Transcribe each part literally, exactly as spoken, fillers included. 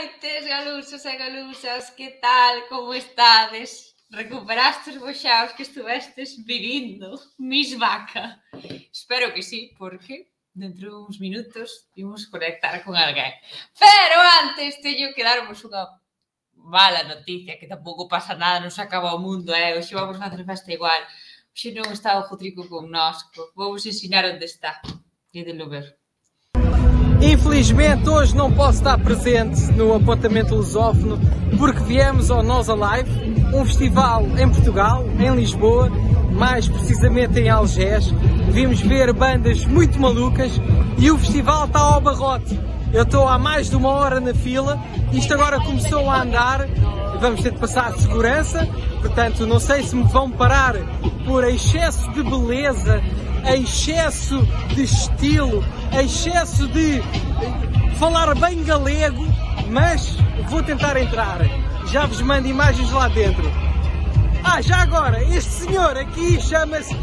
noites, galusas e galusas, que tal, como estades? Recuperastes vos xa os que estuvestes vivindo, mis vaca? Espero que sí, porque dentro de uns minutos imos conectar con alguén. Pero antes teño que darvos unha mala noticia, que tampouco pasa nada, non se acaba o mundo, eh? Hoxe vamos facer festa igual. Hoxe non está o Jotrico connosco. Vou vos ensinar onde está. Idelo ver. Infelizmente hoje não posso estar presente no Apontamento Lusófono porque viemos ao Nós Alive, um festival em Portugal, em Lisboa, mais precisamente em Algés. Vimos ver bandas muito malucas e o festival está ao barrote. Eu estou há mais de uma hora na fila, isto agora começou a andar, vamos ter de passar de segurança, portanto não sei se me vão parar por excesso de beleza, excesso de estilo, excesso de falar bem galego, mas vou tentar entrar. Já vos mando imagens lá dentro. Ah, já agora, este senhor aqui chama-se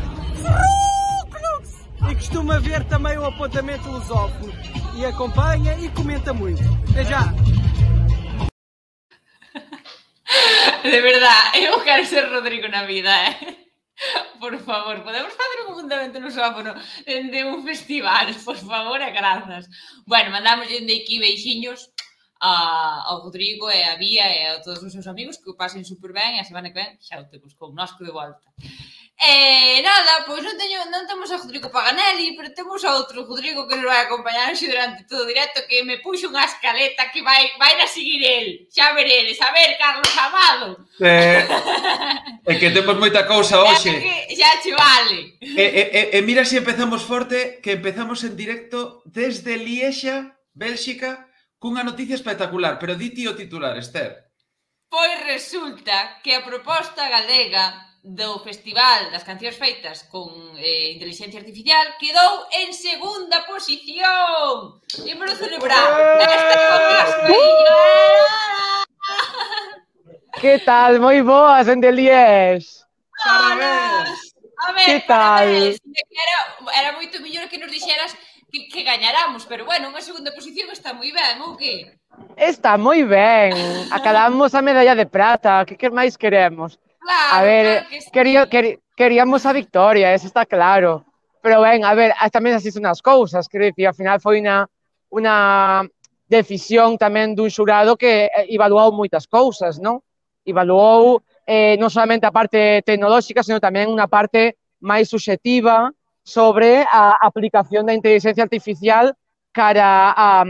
e costuma ver também o Apontamento Lusófono e acompanha e comenta muito. Até já! De verdade, eu quero ser Rodrigo na vida, eh? Por favor, podemos facer un Apontamento Lusófono de un festival, por favor, e grazas. Bueno, mandamos dende aquí beixiños ao Rodrigo e a Bía e a todos os seus amigos, que o pasen super ben e a semana que ven xa o temos connosco de volta. E nada, pois non teño, non temos a Rodrigo Paganelli, pero temos a outro Rodrigo que nos vai acompañar durante todo o directo, que me puxo unha escaleta que vai vai a seguir el. Xa veredes, a ver, Carlos Amado. Eh, é que temos moita cousa hoxe. Xa che vale. E, e, e mira se si empezamos forte, que empezamos en directo desde Liexa, Bélxica, cunha noticia espectacular, pero di ti o titular, Esther. Pois resulta que a proposta galega do Festival das Cancións Feitas con eh, Inteligencia Artificial quedou en segunda posición. Imos celebrar. Esta con Que tal? Moi boas, en de Lies. Parabéns. A ver, que tal? Era, era moito mellor que nos dixeras que, que gañaramos, pero bueno, unha segunda posición está moi ben, ou que? Está moi ben. Acabamos a medalla de prata. Que que máis queremos? Claro, a ver, claro que sí. quería, quer, queríamos a victoria, eso está claro. Pero ben, a ver, tamén así son as cousas, quero dicir, ao final foi unha, unha decisión tamén dun xurado que evaluou moitas cousas, non? Evaluou eh, non solamente a parte tecnolóxica, senón tamén unha parte máis subxetiva sobre a aplicación da inteligencia artificial cara a,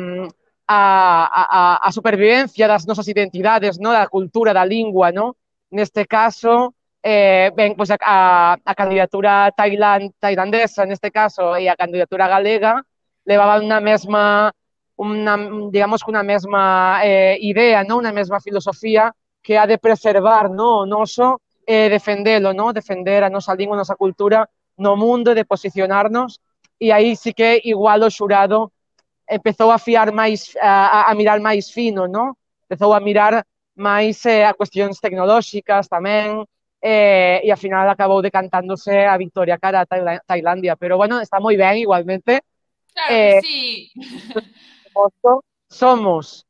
a, a, a supervivencia das nosas identidades, non? Da cultura, da lingua, non? Neste caso, eh, ben, pois a, a, a candidatura tailand, tailandesa, neste caso, e a candidatura galega, levaban unha mesma, una, digamos que unha mesma eh, idea, non? Unha mesma filosofía que ha de preservar, non? O noso e eh, defendelo, non? Defender a nosa lingua, a nosa cultura no mundo, de posicionarnos, e aí sí que igual o xurado empezou a fiar máis, a, a mirar máis fino, non? Empezou a mirar máis eh, a cuestións tecnolóxicas tamén, eh, e ao final acabou decantándose a victoria cara a Tailandia, pero bueno, está moi ben igualmente. Claro que eh, sí. Somos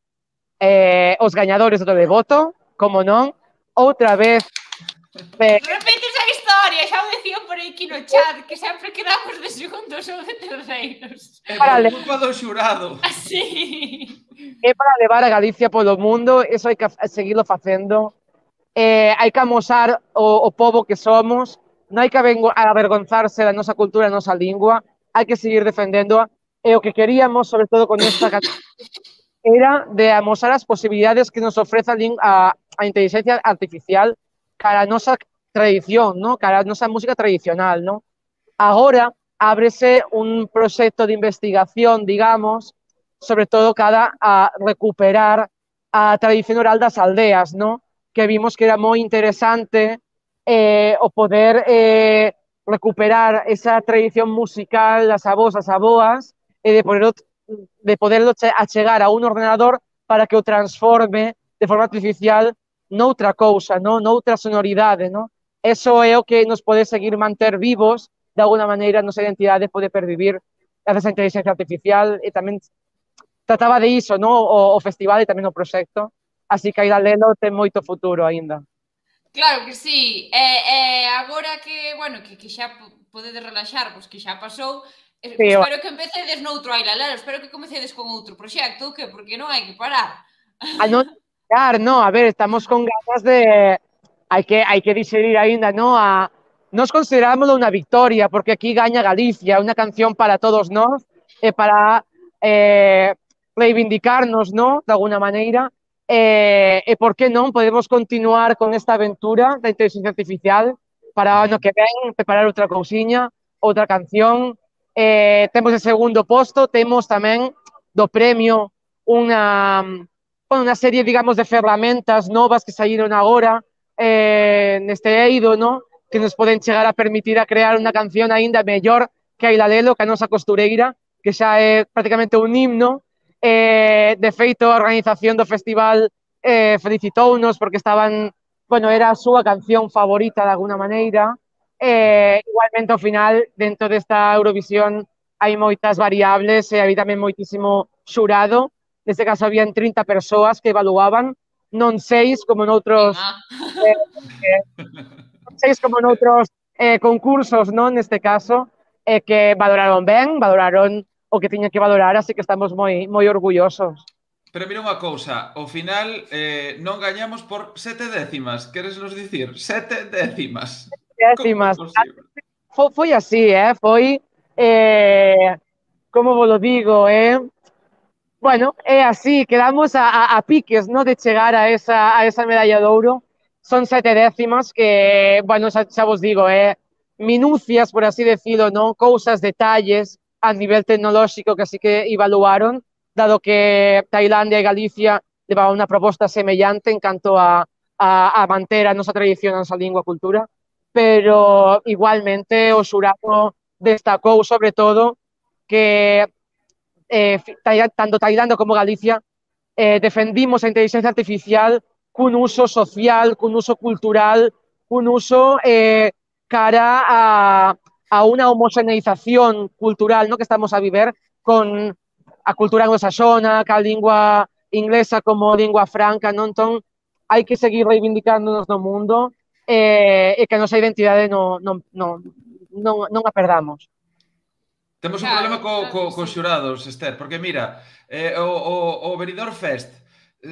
eh, os gañadores do televoto, como non, outra vez. Eh, Repites a historia, xa o decían por aquí no chat, que sempre quedamos de segundos ou de terceiros. É por culpa do xurado. Así. É para levar a Galicia polo mundo, eso hai que seguirlo facendo. Eh, hai que amosar o, o pobo que somos, non hai que avergonzarse da nosa cultura, da nosa lingua, hai que seguir defendéndoa. E o que queríamos, sobre todo con esta era de amosar as posibilidades que nos ofrece a, a, a inteligencia artificial cara a nosa tradición, ¿no? Cara a nosa música tradicional, ¿no? Agora ábrese un proxecto de investigación, digamos, sobre todo cara a recuperar a tradición oral das aldeas, ¿no? Que vimos que era moi interesante eh, o poder eh, recuperar esa tradición musical das avós, as aboas, e de poderlo, de poderlo achegar a un ordenador para que o transforme de forma artificial noutra cousa, no? Noutra sonoridade, no? Eso é o que nos pode seguir manter vivos, de alguna maneira, a nosa identidade pode pervivir gracias a inteligencia artificial e tamén trataba de iso, no? O, o festival e tamén o proxecto, así que Aira Lelo ten moito futuro aínda. Claro que sí, e, e agora que, bueno, que, que xa podedes relaxar, pois que xa pasou, eh, Sí, espero que empecedes noutro Aira Lelo, espero que comecedes con outro proxecto, que porque non hai que parar. a non llegar, no, a ver, estamos con ganas de, hai que, hai que digerir aínda, no, a, nos considerámoslo unha victoria, porque aquí gaña Galicia, unha canción para todos nós, e para eh, reivindicarnos, no, de alguna maneira, e, e por que non podemos continuar con esta aventura da inteligencia artificial para o ano que ven, preparar outra cousiña, outra canción, eh, temos o segundo posto, temos tamén do premio unha unha serie, digamos, de ferramentas novas que saíron agora eh, neste eido, no? Que nos poden chegar a permitir a crear unha canción aínda mellor que a Aira Lelo, que a nosa costureira, que xa é prácticamente un himno. Eh, de feito, a organización do festival eh, felicitounos porque estaban, bueno, era a súa canción favorita de alguna maneira. Eh, igualmente, ao final, dentro desta Eurovisión hai moitas variables e hai tamén moitísimo xurado. Neste caso, habían trinta persoas que evaluaban, non seis como noutros eh, eh, seis como noutros eh, concursos, non? Neste caso, eh, que valoraron ben, valoraron o que tiñan que valorar, así que estamos moi moi orgullosos. Pero mira unha cousa, ao final eh, non gañamos por sete décimas, queres nos dicir? Sete décimas. Décimas. Foi, foi así, eh? Foi, eh, como vos lo digo, eh? Bueno, é así, quedamos a, a, a piques, ¿no? De chegar a esa, a esa medalla de ouro. Son sete décimas que, bueno, xa, xa vos digo, eh, minucias, por así decirlo, ¿no? Cousas, detalles a nivel tecnolóxico que así que evaluaron, dado que Tailandia e Galicia levaban unha proposta semellante en canto a, a, a manter a nosa tradición, a nosa lingua, a cultura, pero igualmente o xurado destacou sobre todo que Eh, tanto Tailandia como Galicia eh, defendimos a inteligencia artificial cun uso social, cun uso cultural, cun uso eh, cara a, a unha homogeneización cultural, no, que estamos a viver con a cultura anglosaxona, ca lingua inglesa como lingua franca, non? Entón, hai que seguir reivindicándonos no mundo eh, e que a nosa identidade non, non, non, non, non a perdamos. Temos un Claro, problema co, claro co, que cos sí. xurados, Esther, porque mira, eh, o, o, o Benidorm Fest,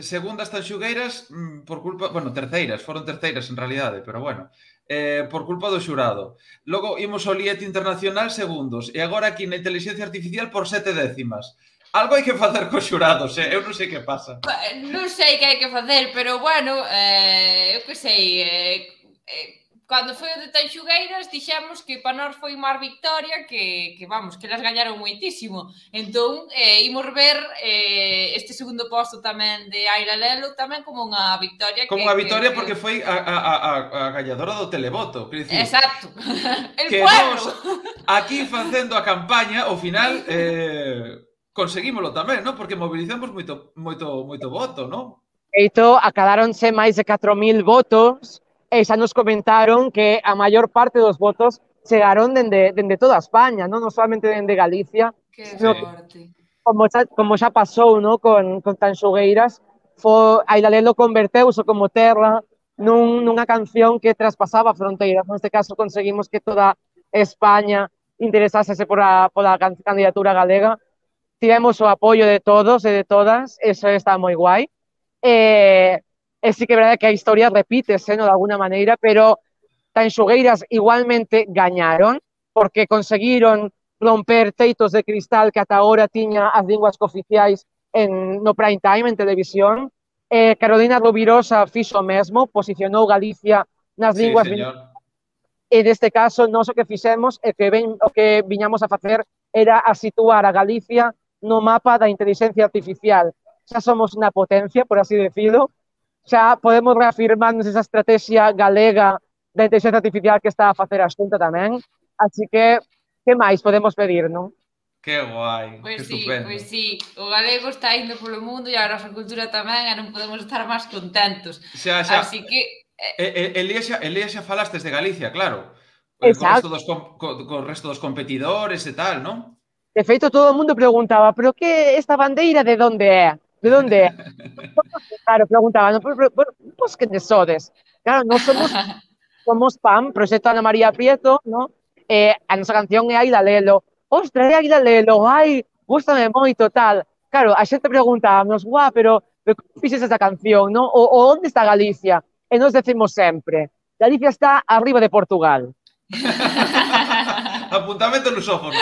segundas tanxugueiras, mm, por culpa, bueno, terceiras, foron terceiras en realidade, pero bueno, eh, por culpa do xurado. Logo imos ao Liet Internacional segundos, e agora aquí na inteligencia artificial por sete décimas. Algo hai que facer cos xurados, eh? Eu non sei que pasa. Non sei que hai que facer, pero bueno, eh, eu que sei, eh, eh, cando foi o de Tanxugueiras dixemos que para nós foi máis victoria, que, que vamos, que las gañaron moitísimo. Entón, eh, imos ver eh, este segundo posto tamén de Aira Lelo tamén como unha victoria. Como unha victoria que, porque foi a, a, a, a gañadora do televoto, quer dicir, exacto. El que pueblo. Nos, aquí facendo a campaña, ao final eh, conseguímolo tamén, non? Porque mobilizamos moito, moito, moito voto, non? Eito, acadáronse máis de catro mil votos e xa nos comentaron que a maior parte dos votos chegaron dende, dende toda España, non, non solamente dende Galicia. Que sino forte. Como xa, como xa pasou, no, con, con Tanxugueiras, foi, Aira Lelo converteuse como terra nun, nunha canción que traspasaba fronteiras. Neste caso conseguimos que toda España interesase por a, por a candidatura galega. Tivemos o apoio de todos e de todas, eso está moi guai. Eh, e sí que é verdade que a historia repítese, no, de alguna maneira, pero Tanxugueiras igualmente gañaron, porque conseguiron romper teitos de cristal que ata agora tiña as linguas cooficiais en, no prime time, en televisión. Eh, Carolina Rovirosa fixo o mesmo, posicionou Galicia nas Sí, linguas. señor. E neste caso, nós o que fixemos, e que ven, o que viñamos a facer era a situar a Galicia no mapa da inteligencia artificial. Xa somos unha potencia, por así decirlo, xa podemos reafirmarnos esa estrategia galega da inteligencia artificial que está a facer a Xunta tamén. Así que, que máis podemos pedir, non? Que guai, Pois que sí, estupendo. pois sí, o galego está indo polo mundo e a nosa cultura tamén, e non podemos estar máis contentos. Xa, xa. Así que... Eh, Elía xa, Elía xa falastes de Galicia, claro. Eh, co resto dos, co, co resto dos competidores e tal, non? De feito, todo o mundo preguntaba, pero que esta bandeira de onde é? De onde é? Claro, preguntaban, pois que de sodes? Claro, non somos somos P A M, Proxecto Ana María Prieto, ¿no? Eh, a nosa canción é Aida Lelo. Ostra, é Aida Lelo, ai, gústame moito, tal. Claro, a xente preguntábamos, guau, pero, pero como fixes esa canción, no? O, o onde está Galicia? E nos decimos sempre, Galicia está arriba de Portugal. Apuntamento lusófono.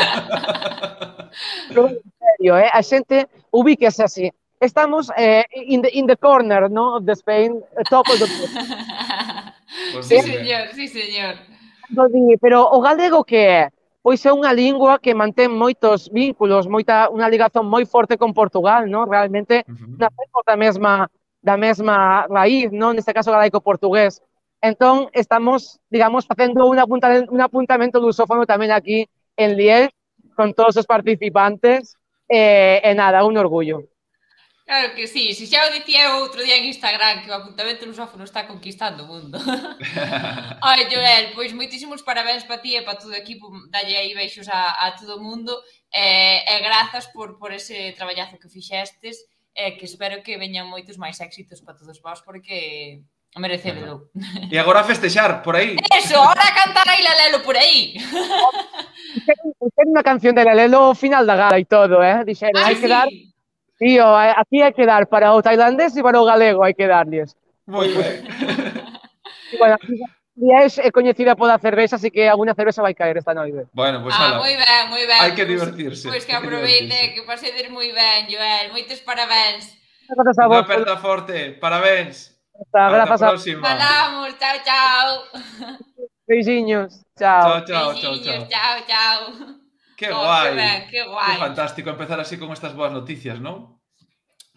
Pero, en serio, eh? A xente ubíquese así. Estamos eh, in, the, in the corner, no? Of the Spain, top of the... Pues Sí, moi ben. señor, sí, señor. Pero o galego que é? Pois é unha lingua que mantén moitos vínculos, moita, unha ligazón moi forte con Portugal, no? Realmente Ujú. nacemos da mesma, da mesma raíz, no? Neste caso galaico-portugués. Entón, estamos, digamos, facendo un, apunta, un apuntamento lusófono tamén aquí en Liège, con todos os participantes, e, e nada, un orgullo. Claro que sí, se xa o dicía outro día en Instagram que o apuntamento lusófono está conquistando o mundo. Ai, Joel, pois moitísimos parabéns para ti e para todo o equipo, dalle aí beixos a, a todo o mundo e, e grazas por, por ese traballazo que fixestes e que espero que veñan moitos máis éxitos para todos vós porque merecedelo. E agora a festexar, por aí. Eso, ahora a cantar a Aida Lelo por aí. Ten unha canción de Lelo ao final da gala e todo, eh? Dixeron, Ah, hai que sí. dar... Tío, aquí hai que dar para o tailandés e para o galego, hai que darlles. Moi ben. E, bueno, aquí Liège é coñecida pola cervexa, así que alguna cervexa vai caer esta noite. Bueno, pois Ah, ala. moi ben, moi ben. Hai que Pois- divertirse, Pois que hai que aproveite, divertirse. que pasedes moi ben, Joel. Moitos parabéns. Grazas a Unha vos, aperta forte. Parabéns. Ata Ata a grazas a próxima. Falamos, chao, chao. Beixiños. Chao, Chao. chao, chao, Beixiños, chao. chao, chao. Que Oh, guai. que ben, que guai. Que fantástico empezar así con estas boas noticias, non?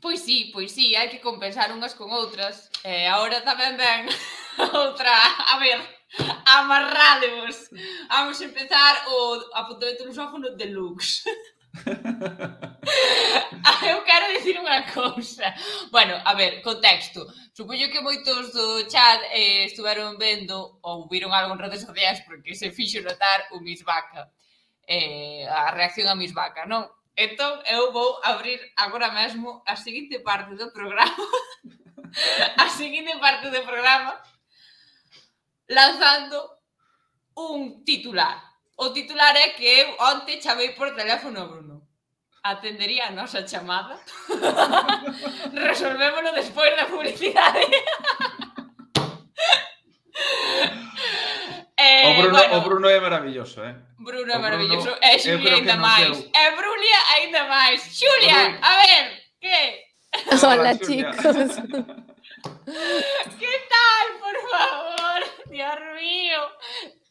Pois sí, pois sí, hai que compensar unhas con outras. E agora tamén ven outra, a ver, amarrademos. Vamos a empezar o apuntamento lusófono deluxe. Eu quero dicir unha cousa. Bueno, a ver, contexto. Supoño que moitos do chat eh, estuveron vendo ou viron algo en redes sociais porque se fixo notar o Miss Vaca. Eh, a reacción a Miss Vaca, non? Entón, eu vou abrir agora mesmo a seguinte parte do programa. A seguinte parte do programa lanzando un titular. O titular é que eu onte chamei por teléfono a Bruno. Atendería a nosa chamada. Resolvémolo despois da publicidade. eh, O Bruno, bueno, o Bruno é maravilloso, eh? Bruno o é maravilloso. Bruno, E eu Xulia creo que ainda nos máis. deu- E Brulia ainda máis. Xulia, Bruli. a ver, que? Hola, Xulia. chicos. Que tal, por favor? Dios mío.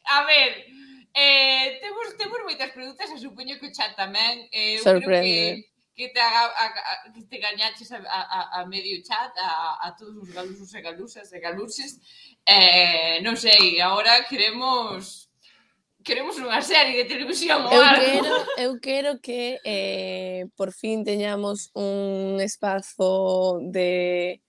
A ver, eh, temos, temos moitas preguntas, e supoño que o chat tamén. Eh, eu creo Sorprende. que, que te, aga, a, a, que te gañaches a, a, a medio chat, a, a todos os galusos e galusas e galuses. Eh, non sei, agora queremos... Queremos unha serie de televisión ou Eu algo. quero, eu quero que eh, por fin teñamos un espazo de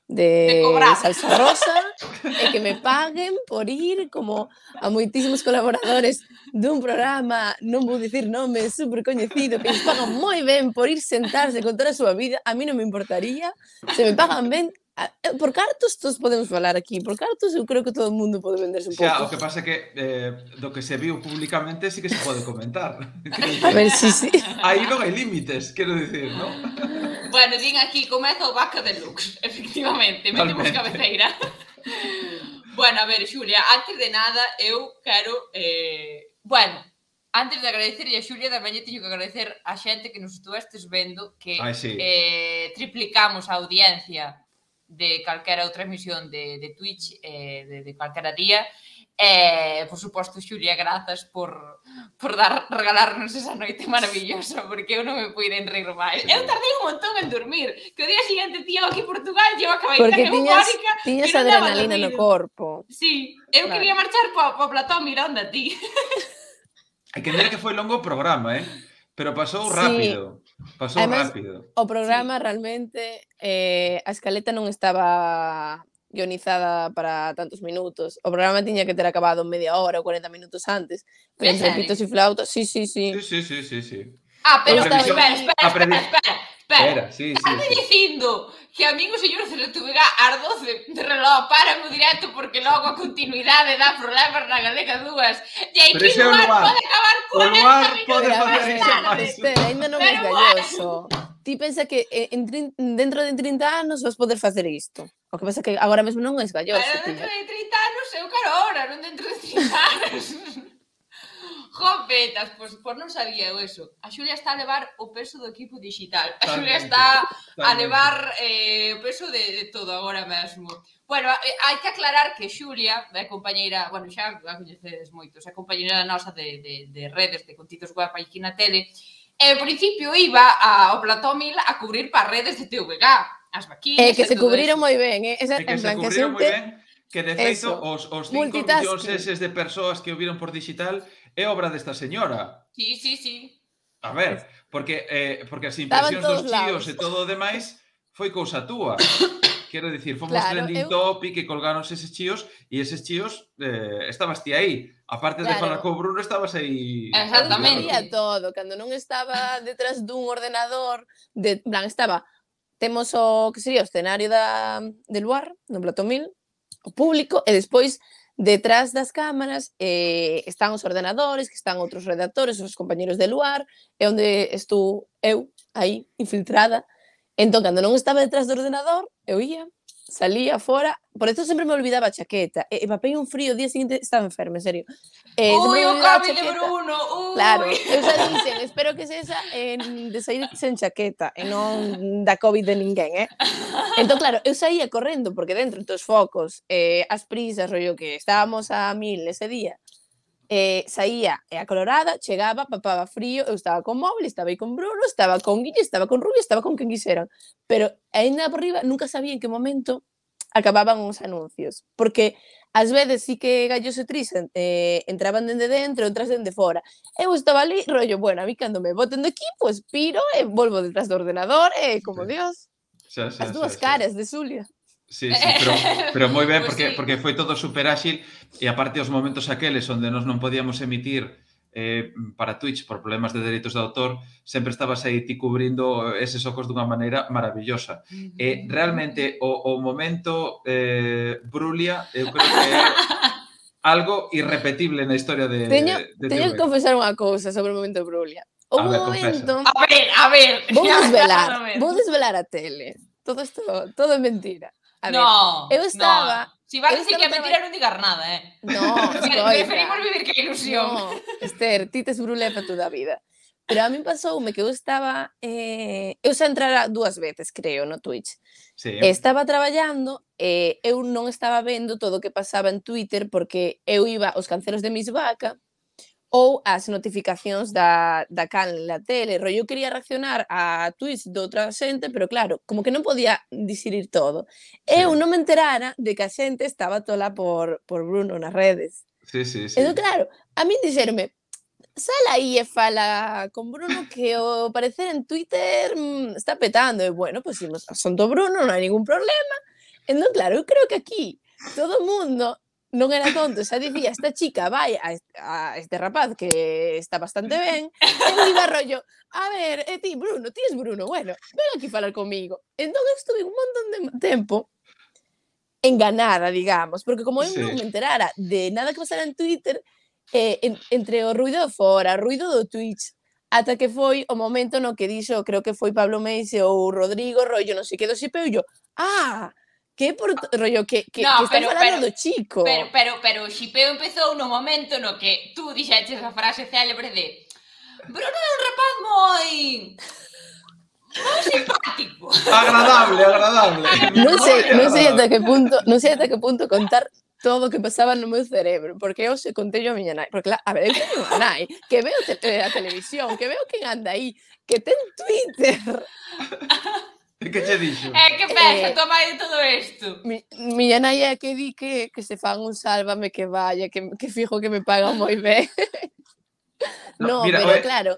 De de cobrar. salsa rosa e que me paguen por ir como a moitísimos colaboradores dun programa, non vou dicir nome, super coñecido, que lles pagan moi ben por ir sentarse con toda a súa vida. A mí non me importaría, se me pagan ben, a- eh, por cartos todos podemos falar aquí, por cartos eu creo que todo o mundo pode venderse un Xa, o pouco. que pasa é que eh, do que se viu públicamente sí que se pode comentar. A ver, si, si. Aí non hai límites, quero dicir, non? Bueno, din aquí, comeza o Vaca Deluxe, efectivamente, metemos Totalmente. cabeceira. Bueno, a ver, Xulia, antes de nada, eu quero, eh, bueno, antes de agradecerlle a Xulia, tamén lle teño que agradecer a xente que nos estuvestes vendo, que Ai, sí. eh, triplicamos a audiencia de calquera outra emisión de, de Twitch, eh, de, de calquera día, e, por suposto, Xulia, grazas por, por dar, regalarnos esa noite maravillosa, porque eu non me puiden rir máis. Sí. Eu tardei un montón en dormir, que o día seguinte tío aquí en Portugal, eu acabei Porque tan tiñas, eufórica tiñas que non daba adrenalina no dormir. corpo. Sí, eu Claro. quería marchar po, po plató mirando a ti. É que mira que foi longo o programa, eh? Pero pasou Sí. rápido. Pasou Ademais, rápido. O programa realmente, eh, a escaleta non estaba guionizada para tantos minutos. O programa tiña que ter acabado media hora ou cuarenta minutos antes. Pero En entre serio? pitos e flautas, sí, sí, sí. Sí, sí, sí, sí, sí. Ah, pero Eu estaba- espera, espera, a espera, predi- espera, espera. Era, sí, sí, Estás sí. dicindo que a min o señor Celetubega ás doce de reloj para o directo porque logo a continuidade dá problemas na Galega dúas. E aí Pero que ese é o lugar lugar. pode acabar O lugar pode Pero a facer ver, iso máis. Esther, ainda non é Pero galloso. Ti pensa que eh, en trin- dentro de trinta anos vas poder facer isto. O que pasa que agora mesmo non é galloso, Pero ti. dentro de trinta anos eu quero ahora, non dentro de trinta anos. Jopetas, pois, pois non sabía eu eso. A Xulia está a levar o peso do equipo digital. A Xulia Totalmente, está a totalmente. levar eh, o peso de, de todo agora mesmo. Bueno, eh, hai que aclarar que Xulia é compañeira, bueno, xa a coñecedes moitos, é compañeira nosa de, de, de redes, de contidos web aquí na tele. E ao principio iba ao Plató Mil a cubrir para redes de T V G, as vaquinas Eh, que e se todo cubriron eso. moi ben, eh? Esa, É que en se plan, que a cubriron moi xente... ben, que de feito Eso, os, os cinco multitasking. millóns eses de persoas que o viron por digital é obra desta señora. Sí, sí, sí. A ver, porque eh, porque as Estaba en impresións dos todos chíos lados. e todo o demais foi cousa túa. Quero dicir, fomos Claro, trending eu- topic e colgáronse eses chíos e eses chíos eh, estabas ti aí. Aparte de Claro. falar co Bruno, estabas aí. Exactamente. Eu sabía todo, cando non estaba detrás dun ordenador, de, en plan, estaba, temos o que sería o escenario da, de Luar, no Plató Mil, o público, e despois, detrás das cámaras, eh, están os ordenadores, que están outros redactores, os compañeros de Luar, e onde estou eu, aí, infiltrada. Entón, cando non estaba detrás do ordenador, eu ia, salía fora, por eso sempre me olvidaba a chaqueta, e, e papei un frío, o día seguinte estaba enferma, en serio. Eh, sempre Ui, me o olvidaba a Covid de chaqueta. Bruno, ui. Claro, eu xa dixen, espero que sexa en, de sair sen chaqueta e non da Covid de ninguén, eh? Entón, claro, eu saía correndo, porque dentro dos focos, eh, as prisas, rollo que estábamos a mil ese día, eh, saía e a colorada, chegaba, papaba frío, eu estaba con móvil, estaba aí con Bruno, estaba con Guille, estaba con Rubio, estaba con quen quixeran, pero ainda por riba nunca sabía en que momento acababan os anuncios, porque ás veces sí que Gallos e Tris eh, entraban dende dentro, outras dende fora. Eu estaba ali, rollo, bueno, a mí cando me boten de aquí, pues piro e volvo detrás do ordenador e como Sí. Dios, Xa, xa, as dúas xa, xa. caras de Xulia. Sí, sí, pero, pero moi ben, Pues porque, sí. porque foi todo super áxil e aparte os momentos aqueles onde nós non podíamos emitir eh, para Twitch por problemas de dereitos de autor, sempre estabas aí ti cubrindo eses ocos dunha maneira maravillosa. E realmente o, o momento eh, Brulia, eu creo que é algo irrepetible na historia de, Teño, de teño que T V. confesar unha cousa sobre o momento de Brulia. Houve A ver, un momento... A ver, a ver. Vou Ya, desvelar, a ver. vou desvelar a tele. Todo isto, todo é mentira. A ver, No, eu estaba- no. Si vas a eu decir que é estaba mentira, non digas nada, eh. no, Preferimos escoita. vivir que ilusión. No, Esther, ti tes Brulia para toda a vida. Pero a min pasoume que eu estaba... Eh, eu xa entrara dúas veces, creo, no Twitch. Sí. E estaba traballando e eu non estaba vendo todo o que pasaba en Twitter porque eu iba aos cancelos de Miss Vaca ou as notificacións da, da canle na tele. Rollo, eu quería reaccionar a tweets de outra xente, pero claro, como que non podía disirir todo. Sí. Eu non me enterara de que a xente estaba tola por, por Bruno nas redes. Sí, sí, sí. Entón, claro, a min dixerme, sal aí e fala con Bruno que o parecer en Twitter mm, está petando. E bueno, pois pues, son do Bruno, non hai ningún problema. Entón, claro, eu creo que aquí todo o mundo non era tonto, xa dicía, esta chica vai a, a este rapaz que está bastante ben, e eu iba rollo, a ver, e ti, Bruno, ti es Bruno, bueno, ven aquí falar comigo. Entón eu estuve un montón de tempo enganada, digamos, porque como eu Sí. non me enterara de nada que pasara en Twitter, eh, en, entre o ruido de fora, o ruido do Twitch, ata que foi o momento no que dixo, creo que foi Pablo Meise ou Rodrigo, rollo, non sei que do xipeo, e yo, ah, que por rollo, que, que, No, que están pero- falando pero- do chico. Pero, pero, pero o xipeo empezou no momento no que tú dixeches a frase célebre de Bruno é un rapaz moi... moi simpático. Agradable, agradable. Non sei, Moi non sei agradable. ata que punto, non sei ata que punto contar todo o que pasaba no meu cerebro, porque eu se contei a miña nai, porque la, a ver, eu teño unha nai que veo te, eh, a televisión, que veo quen anda aí, que ten Twitter. E que che dixo? Eh, que pensa, Eh, tua mãe de todo isto? Mi, miña nai é a que di que, que se fan un sálvame que vaya, que, que fijo que me pagan moi ben. No, No, mira, pero oe, claro,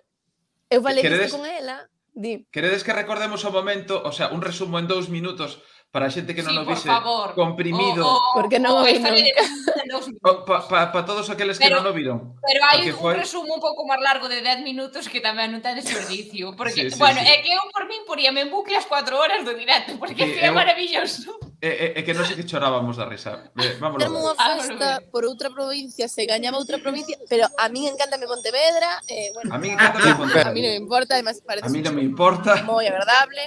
eu falei queredes- isto con ela, di, Queredes que recordemos o momento, o sea, un resumo en dous minutos para a xente que non Sí, o por vise favor. comprimido, O- o- Porque non o o vi historia de nunca. dos minutos. o, pa, pa, pa todos aqueles que Pero- non o viron. Pero hai Porque un foi- resumo un pouco máis largo de dez minutos que tamén non ten desperdicio. Porque, Sí, sí, bueno, sí. é que eu por min poríame en bucle as cuatro horas do directo, porque Sí, é que é eu- maravilloso. É, é, é que non sei que chorábamos da risa. Eh, vámonos Termo ver. unha Ah, festa bueno. por outra provincia, se gañaba outra provincia, pero a min encántame Pontevedra, eh, bueno, A mí encanta me a Pontevedra. mí non me importa, además A parece mí non me importa. moi agradable.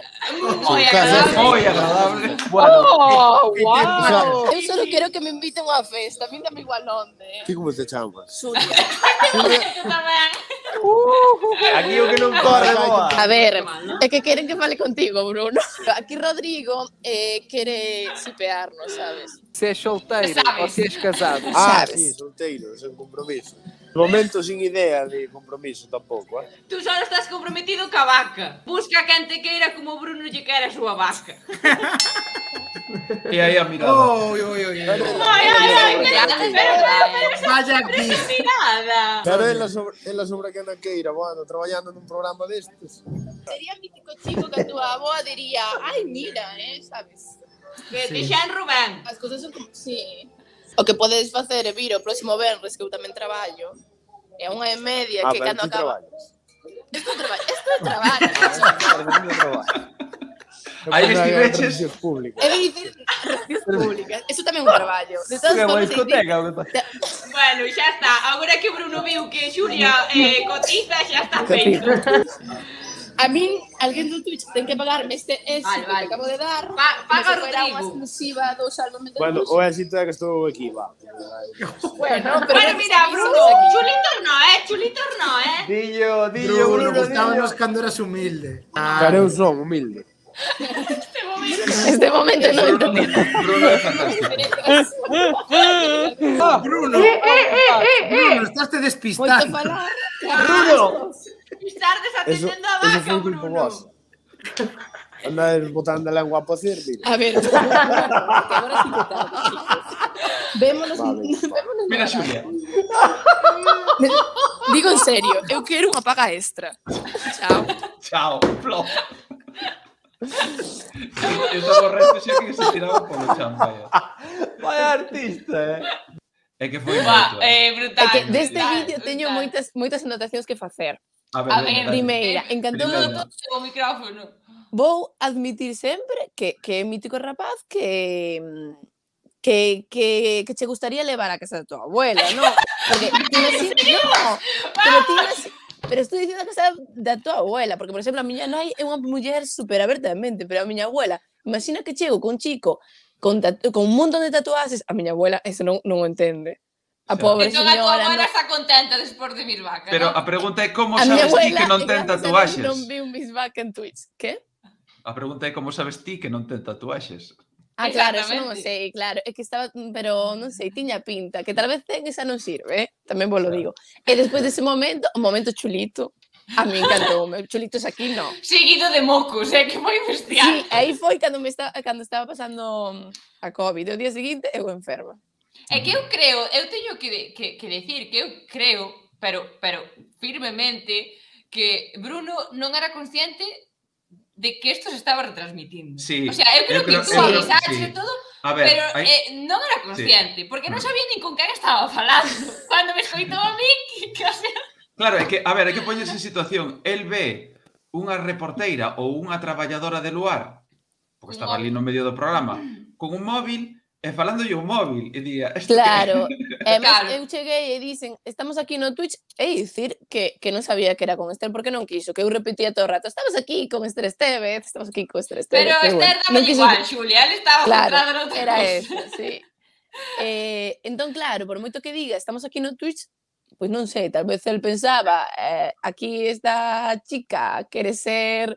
Moi casa- agradable. Moi agradable. Bueno, ¡Oh, ¿Qué tiempo wow! sabes? Eu solo quero que me inviten a unha festa, a min dame igual onde, eh. ¿Ti como te chamas? Xulia. Eu tamén. aquí o que non corre boa. A ver, é que queren que fale contigo, Bruno. Aquí Rodrigo eh, quere sipearnos, sabes? Se és solteiro Sabes. ou se és casado. Ah, Sabes. sí, solteiro, sin compromiso. De momento sin idea de compromiso tampouco, eh? Tú só estás comprometido ca vaca. Busca quen te queira como Bruno lle quere a súa vaca. E aí a mirada. Oi, oi, oi. Ai, ai, ai, pero, pero, pero, Vaya aquí. nada. Pero ela sobre, ela sobre que na queira, bueno, traballando nun programa destes. Sería mítico chico que a túa aboa diría, ai, mira, eh, sabes? Que te xa en Rubén. As cousas son como... Sí. O que podedes facer é vir o próximo venres, que eu tamén traballo, é unha e media, Ah, que pero cando ti acaba... traballas. Isto é traballo, isto é traballo. Claro, ti traballas. Aí Eu pensaba que eran estiveches- relacións públicas. É dicir, relacións públicas. Eso tamén é un traballo. De todas Que boa formas, é dicir, discoteca o que pasa. Bueno, xa está. Agora que Bruno viu que Xulia eh, cotiza, xa está feito. a min, alguén do Twitch ten que pagarme este éxito Vale, vale. que acabo de dar. Pa- paga como se fuera Rodrigo. unha exclusiva do Salvamento de Bueno, Luz. o éxito é que estou aquí, va. Bueno, pero Bueno, mira, Bruno, chulitos no, eh, chulitos no, eh. Dillo, dillo, Bruno, Bruno, gustábamos dillo. cando eras humilde. Pero eu son humilde. Este momento. este momento non Bruno, entendí. Bruno é fantástico. Bruno, Bruno, estás te Moito despistando. falar. Bruno. Estar Eso, desatendendo a eso vaca, foi culpa Bruno. vos. Andades botando a lengua a pocer, mira. A ver, que agora sí que tarde, chicos. Vémonos, Vale, vémonos Mira, na Xulia. Digo en serio, eu quero unha paga extra. Chao. Chao. Flop. Eu estaba resto xa que se tiraba polo chan, vaya. Vai artista, eh. É que foi Buah, moito. eh. eh, brutal. É que deste brutal, vídeo teño brutal. moitas moitas anotacións que facer. A ver, A veña, ver, dale. Primeira, encantoume Primeira. O micrófono. Vou admitir sempre que, que é mítico rapaz que que, que, que che gustaría levar a casa da tua abuela, non? Porque ti imagina, no, pero ti imagina, pero estou dicindo a casa da tua abuela, porque por exemplo a miña nai é unha muller super abertamente, pero a miña abuela, imagina que chego con un chico con, tatu con un montón de tatuajes, a miña abuela eso non, non o entende. A Xa. pobre Entón a tua señora abuela non... está contenta despois de mir vaca, Pero ¿no? a pregunta é como A miña sabes ti abuela, que non e ten gracias a Deus, tatuaxes? non vi un Miss Back en Twitch. Que? A pregunta é como sabes ti que non ten tatuaxes? Ah, claro, eso non o Exactamente. sei, claro. É que estaba, pero non sei, tiña pinta, que tal vez ten esa non sirve, eh? Tamén vos lo digo. E despois dese momento, o momento chulito, a mí encantoume. Chulitos aquí, no. Seguido de mocos, eh, que foi bestial. Sí, aí foi cando me está, cando estaba pasando a COVID. O día seguinte, eu enferma. É que eu creo, eu teño que, que, que decir que eu creo, pero, pero firmemente, que Bruno non era consciente de que isto se estaba retransmitindo. Sí, O sea, eu creo, eu creo- que tú eu creo- avisaste sí. todo, A ver, pero hai... eh, non era consciente, porque non sabía nin con quen estaba falando. Cando me escoitou a mí, que, o sea, Claro, é que, a ver, hai que poñerse en situación. El ve unha reporteira ou unha traballadora de luar, porque Un estaba ali no medio do programa, con un móvil e falándolle un móvil. E día, "Isto Claro. que-" E además, Claro. eu cheguei e dicen, estamos aquí no Twitch, e dicir que, que non sabía que era con Esther, porque non quiso, que eu repetía todo o rato, estamos aquí con Esther Estevez, estamos aquí con Esther Estevez. pero que Esther bueno, daba non quiso- igual, Xulia, él estaba Claro, centrado noutra era cosa. eso, sí. Eh, entón, claro, por moito que diga, estamos aquí no Twitch, pois non sei, tal vez el pensaba, eh, aquí esta chica quere ser,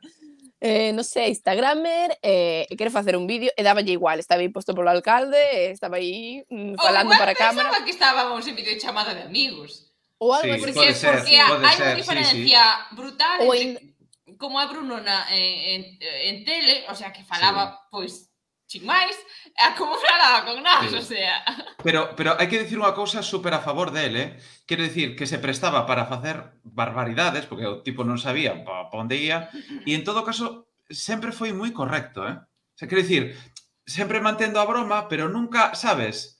eh, non sei, instagramer, eh, e quere facer un vídeo, e dáballe igual, estaba aí posto polo alcalde, e estaba aí mm, Ou falando igual para a cámara, pensaba que estábamos en videochamada de amigos. ou algo Sí, así. Porque, pode ser, porque pode hai ser, unha sí, diferencia brutal Ou entre como a Bruno na, en, en, en tele, o sea, que falaba, pois, sin máis, a como falaba con nós, Sí. o sea... Pero, pero hai que dicir unha cousa super a favor dele, eh? Quero dicir que se prestaba para facer barbaridades, porque o tipo non sabía pa, pa onde ia, e en todo caso sempre foi moi correcto, eh? O sea, quero dicir, sempre mantendo a broma, pero nunca, sabes?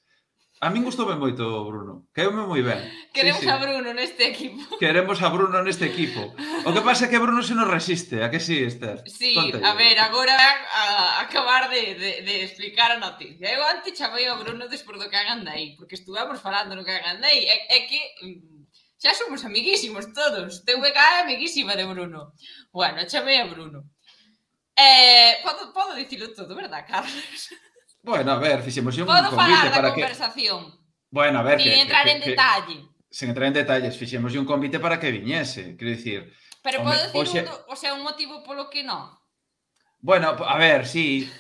A min gustoume moito Bruno, caeume moi ben. Queremos a Bruno neste equipo. Queremos a Bruno neste equipo. O que pasa é que Bruno se nos resiste, a que sí, Esther? Sí, a ver, agora a acabar de, de, de explicar a noticia. Eu antes chamei a Bruno despois do que hagan aí, porque estuvemos falando no que hagan aí. É, é que xa somos amiguísimos todos. T V K é amiguísima de Bruno. Bueno, chamei a Bruno. Eh, podo, podo dicilo todo, verdad, Carlos? Bueno, a ver, fixemos un podo convite para que... Podo falar da conversación. Bueno, a ver, sin que... entrar que, en que, detalle. Sen entrar en detalles, fixemos un convite para que viñese, quero dicir... Pero podo dicir oxe... un, o sea, un motivo polo que non? Bueno, a ver, sí...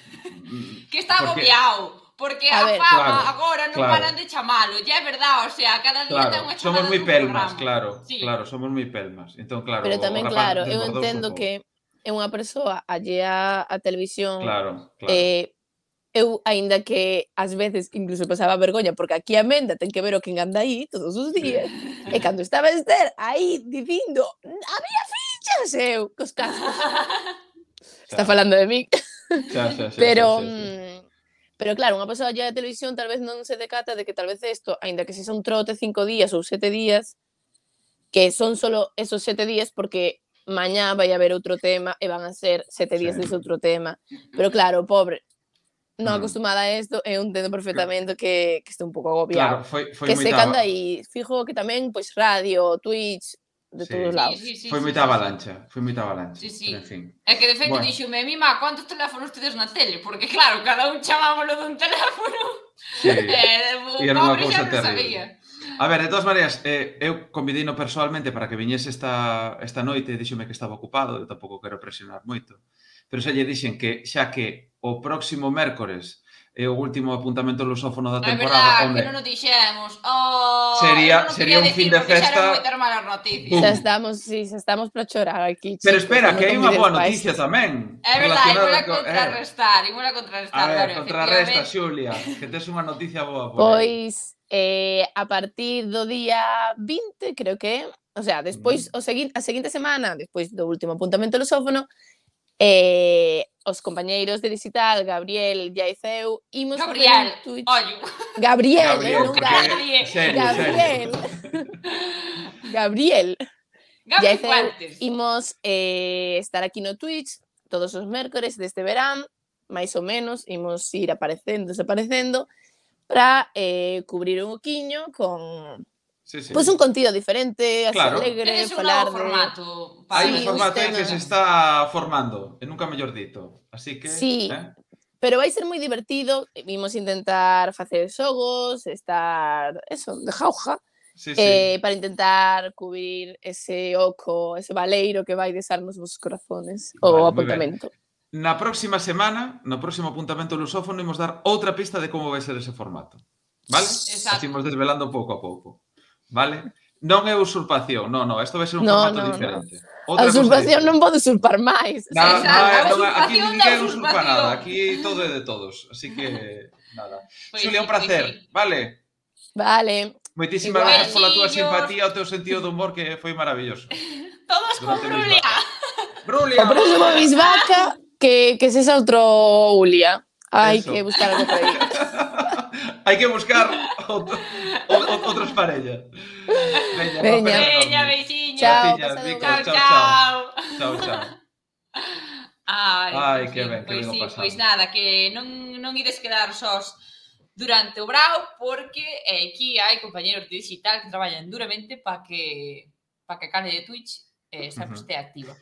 que está porque... agobiado. Porque a, a ver, fama claro, agora non claro. paran de chamalo, ya é verdad, o sea, cada día claro, ten unha chamada somos moi pelmas, programa. claro, sí. claro, somos moi pelmas. Entón, claro, pero tamén, claro, eu entendo que é unha persoa allea á televisión. Claro, claro. Eh, eu, aínda que ás veces incluso pasaba vergoña, porque aquí a Menda ten que ver o que anda aí todos os días, sí. E cando estaba Esther aí dicindo había fichas, eu, cos cascos. Está falando de mí. Xa, xa, xa, pero, xa, xa, xa. pero claro, unha persoa allá de televisión tal vez non se decata de que tal vez isto, aínda que se son trote cinco días ou sete días, que son solo esos sete días porque mañá vai haber outro tema e van a ser sete días sí. dese outro tema. Pero claro, pobre, non acostumada a isto, eu entendo perfectamente que, que este un pouco agobiado. Claro, foi, foi que se moita... canda aí, fijo que tamén, pois, radio, Twitch, de sí. todos os lados. Sí, sí, sí, foi sí, moita sí, avalancha, sí. foi moita avalancha. Sí, sí. Pero, en fin. É que, de feito, bueno. dixome, mima, quantos teléfonos tedes na tele? Porque, claro, cada un chamámoslo dun teléfono. Sí, eh, o e era unha pobre cousa xa non sabía. A ver, de todas maneiras, eh, eu convidino personalmente para que viñese esta, esta noite, díxome que estaba ocupado, eu tampouco quero presionar moito, pero xa lle dixen que xa que o próximo mércores é o último apuntamento lusófono da temporada. É verdad, que non nos dixemos. Oh, sería sería un fin de festa. Xa estamos, sí, xa estamos para chorar aquí. Pero espera, que hai unha boa noticia tamén. É verdade, imola contrarrestar, imola contrarrestar. A ver, contrarresta, Xulia, que tes unha noticia boa por aí. Pois, eh, a partir do día vinte, creo que, o sea, despois, o seguinte, a seguinte semana, despois do último apuntamento lusófono, Eh, os compañeiros de digital, Gabriel, Yaiceu, imos Gabriel, Twitch... Ollo. Gabriel, Gabriel, eh, non Gabriel. Serio, Gabriel. Gabriel. Gabriel Yaiceu, imos eh, estar aquí no Twitch todos os mércores deste verán, máis ou menos, imos ir aparecendo, desaparecendo, para eh, cubrir un oquiño con... Sí, sí. Pois pues un contido diferente, así claro. alegre, es un falar novo formato. De... Hai sí, un formato aí que se está formando, e nunca mellor dito. Así que, sí, eh? Pero vai ser moi divertido. Vimos intentar facer xogos, estar, eso, de jauja, sí, eh, sí. para intentar cubrir ese oco, ese baleiro que vai desarnos vos corazones, vale, o apuntamento. Na próxima semana, no próximo apuntamento lusófono, imos dar outra pista de como vai ser ese formato. Vale? Exacto. Así imos desvelando pouco a pouco. Vale? Non é usurpación, non, non, isto vai ser un no, formato no, diferente. No. A usurpación non pode usurpar máis. No, no, no, no, aquí ninguén usurpa nada, aquí todo é de todos, así que nada. Pues Xulia, sí, un placer, pues sí. vale? Vale. Moitísimas gracias pola túa simpatía, o teu sentido de humor que foi maravilloso. Todos con Brulia. Brulia. O próximo Bisvaca que, que sexa outro Ulia. Hai que buscar algo por aí. Hai que buscar outro, outros parellas. Veña, Veña, Veña beixiño. Chao, chao, chao, chao. Chao, chao. Ai, Ai, que ben, que pois ben o sí, pasado. pois nada, que non, non ides quedar sós durante o brao, porque eh, aquí hai compañeros de digital que traballan duramente para que para que a canle de Twitch eh, sempre uh -huh. este activa.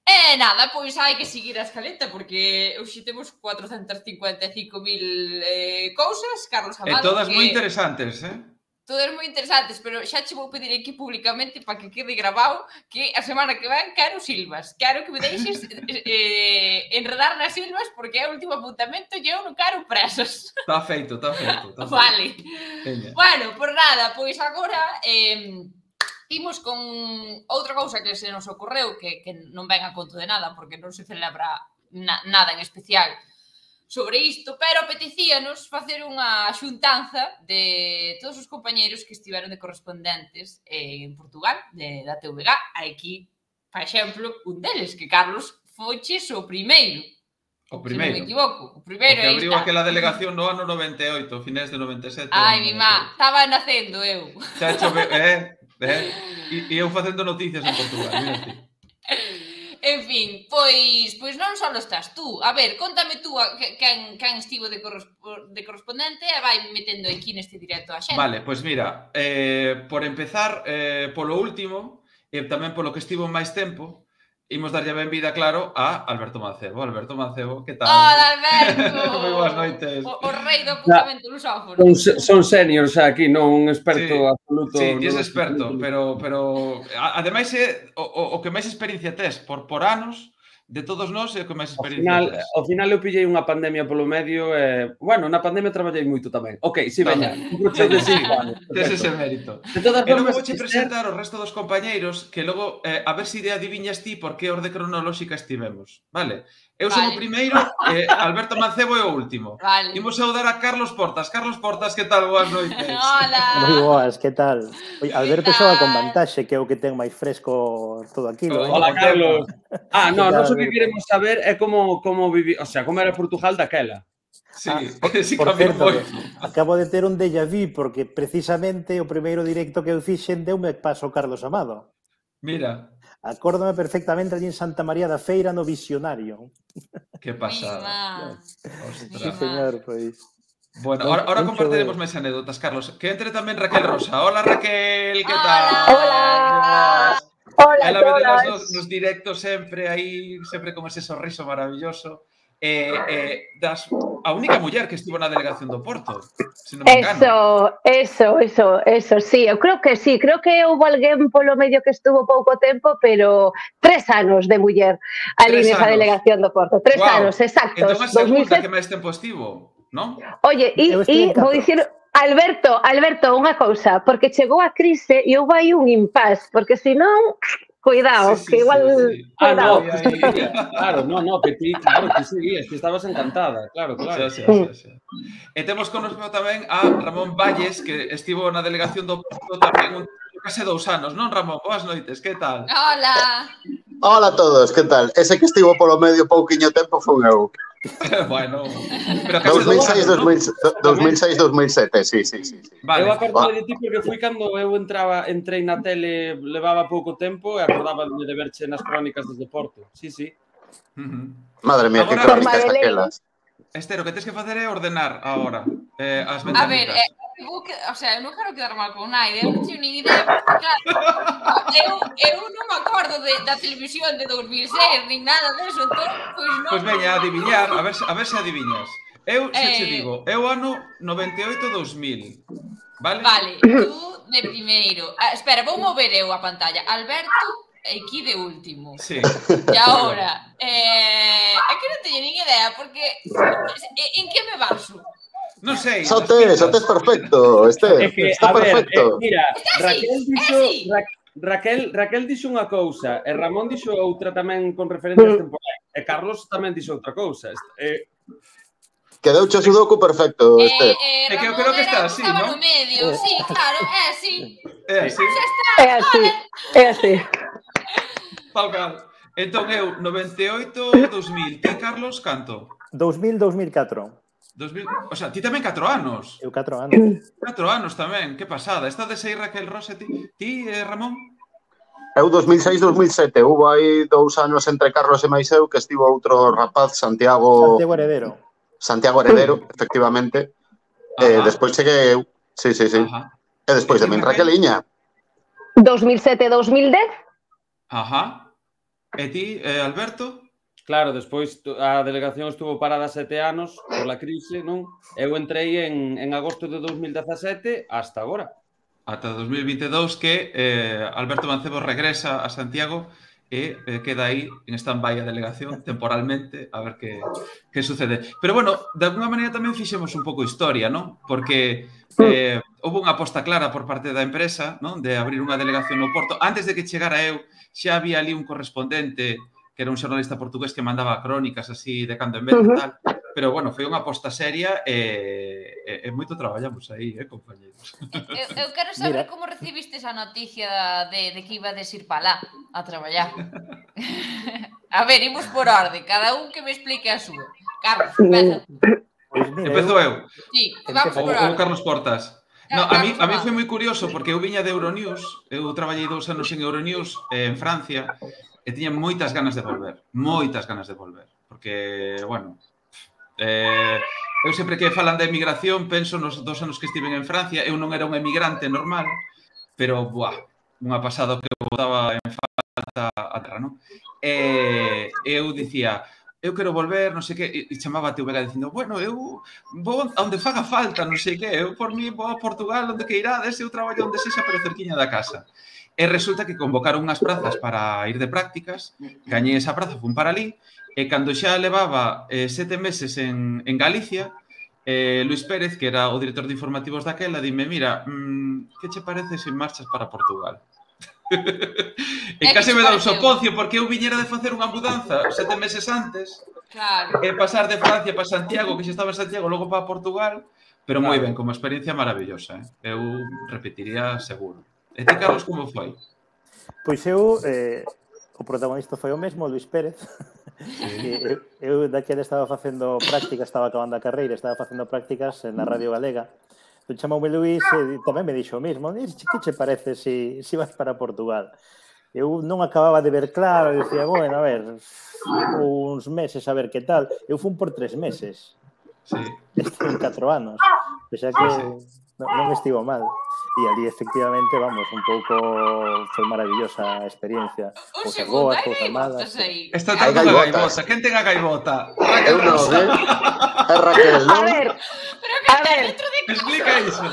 E nada, pois hai que seguir a escaleta, porque hoxe temos cuatrocentas cincuenta e cinco mil eh, cousas, Carlos Amado. E todas que... moi interesantes, eh? Todas moi interesantes, pero xa che vou pedir aquí públicamente para que quede grabado que a semana que ven quero silvas. Quero que me deixes eh, enredar nas silvas, porque é o último apuntamento e eu non quero presas. Está feito, está feito. Tá vale. Feito. Bueno, por nada, pois agora... Eh, imos con outra cousa que se nos ocorreu, que, que non ven a conto de nada, porque non se celebra na, nada en especial sobre isto, pero apetecíanos facer unha xuntanza de todos os compañeiros que estiveron de correspondentes en Portugal, de, da T V K. Aquí, por exemplo, un deles, que Carlos foches o primeiro. O Se non primeiro. me equivoco. O O primeiro, que aí abriu está. aquela delegación no ano noventa e oito, finais de noventa e sete. Ai, mi má, estaba nacendo eu. Xa chove, eh, eh, e, e eu facendo noticias en Portugal, mira ti. En fin, pois pois non só estás tú. A ver, contame tú a, que, quen, quen estivo de, correspo, de correspondente e vai metendo aquí neste directo a xente. Vale, pois mira, eh, por empezar, eh, polo último, e tamén polo que estivo máis tempo, imos darlle a benvida, claro, a Alberto Mancebo. Alberto Mancebo, que tal? Hola, Alberto! Moi boas noites. O, o rei do apuntamento lusófono. Son, son seniors xa aquí, non un experto Sí, absoluto. Sí, ti es no- experto, pero, pero a- ademais é o, o, o que máis experiencia tes por, por anos, de todos nós é o que máis Ao experiencia final, tes. ao final eu pillei unha pandemia polo medio e, bueno, na pandemia traballei moito tamén. Ok, si, veña. Veña, Un proxecto de sí, cinco anos. tes perfecto. ese mérito. De todas E logo formas, vouche Esther, presentar o resto dos compañeiros que logo, eh, a ver se si adiviñas ti por que orde cronolóxica estivemos, vale? Eu son Vale. o primeiro, eh, Alberto Mancebo é o último. Vale. Imos saudar a Carlos Portas. Carlos Portas, que tal? Boas noites. Hola! Moi boas, que tal? Oye, Alberto Que xoga con tal? vantaxe, que é o que ten máis fresco todo aquilo, eh? Hola, Carlos. Ah, no, Que tal, nós o que Alberto? queremos saber é como como vivi, o sea, como era Portugal daquela. Sí, Ah, sí, Por cambiou certo, moito. que acabo de ter un déjà vu, porque precisamente o primeiro directo que eu fixen deume paso Carlos Amado. Mira, Acórdame perfectamente allí en Santa María da Feira no Visionario. que pasada. Mima. Sí, Ostras. señor, pois. Bueno, Non- ahora, ahora non compartiremos chove. máis anécdotas, Carlos. Que entre tamén Raquel Rosa. Hola, Raquel, que Hola. tal? Hola. Hola Ela a vedelas todas. nos, nos directos sempre aí, sempre con ese sorriso maravilloso. Eh, eh, das, a única muller que estivo na delegación do Porto, se non me engano. Eso, eso, eso, eso, sí, eu creo que sí, creo que houve alguén polo medio que estuvo pouco tempo, pero tres anos de muller ali Tres nesa anos. delegación do Porto, tres Guau. anos, exactos, Entón a dos mil segunda sete. que máis tempo estivo, non? Oye, e, Eu estive e en vou catro. dicir, Alberto, Alberto, unha cousa, porque chegou a crise e houve aí un impas, porque senón, cuidado, Sí, sí, que igual, sí, sí. Ah, cuidado. no, que seguía. Claro, no, no, que ti, claro, que seguías, que estabas encantada, claro, claro. Xa, xa, xa, xa. E temos connosco tamén a Ramón Valles, que estivo na delegación do Porto tamén un case dous anos, non, Ramón? Boas noites, que tal? Hola! Hola a todos, que tal? Ese que estivo polo medio pouquiño tempo foi eu. Bueno, pero case dos mil dous seis, anos, non? dos mil seis, dos mil sete, sí, sí, sí. sí. Vale. Eu acordo de ti porque fui cando eu entraba, entrei na tele, levaba pouco tempo e acordaba de verche nas crónicas desde Porto. Sí, sí. Uh-huh. Madre mía, que Agora- crónicas Forma de lei. aquelas. Esther, o que tens que facer é ordenar agora eh, as A ver, ventanitas. eh, eu, que, o sea, eu non quero quedar mal con Naide, eu non teño nin idea, porque, claro, eu, eu non me acordo de, da televisión de dos mil seis, nin nada deso, entón, pois non... Pois veña, a adiviñar, a ver, se- a ver se adiviñas. Eu xa che Eh. digo, eu ano noventa e oito dos mil. Vale? Vale, tú de primeiro. Ah, espera, vou mover eu a pantalla. Alberto, aquí de último. Sí. E agora, eh, é que non teño nin idea, porque eh, en que me baso? Non sei. Xa nas tes, xa pistas. tes perfecto, Este, É que, está a ver, perfecto. eh, mira, Está Raquel así, dixo, é así. Ra Raquel, Raquel dixo unha cousa e Ramón dixo outra tamén con referencias temporais. E Carlos tamén dixo outra cousa. Eh, Quedouche o sudoku perfecto, Eh, Este. eh, É que eu Ramón creo que era está o así, estaba ¿no? no medio, sí, claro, é así. É así, Xa está, É así, é así. tal cal. Entón eu, noventa e oito, dos mil. Ti, Carlos, canto? dos mil, dos mil catro. dos mil... O sea, ti tamén catro anos. Eu catro anos. catro anos tamén, que pasada. Estades aí, Raquel Rosa, ti, ti eh, Ramón? Eu dos mil seis, dos mil sete. Hubo aí dous anos entre Carlos e máis eu que estivo outro rapaz, Santiago Santiago Heredero. Santiago Heredero, efectivamente. Eh, Ajá. despois cheguei eu. Sí, sí, sí. Ajá. E despois de min, Raqueliña. dos mil sete, dos mil dez. Ajá. E ti, eh, Alberto? Claro, despois tu- a delegación estuvo parada sete anos pola crise, non? Eu entrei en, en agosto de dos mil dezasete hasta agora. Ata dos mil vinte e dous que eh, Alberto Mancebo regresa a Santiago e eh, queda aí en stand-by a delegación temporalmente a ver que, que sucede. Pero bueno, de alguna maneira tamén fixemos un pouco historia, non? Porque eh, houve unha aposta clara por parte da empresa, non? De abrir unha delegación no Porto. Antes de que chegara eu, xa había ali un correspondente que era un xornalista portugués que mandaba crónicas así de cando en vez e Ujú. tal. Pero bueno, foi unha aposta seria e, e, e moito traballamos aí, eh, compañeros. Eu, eu quero saber Mira. como recibiste esa noticia de, de que iba a ir para lá a traballar. A ver, imos por orde. Cada un que me explique a súa. Carlos, empeza. Empezo eu. Sí, vamos por O orde. Carlos Portas. No, a mí, a mí foi moi curioso porque eu viña de Euronews, eu traballei dous anos en Euronews eh, en Francia e tiña moitas ganas de volver, moitas ganas de volver, porque, bueno, eh, eu sempre que falan de emigración penso nos dos anos que estiven en Francia, eu non era un emigrante normal, pero, buah, unha pasada que eu botaba en falta a terra, non? E eu dicía, eu quero volver, non sei que, e chamaba a teu vega dicindo, bueno, eu vou onde faga falta, non sei que, eu por mí vou a Portugal, onde que irades, eu traballo onde sexa, pero cerquiña da casa. E resulta que convocaron unhas prazas para ir de prácticas, gañei esa praza, fun para ali, e cando xa levaba eh, sete meses en, en Galicia, eh, Luis Pérez, que era o director de informativos daquela, dime, mira, mmm, que che parece se marchas para Portugal? E case me dá un sopocio porque eu viñera de facer unha mudanza sete meses antes e pasar de Francia para Santiago, que xa estaba en Santiago, logo para Portugal, pero moi ben, como experiencia maravillosa, eh? Eu repetiría seguro. E ti, Carlos, como foi? Pois eu, eh, o protagonista foi o mesmo, Luis Pérez. eu, eu daquela estaba facendo prácticas, estaba acabando a carreira, estaba facendo prácticas na Radio Galega. Entón chamoume Luís e tamén me dixo o mesmo. Que che parece se si, si vas para Portugal? Eu non acababa de ver claro, e dicía, bueno, a ver, uns meses a ver que tal. Eu fun por tres meses. Sí. Estive en catro anos. O sea que non, non estivo mal. E ali, efectivamente, vamos, un pouco foi maravillosa a experiencia. Un segundo, hai gaivotas aí. Está tanto a gaivota. Quen ten a gaivota? Eu non, eh? É Raquel, non? A ver, a ver. Explica iso.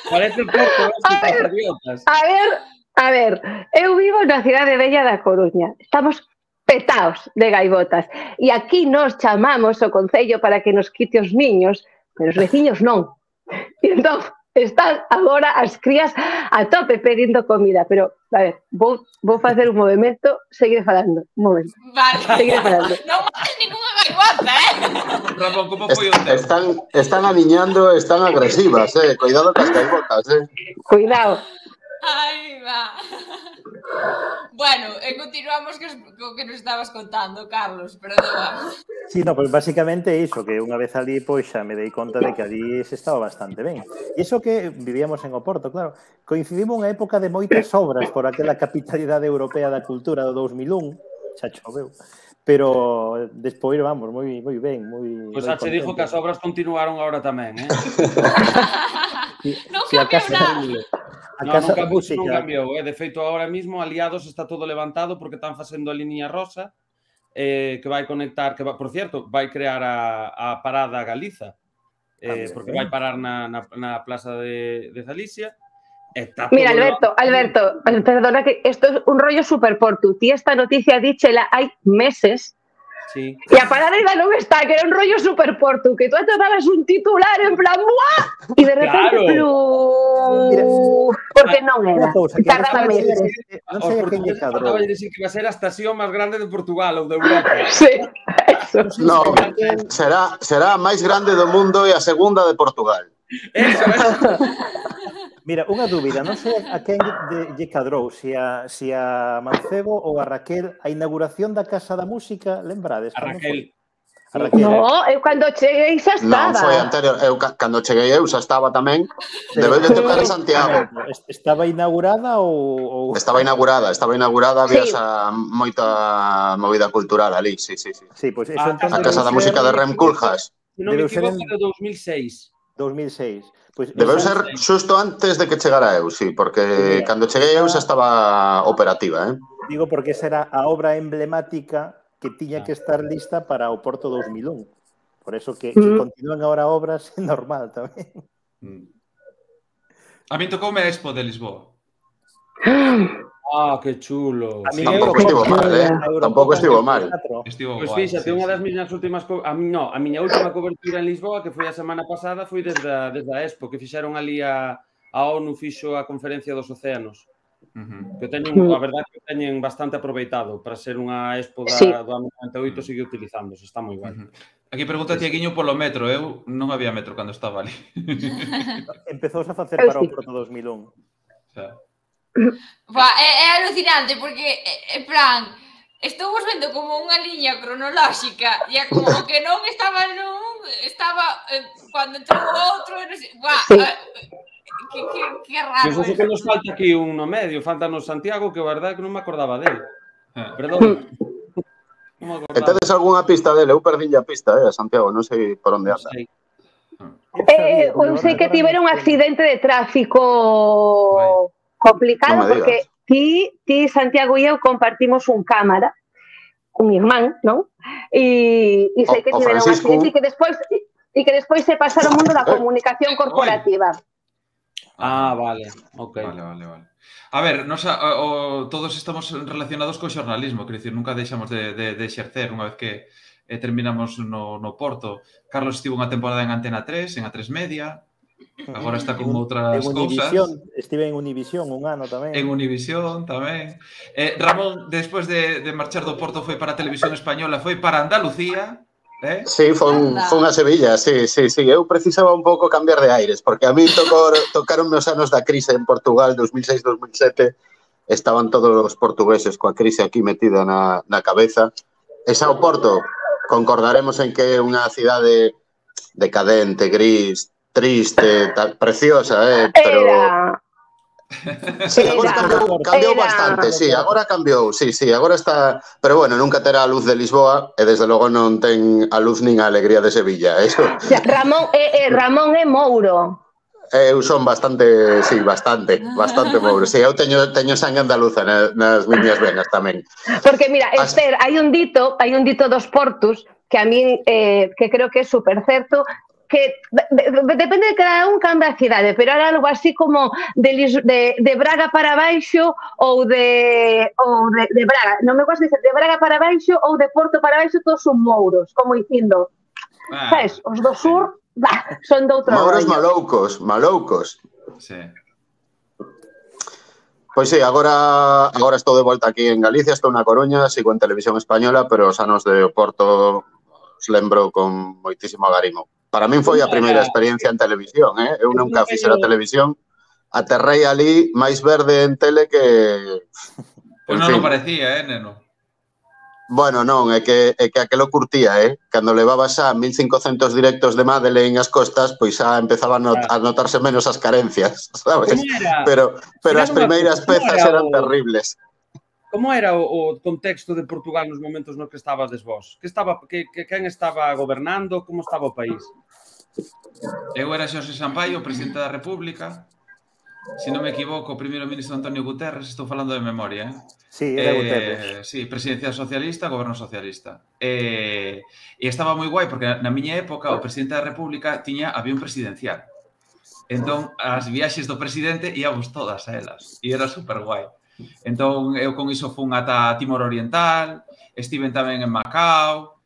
Parece pouco, idiotas. A ver, a ver, eu vivo na cidade bella da Coruña. Estamos petaos de gaivotas. E aquí nos chamamos o concello para que nos quite os niños, pero os veciños non. E entón, están agora as crías a tope pedindo comida, pero, a ver, vou, vou facer un movimento, seguir falando, un momento. Vale. Seguir falando. Non mates ninguna gaivota, eh? Ramón, como foi o teu? Están, están aniñando, están agresivas, eh? Cuidado cas gaivotas, eh? Cuidado. Ai, va. Bueno, e continuamos co que nos estabas contando, Carlos, perdón. Sí, no, pues basicamente iso, que unha vez ali, pois xa me dei conta de que ali se estaba bastante ben. E iso que vivíamos en Oporto, claro, coincidimos unha época de moitas obras por aquela capitalidade europea da cultura do dous mil un, xa choveu, pero despois, vamos, moi moi ben, moi Pois xa che dixo que as obras continuaron agora tamén, eh? Non cambiou nada. A no, Casa non, da Música. Non cambiou, eh? De feito, agora mismo, Aliados está todo levantado porque están facendo a liña rosa eh, que vai conectar, que va, por cierto, vai crear a, a parada Galiza, eh, porque vai parar na, na, na plaza de, de Galicia. Está Mira, todo Alberto, Alberto, perdona que esto es un rollo super por tu. Ti esta noticia díchela hai meses. Sí. E a parada ainda non está, que era un rollo super portu, que tú atopabas un titular en plan ¡buah! E de repente Claro. Plu... porque non era. Tardaba meses. Non sei a quen lle cadrou. Acaba de dicir que va a ser a estación máis grande de Portugal ou de Europa. Sí, eso. No, será, será a máis grande do mundo e a segunda de Portugal. Eso, eso. Mira, unha dúbida, non sei a quen lle, lle cadrou, se a, se a Mancebo ou a Raquel, a inauguración da Casa da Música, lembrades? A Raquel. A Raquel. No, eu cando cheguei xa estaba. Non, foi anterior. Eu, cando cheguei eu, xa estaba tamén. Debeu de tocar en Santiago. Estaba inaugurada ou...? ou... Estaba inaugurada, estaba inaugurada, había Sí. esa moita movida cultural ali, sí, sí, sí. Sí, pois eso A entón A Casa da Música de Rem Koolhaas. Se non me Debeu ser equivoco, en- de dos mil seis. dous mil seis. Pois Debeu esa- ser xusto antes de que chegara eu, sí, porque Mira, cando cheguei eu xa estaba operativa, eh? Digo porque esa era a obra emblemática que Ah. tiña que estar lista para o Porto dous mil un. Por eso que, Mm. que continúan agora obras é normal tamén. A mí tocoume a Expo de Lisboa. Ah, que chulo. A mí Tampouco Eurocopa- estivo mal, eh? Eurocopa Tampouco estivo mal. Estivo Pois guai, fíxate, sí, unha sí. das miñas últimas co... a, mi, no, a miña última cobertura en Lisboa, que foi a semana pasada, foi desde a, desde a Expo, que fixeron ali a, a ONU fixo a Conferencia dos Océanos. Ujú. Que teñen, a verdade que teñen bastante aproveitado para ser unha Expo da, Sí. do ano noventa e oito, sigue utilizándose, está moi guai. Ujú. Aquí pregunta Tiaguiño polo metro. Eu non había metro cando estaba ali. Empezouse a facer Eu para o sí. Porto dous mil un. O sea, Va, é, é alucinante porque, é, en plan, estamos vendo como unha liña cronolóxica e é como o que non estaba nun estaba eh, cando entrou o outro e non sei, buah, Sí. eh, que, que, que raro. Eso sí que nos falta aquí un no medio, faltanos Santiago, que a verdade que non me acordaba dele. Perdón. Non me acordaba. Entonces algunha pista dele, eu perdí a pista, eh, Santiago, non sei por onde anda. Eh, eu sei que tivera un accidente de tráfico complicado Non me porque digas. ti, ti, Santiago e eu compartimos un cámara, un irmán, non? E, e sei O- que o tivera un Francisco. accidente e que despois e que despois se pasa ao mundo da comunicación corporativa. Ah, vale, ok. Vale, vale, vale. A ver, nos, a, o, todos estamos relacionados co xornalismo, quero dicir, nunca deixamos de, de, de exercer unha vez que eh, terminamos no, no Porto. Carlos estivo unha temporada en Antena tres, en A tres Media, agora está con outras En cousas. Univisión, estive en Univisión un ano tamén. En Univisión tamén. Eh, Ramón, despois de, de marchar do Porto, foi para a Televisión Española, foi para Andalucía. Eh? Sí, foi un, foi unha Sevilla, sí, sí, sí. Eu precisaba un pouco cambiar de aires, porque a mí tocou, tocaron meus anos da crise en Portugal, dos mil seis dos mil sete, estaban todos os portugueses coa crise aquí metida na, na cabeza. E xa o Porto, concordaremos en que é unha cidade decadente, gris, triste, tal, preciosa, eh, pero... Era... Sí, agora cambiou, cambiou era- bastante, sí, agora cambiou, sí, sí, agora está... Pero bueno, nunca terá a luz de Lisboa e desde logo non ten a luz nin a alegría de Sevilla, eso. Ya, Ramón, eh, eh, Ramón é Mouro. Eu son bastante, sí, bastante, bastante mouro. Sí, eu teño, teño sangue andaluza nas, nas miñas venas tamén. Porque mira, As- Esther, hai un dito, hai un dito dos portos que a mí eh, que creo que é super certo, que de, de, depende de cada un cambia a cidade, pero era algo así como de, Lis- de, de Braga para baixo ou de ou de, de Braga, non me gosto dizer de Braga para baixo ou de Porto para baixo, todos son mouros, como dicindo, Ah, sabes, os do sur, bah, son de outro Mouros rollo. maloucos, maloucos. sí. Pois sí, agora agora estou de volta aquí en Galicia, estou na Coruña, sigo en Televisión Española, pero os anos de Oporto os lembro con moitísimo agarimo. Para min foi a primeira experiencia en televisión, eh? Eu nunca fixera televisión, aterrei ali máis verde en tele que... Pois En non fin. lo parecía, eh, neno. Bueno, non, é que, é que aquelo curtía, eh? Cando levaba xa mil cincocentos directos de Madeleine as costas, pois xa empezaba a, not a notarse menos as carencias, sabes? Como era? Pero, pero Mira as unha primeiras cousa, como pezas era eran o- terribles. Como era o, o contexto de Portugal nos momentos nos que estabades vos? Que estaba, que, que quen estaba gobernando? Como estaba o país? Eu era Xosé Sampaio, presidente da República. Se non me equivoco, o primeiro ministro Antonio Guterres, estou falando de memoria, eh? Sí, era Eh, Guterres. sí, presidencia socialista, goberno socialista. Eh, e estaba moi guai, porque na miña época o presidente da República tiña avión presidencial. Entón, as viaxes do presidente íamos todas a elas. E era super guai. Entón, eu con iso fun ata Timor Oriental, estiven tamén en Macao.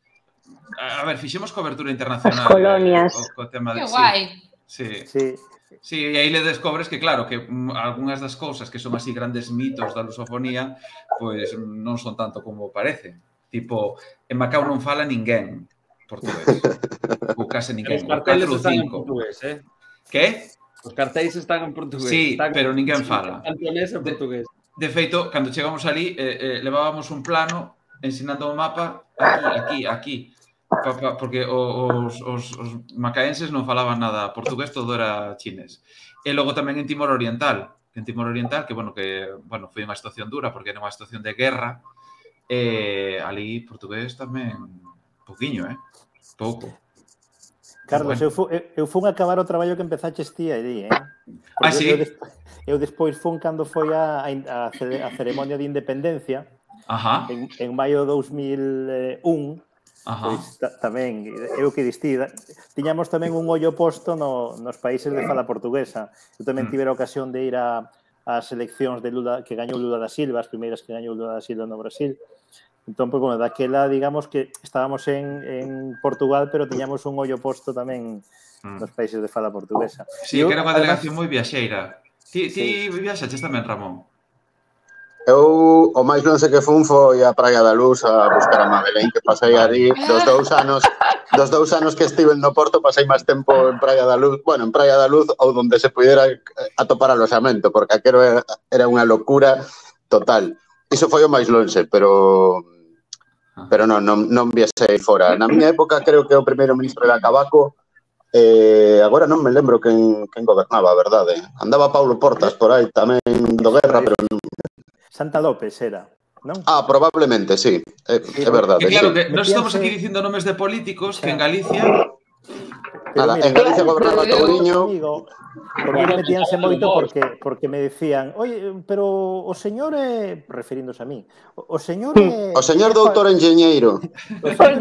A ver, fixemos cobertura internacional. As colonias. Eh, co, co tema de, Que guai. Sí, sí. Sí. Sí, e aí le descobres que, claro, que mm, algunhas das cousas que son así grandes mitos da lusofonía, pois mm, non son tanto como parecen. Tipo, en Macao non fala ninguén portugués. Ou case Os ninguén. Ou carteles catro ou están en cinco. portugués, eh? Que? Os cartéis están en portugués. Sí, están pero ninguén fala. Cantonés en portugués. De feito, cando chegamos ali, eh, eh, levábamos un plano ensinando o mapa aquí, aquí, aquí. Pa, pa, porque os, os, os macaenses non falaban nada portugués, todo era chinés. E logo tamén en Timor Oriental, en Timor Oriental, que, bueno, que, bueno, foi unha situación dura, porque era unha situación de guerra, e ali portugués tamén, pouquiño, eh? Pouco. Carlos, Bueno. eu, fu, eu, eu fun a acabar o traballo que empezaches ti aí, eh? Ah, Porque sí? Eu, despois, eu despois fun cando foi a, a, a ceremonia de independencia, Ajá, en, en maio de dos mil e un, ajá. pois ta, tamén, eu que distí, tiñamos tamén un ollo posto no, nos países de fala portuguesa. Eu tamén Mm. tivera a ocasión de ir a, as eleccións de Lula, que gañou Lula da Silva, as primeiras que gañou Lula da Silva no Brasil. Entón, pues, bueno, daquela, digamos que estábamos en, en Portugal, pero tiñamos un ollo posto tamén Mm. nos países de fala portuguesa. Sí, Eu, que era unha además, delegación moi viaxeira. Ti, ti viaxaches tamén, Ramón? Eu, o máis longe que fun foi a Praia da Luz a buscar a Madeleine, que pasei ali dos dous anos, dos dous anos que estive no Porto, pasei máis tempo en Praia da Luz, bueno, en Praia da Luz ou donde se pudiera atopar aloxamento, porque aquero era, era unha locura total. Iso foi o máis longe, pero pero non, non, non viase aí fora. Na miña época creo que o primeiro ministro era Cavaco, eh, agora non me lembro quen, quen gobernaba, a verdade. Andaba Paulo Portas por aí tamén do Guerra, pero non... Santa López era, non? Ah, probablemente, sí, é, é verdade. Que claro, sí. que nos estamos aquí dicindo nomes de políticos que en Galicia... Nada, en Galicia gobernaba Touriño. Porque metíanse moito porque, porque me decían, oye, pero o señor é, referiéndose a mí, o señor é... O señor doutor enxeñeiro. O doutor,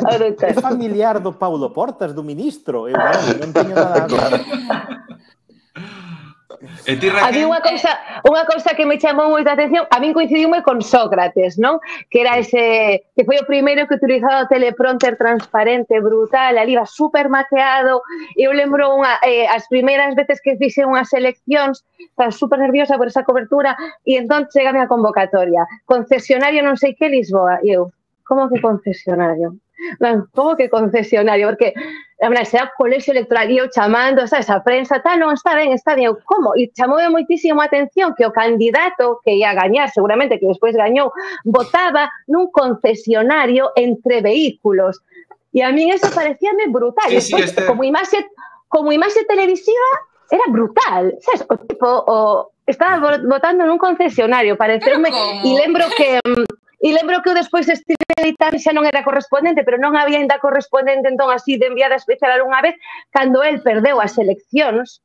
o doutor. É familiar do Paulo Portas, do ministro. Eu non, non teño nada... Claro. E ti, Raquel? A mí unha cousa, unha cousa que me chamou moita atención, a min coincidiume con Sócrates, non? Que era ese, que foi o primeiro que utilizaba o teleprompter transparente, brutal, ali iba super maqueado. Eu lembro unha, eh, as primeiras veces que fixe unhas eleccións, estaba super nerviosa por esa cobertura, e entón chegame a convocatoria. Concesionario non sei que Lisboa. E eu, como que concesionario? Non, como que concesionario? Porque, a verdade, será colexio electoral, e eu chamando, sabes, a prensa, tal, non, está ben, está ben, eu, como? E chamoume moitísimo a atención que o candidato que ia gañar, seguramente que despois gañou, votaba nun concesionario entre vehículos. E a min eso parecíame brutal. Sí, sí, despois, este... como imaxe, como imaxe televisiva, era brutal, sabes? O tipo, o, estaba votando nun concesionario, pareceume, e lembro que... E lembro que eu despois estive editando, xa non era correspondente, pero non había ainda correspondente, entón así de enviada especial algunha vez, cando el perdeu as eleccións,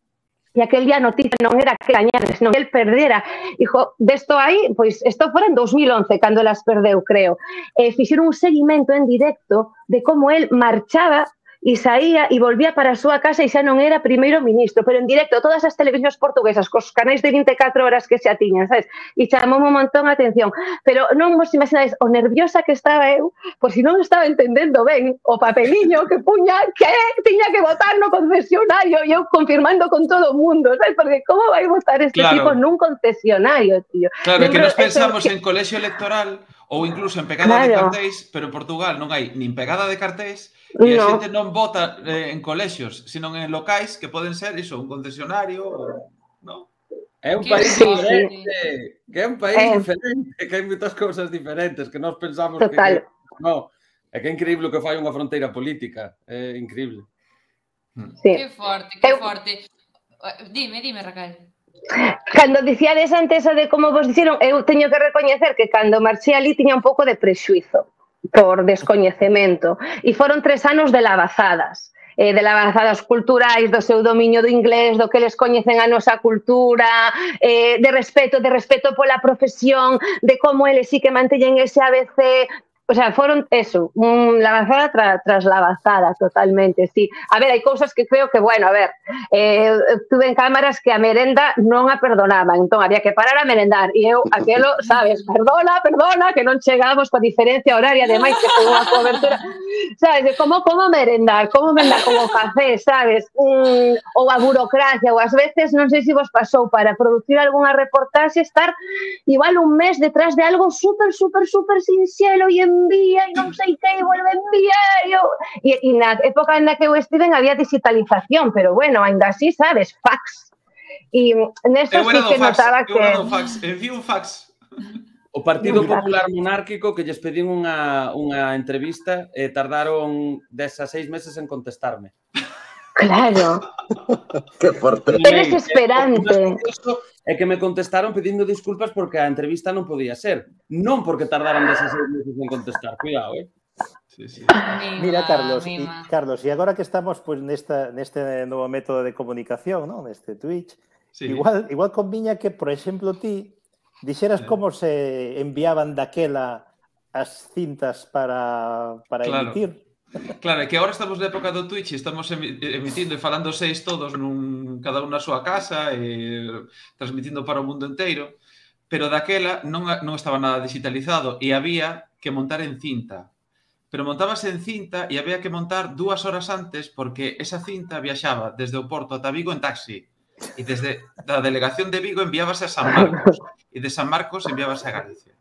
e aquel día a noticia non era que gañara, senón que el perdera. Dijo, desto aí, pois, isto fora en dos mil once, cando las perdeu, creo. E fixeron un seguimento en directo de como el marchaba e saía e volvía para a súa casa e xa non era primeiro ministro, pero en directo, todas as televisións portuguesas, cos canais de vinte e catro horas que xa tiñan, sabes? E chamou un montón a atención. Pero non vos imaginades o nerviosa que estaba eu, por si non estaba entendendo ben o papeliño que puña que tiña que votar no concesionario e eu confirmando con todo o mundo, sabes? Porque como vai votar este Claro. tipo nun concesionario, tío? Claro, que Lembro nos pensamos eso, en colexio electoral ou incluso en pegada de Claro. cartéis, pero en Portugal non hai nin pegada de cartéis e a No. xente non vota eh, en colexios, sino en locais que poden ser iso, un concesionario ou... ¿no? É un Que país sí, diferente, que é un país Eh. diferente, que hai moitas cousas diferentes que nós pensamos Total. que... No, é que é increíble o que fai unha fronteira política, é increíble. Sí. Que forte, que forte. Dime, dime, Raquel. Cando dicíades antes o de como vos dixeron, eu teño que recoñecer que cando marchei ali tiña un pouco de prexuizo por descoñecemento. E foron tres anos de lavazadas. Eh, de lavazadas culturais, do seu dominio do inglés, do que les coñecen a nosa cultura, eh, de respeto, de respeto pola profesión, de como eles sí que manteñen ese A B C. O sea, foron eso, un lavazada tra, tras lavazada, totalmente, sí. A ver, hai cousas que creo que, bueno, a ver, eh, tuve en cámaras que a merenda non a perdonaban, entón había que parar a merendar, e eu, aquelo, sabes, perdona, perdona, que non chegamos coa diferencia horaria, ademais que foi unha cobertura, sabes, de como, como merendar, como merendar, como café, sabes, mm, ou a burocracia, ou ás veces, non sei se vos pasou, para producir algunha reportaxe, estar igual un mes detrás de algo super, super, super sinxelo e envía e non sei que, e volve a enviar. E, e na época na que eu estiven había digitalización, pero bueno, ainda así, sabes, fax. E nesto sí que notaba que... Eu era do fax, envío un fax. O Partido Popular Monárquico que lles pedín unha, unha entrevista e tardaron dez a seis meses en contestarme. Claro. Que forte. É desesperante. É que me contestaron pedindo disculpas porque a entrevista non podía ser. Non porque tardaran dezasseis meses en contestar. Cuidado, eh? Sí, sí. Mira, Carlos, y, Carlos, e agora que estamos pues, nesta, neste novo método de comunicación, ¿no? Neste Twitch, sí. igual, igual conviña que, por exemplo, ti dixeras sí. como se enviaban daquela as cintas para, para claro. emitir. Claro, é que agora estamos na época do Twitch e estamos emitindo e falando seis todos nun, cada un na súa casa e transmitindo para o mundo inteiro, pero daquela non, non estaba nada digitalizado e había que montar en cinta. Pero montábase en cinta e había que montar dúas horas antes porque esa cinta viaxaba desde o Porto ata Vigo en taxi e desde a delegación de Vigo enviábase a San Marcos e de San Marcos enviábase a Galicia.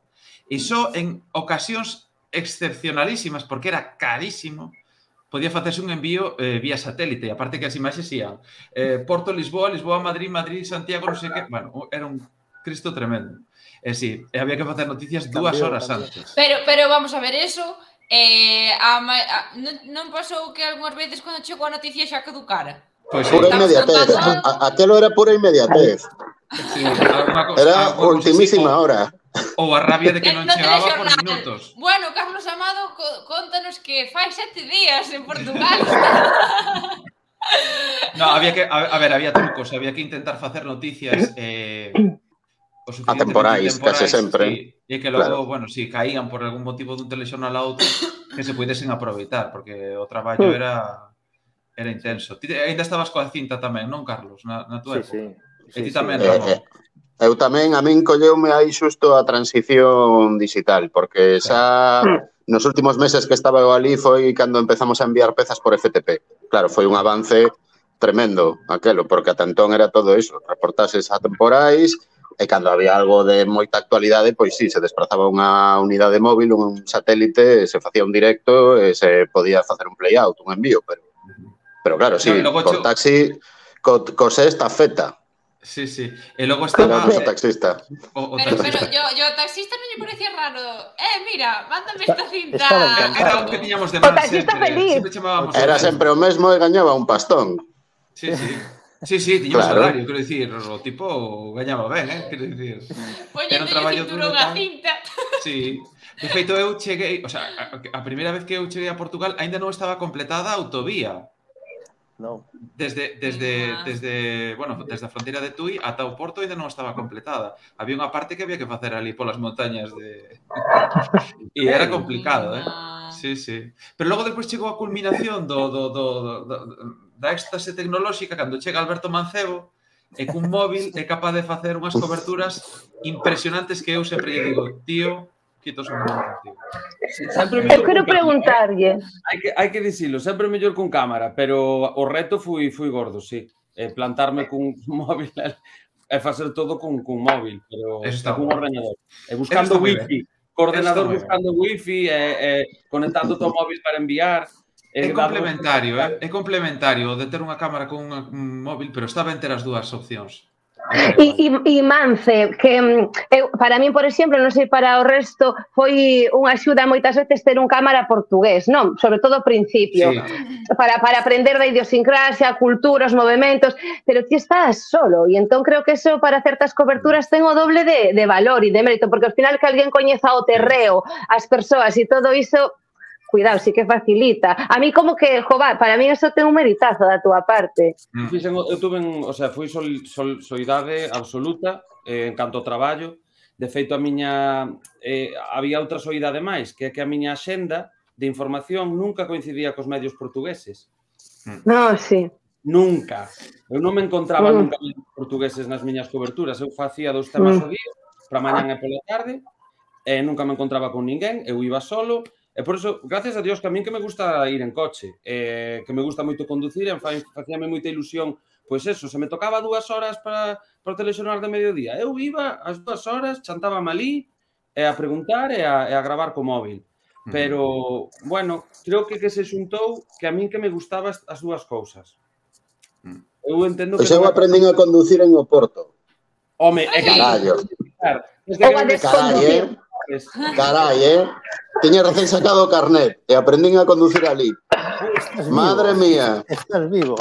E só en ocasións excepcionalísimas, porque era carísimo, podía facerse un envío eh, vía satélite, aparte que as imaxes ían eh, Porto, Lisboa, Lisboa, Madrid, Madrid, Santiago, non sei que, bueno, era un Cristo tremendo. E si, e había que facer noticias dúas horas antes. Pero, pero vamos a ver, eso... Eh, a, a, non, non pasou que algunhas veces cando chegou a noticia xa caducara? Pois pura inmediatez. Aquelo era pura inmediatez. Sí, era ultimísima hora. Ou a rabia de que non chegaba por minutos. Bueno, Carlos Amado, contanos que fai sete días en Portugal. No, había que, a, a ver, había trucos, había que intentar facer noticias eh, atemporais, case sempre. Sí, e que logo, claro. bueno, si caían por algún motivo dun telexornal a outro, que se puidesen aproveitar, porque o traballo era era intenso. Ti ainda estabas coa cinta tamén, non, Carlos? Na, na tua sí, época. Sí, e ti sí, tamén, sí. Ramón? Eh, eu tamén, a min colleume aí xusto a transición digital, porque xa nos últimos meses que estaba eu ali foi cando empezamos a enviar pezas por F T P. Claro, foi un avance tremendo aquelo, porque ata entón era todo iso, reportases atemporais, e cando había algo de moita actualidade, pois sí, se desplazaba unha unidade móvil, un satélite, se facía un directo e se podía facer un play-out, un envío, pero pero claro, sí, no, por taxi, co, co sexta feta. Sí, sí. E logo estaba... O taxista. O, o pero, taxista. pero, yo, yo taxista non lle parecía raro. Eh, mira, mándame esta cinta. Era o que tiñamos de mal sempre. Feliz. Sempre Era sempre o mesmo e gañaba un pastón. Sí, sí. Sí, sí, tiñamos claro. salario, quero dicir, o tipo gañaba ben, eh, quero dicir. Era un traballo duro tal. Cinta. Sí. De feito, eu cheguei, o sea, a, a primeira vez que eu cheguei a Portugal aínda non estaba completada a autovía. No. Desde, desde, desde, bueno, desde a fronteira de Tui ata o Porto ainda non estaba completada. Había unha parte que había que facer ali polas montañas de... E era complicado, eh? Sí, sí. Pero logo depois chegou a culminación do, do, do, do, da éxtase tecnolóxica cando chega Alberto Mancebo e cun móvil é capaz de facer unhas coberturas impresionantes que eu sempre lle digo, tío, quitos un momento. Sí, eu quero preguntarlle. Hai que, hai que dicilo, sempre mellor con cámara, pero o reto fui, fui gordo, sí. Eh, plantarme cun móvil e facer todo con, con móvil, pero con ordenador. E buscando wifi. Coordenador buscando wifi, e, e conectando o móvil para enviar. É complementario, eh? É complementario de ter unha cámara con un móvil, pero está ben ter as dúas opcións. E, e, e Mance, que eu, para min, por exemplo, non sei para o resto, foi unha axuda moitas veces ter un cámara portugués, non? Sobre todo ao principio, sí. para, para aprender da idiosincrasia, a cultura, os movimentos, pero ti estás solo, e entón creo que eso para certas coberturas ten o doble de, de valor e de mérito, porque ao final que alguén coñeza o terreo, as persoas e todo iso, cuidado, sí que facilita. A mí como que, jova, para mí eso ten un meritazo da túa parte. Mm. Fixen, eu tuve, o sea, fui sol, sol, soidade absoluta eh, en canto ao traballo. De feito, a miña eh, había outra soidade máis, que é que a miña axenda de información nunca coincidía cos medios portugueses. No, sí. Nunca. Eu non me encontraba mm. nunca medios portugueses nas miñas coberturas. Eu facía dos temas mm. ao día, para mañan e pola tarde, e nunca me encontraba con ninguén, eu iba solo. E por iso, gracias a Dios, que a min que me gusta ir en coche, eh, que me gusta moito conducir, e facíame moita ilusión, pois eso, se me tocaba dúas horas para, para o telexornal de mediodía, eu iba as dúas horas, chantábame ali, e a preguntar e a, e a gravar co móvil. Pero, bueno, creo que que se xuntou que a min que me gustaba as dúas cousas. Eu entendo que... Pois eu aprendín a conducir en Oporto. Home, é que... Carallo. Ou a desconducir. Carai, eh? Tiña recén sacado o carnet e aprendín a conducir ali. Madre mía. Estás vivo.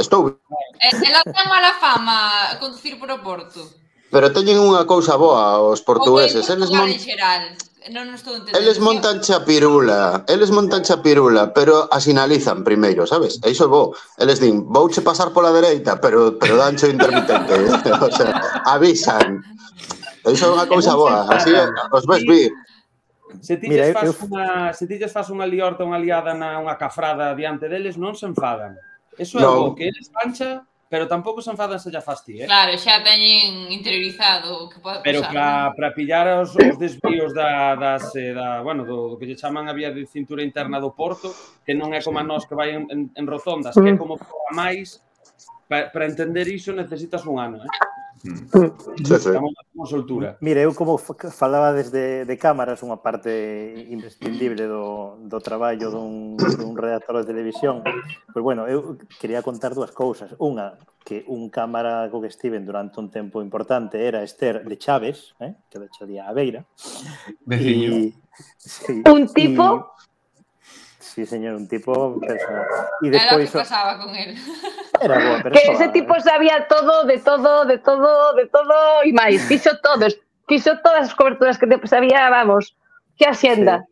Estou. E ela ten mala fama conducir por o Porto. Pero teñen unha cousa boa os portugueses. Eles mon... xeral. Non estou entendendo. Eles montan chapirula, eles montan chapirula, pero a sinalizan primeiro, sabes? E iso é bo. Eles din, vouche pasar pola dereita, pero pero dancho intermitente. O sea, avisan. Iso é unha cousa boa, así os ves vir. Se ti lles faz unha, se ti lles faz unha liorta, unha liada na unha cafrada diante deles, non se enfadan. Eso é bo, que eles pancha, pero tampouco se enfadan se ya faz ti, eh? Claro, xa teñen interiorizado o que pode pasar. Pero para para pillar os, os desvíos da, das, da, bueno, do, do que lle chaman a vía de cintura interna do Porto, que non é como a nós que vai en, en, en rotondas, que é como a máis, para, para entender iso necesitas un ano, eh? Sí, sí. Como soltura. Mira, eu como falaba desde de cámaras, unha parte imprescindible do, do traballo dun, dun redactor de televisión, pois bueno, eu quería contar dúas cousas. Unha, que un cámara co que estiven durante un tempo importante era Esther de Chaves, eh, que de Chalía a Beira. Veciño. Y, sí, un tipo... Y, sí, señor, un tipo personal. E Era o que despois... pasaba con él. Era boa persona. Que ese tipo sabía todo, de todo, de todo, de todo, e máis. Fixo todo, fixo todas as coberturas que sabía, vamos, que hacienda. Sí.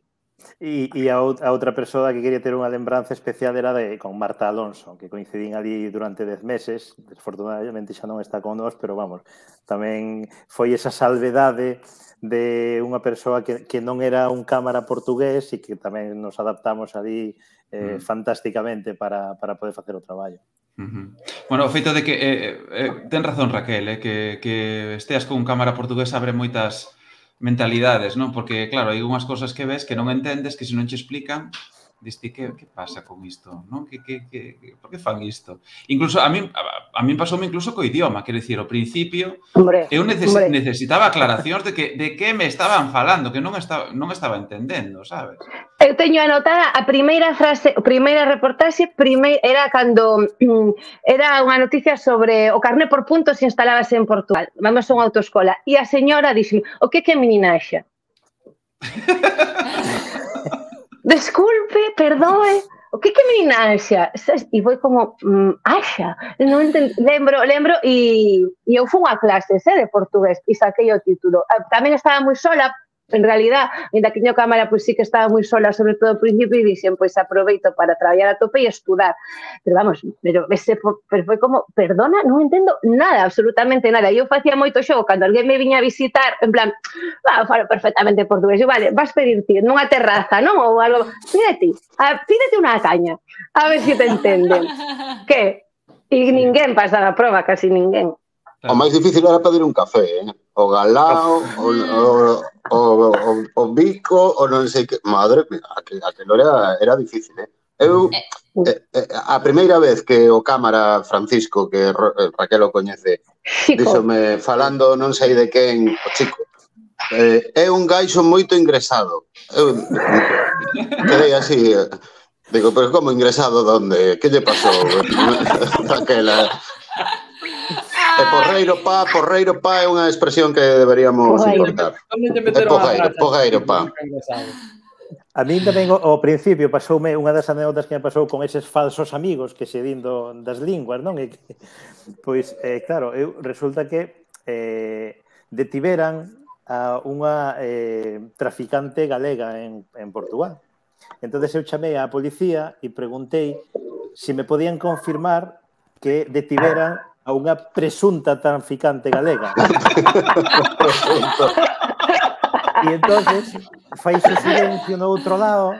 E, e a, a outra persoa que quería ter unha lembranza especial era de con Marta Alonso, que coincidín ali durante dez meses. Desfortunadamente xa non está con nós, pero vamos, tamén foi esa salvedade de unha persoa que, que non era un cámara portugués e que tamén nos adaptamos ali eh, mm. fantásticamente para, para poder facer o traballo. Uh-huh. Bueno, o feito de que eh, eh, ten razón Raquel, eh, que, que esteas con un cámara portugués abre moitas mentalidades, non? Porque, claro, hai unhas cosas que ves que non entendes, que se non che explican, diste, que, que pasa con isto? Non? Que, que, que, por que fan isto? Incluso, a mí, a, a mí pasoume incluso co idioma, quero dicir, ao principio, hombre, eu neces, hombre. necesitaba aclaracións de que de que me estaban falando, que non estaba, non estaba entendendo, sabes? Eu teño anotada a primeira frase, a primeira reportaxe, primeira, era cando era unha noticia sobre o carné por puntos instalábase en Portugal. Vamos a unha autoescola. E a señora dixo, o que que é meninaxa? Desculpe, perdoe, o que que meninaxa? E foi como, mm, axa, non entendo, lembro, lembro, e, e eu fui a clases eh, de portugués e saquei o título. Tamén estaba moi sola, en realidad, ainda que tiño cámara, pois sí que estaba moi sola, sobre todo ao principio, e dixen, pois aproveito para traballar a tope e estudar. Pero vamos, pero, ese, pero foi como, perdona, non entendo nada, absolutamente nada. E eu facía moito xogo, cando alguén me viña a visitar, en plan, ah, falo perfectamente portugués, e vale, vas pedir ti nunha terraza, non? Ou algo, pídete, pídete unha caña, a ver se te entenden. Que? E ninguén pasaba a prova, casi ninguén. O máis difícil era pedir un café, eh? O galao, o, o, o, o, o bico, o non sei que... Madre mía, aquilo era, era difícil, eh? Eu, eh, eh, a primeira vez que o cámara Francisco, que Raquel o coñece, díxome, falando non sei de quen, o chico, eh, é un gaixo moito ingresado. Eu quedei así... Eh, digo, pero como ingresado, donde? Que lle pasou? Aquela... E porreiro pa, porreiro pa é unha expresión que deberíamos importar. É porreiro, porreiro pa. A mí tamén ao principio pasoume unha das anécdotas que me pasou con eses falsos amigos que se din do, das linguas, non? E que, pois, eh, claro, eu resulta que eh, detiveran a unha eh, traficante galega en, en Portugal. Entón eu chamei á policía e preguntei se me podían confirmar que detiveran a unha presunta traficante galega. E entonces faixe silencio no outro lado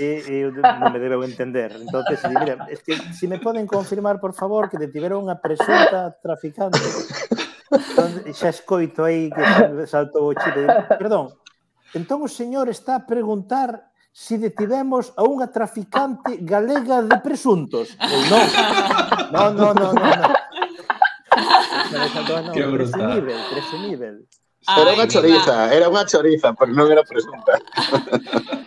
e, e non me debeu entender. Entonces, mira, es que si me poden confirmar, por favor, que detiveron unha presunta traficante. Entón, xa escoito aí que saltou o chip. Perdón, entón o señor está a preguntar si detivemos a unha traficante galega de presuntos. Non, non, non, non, non. Que brutal. Presumible, presumible. Era unha choriza, era unha choriza, pero non era presunta.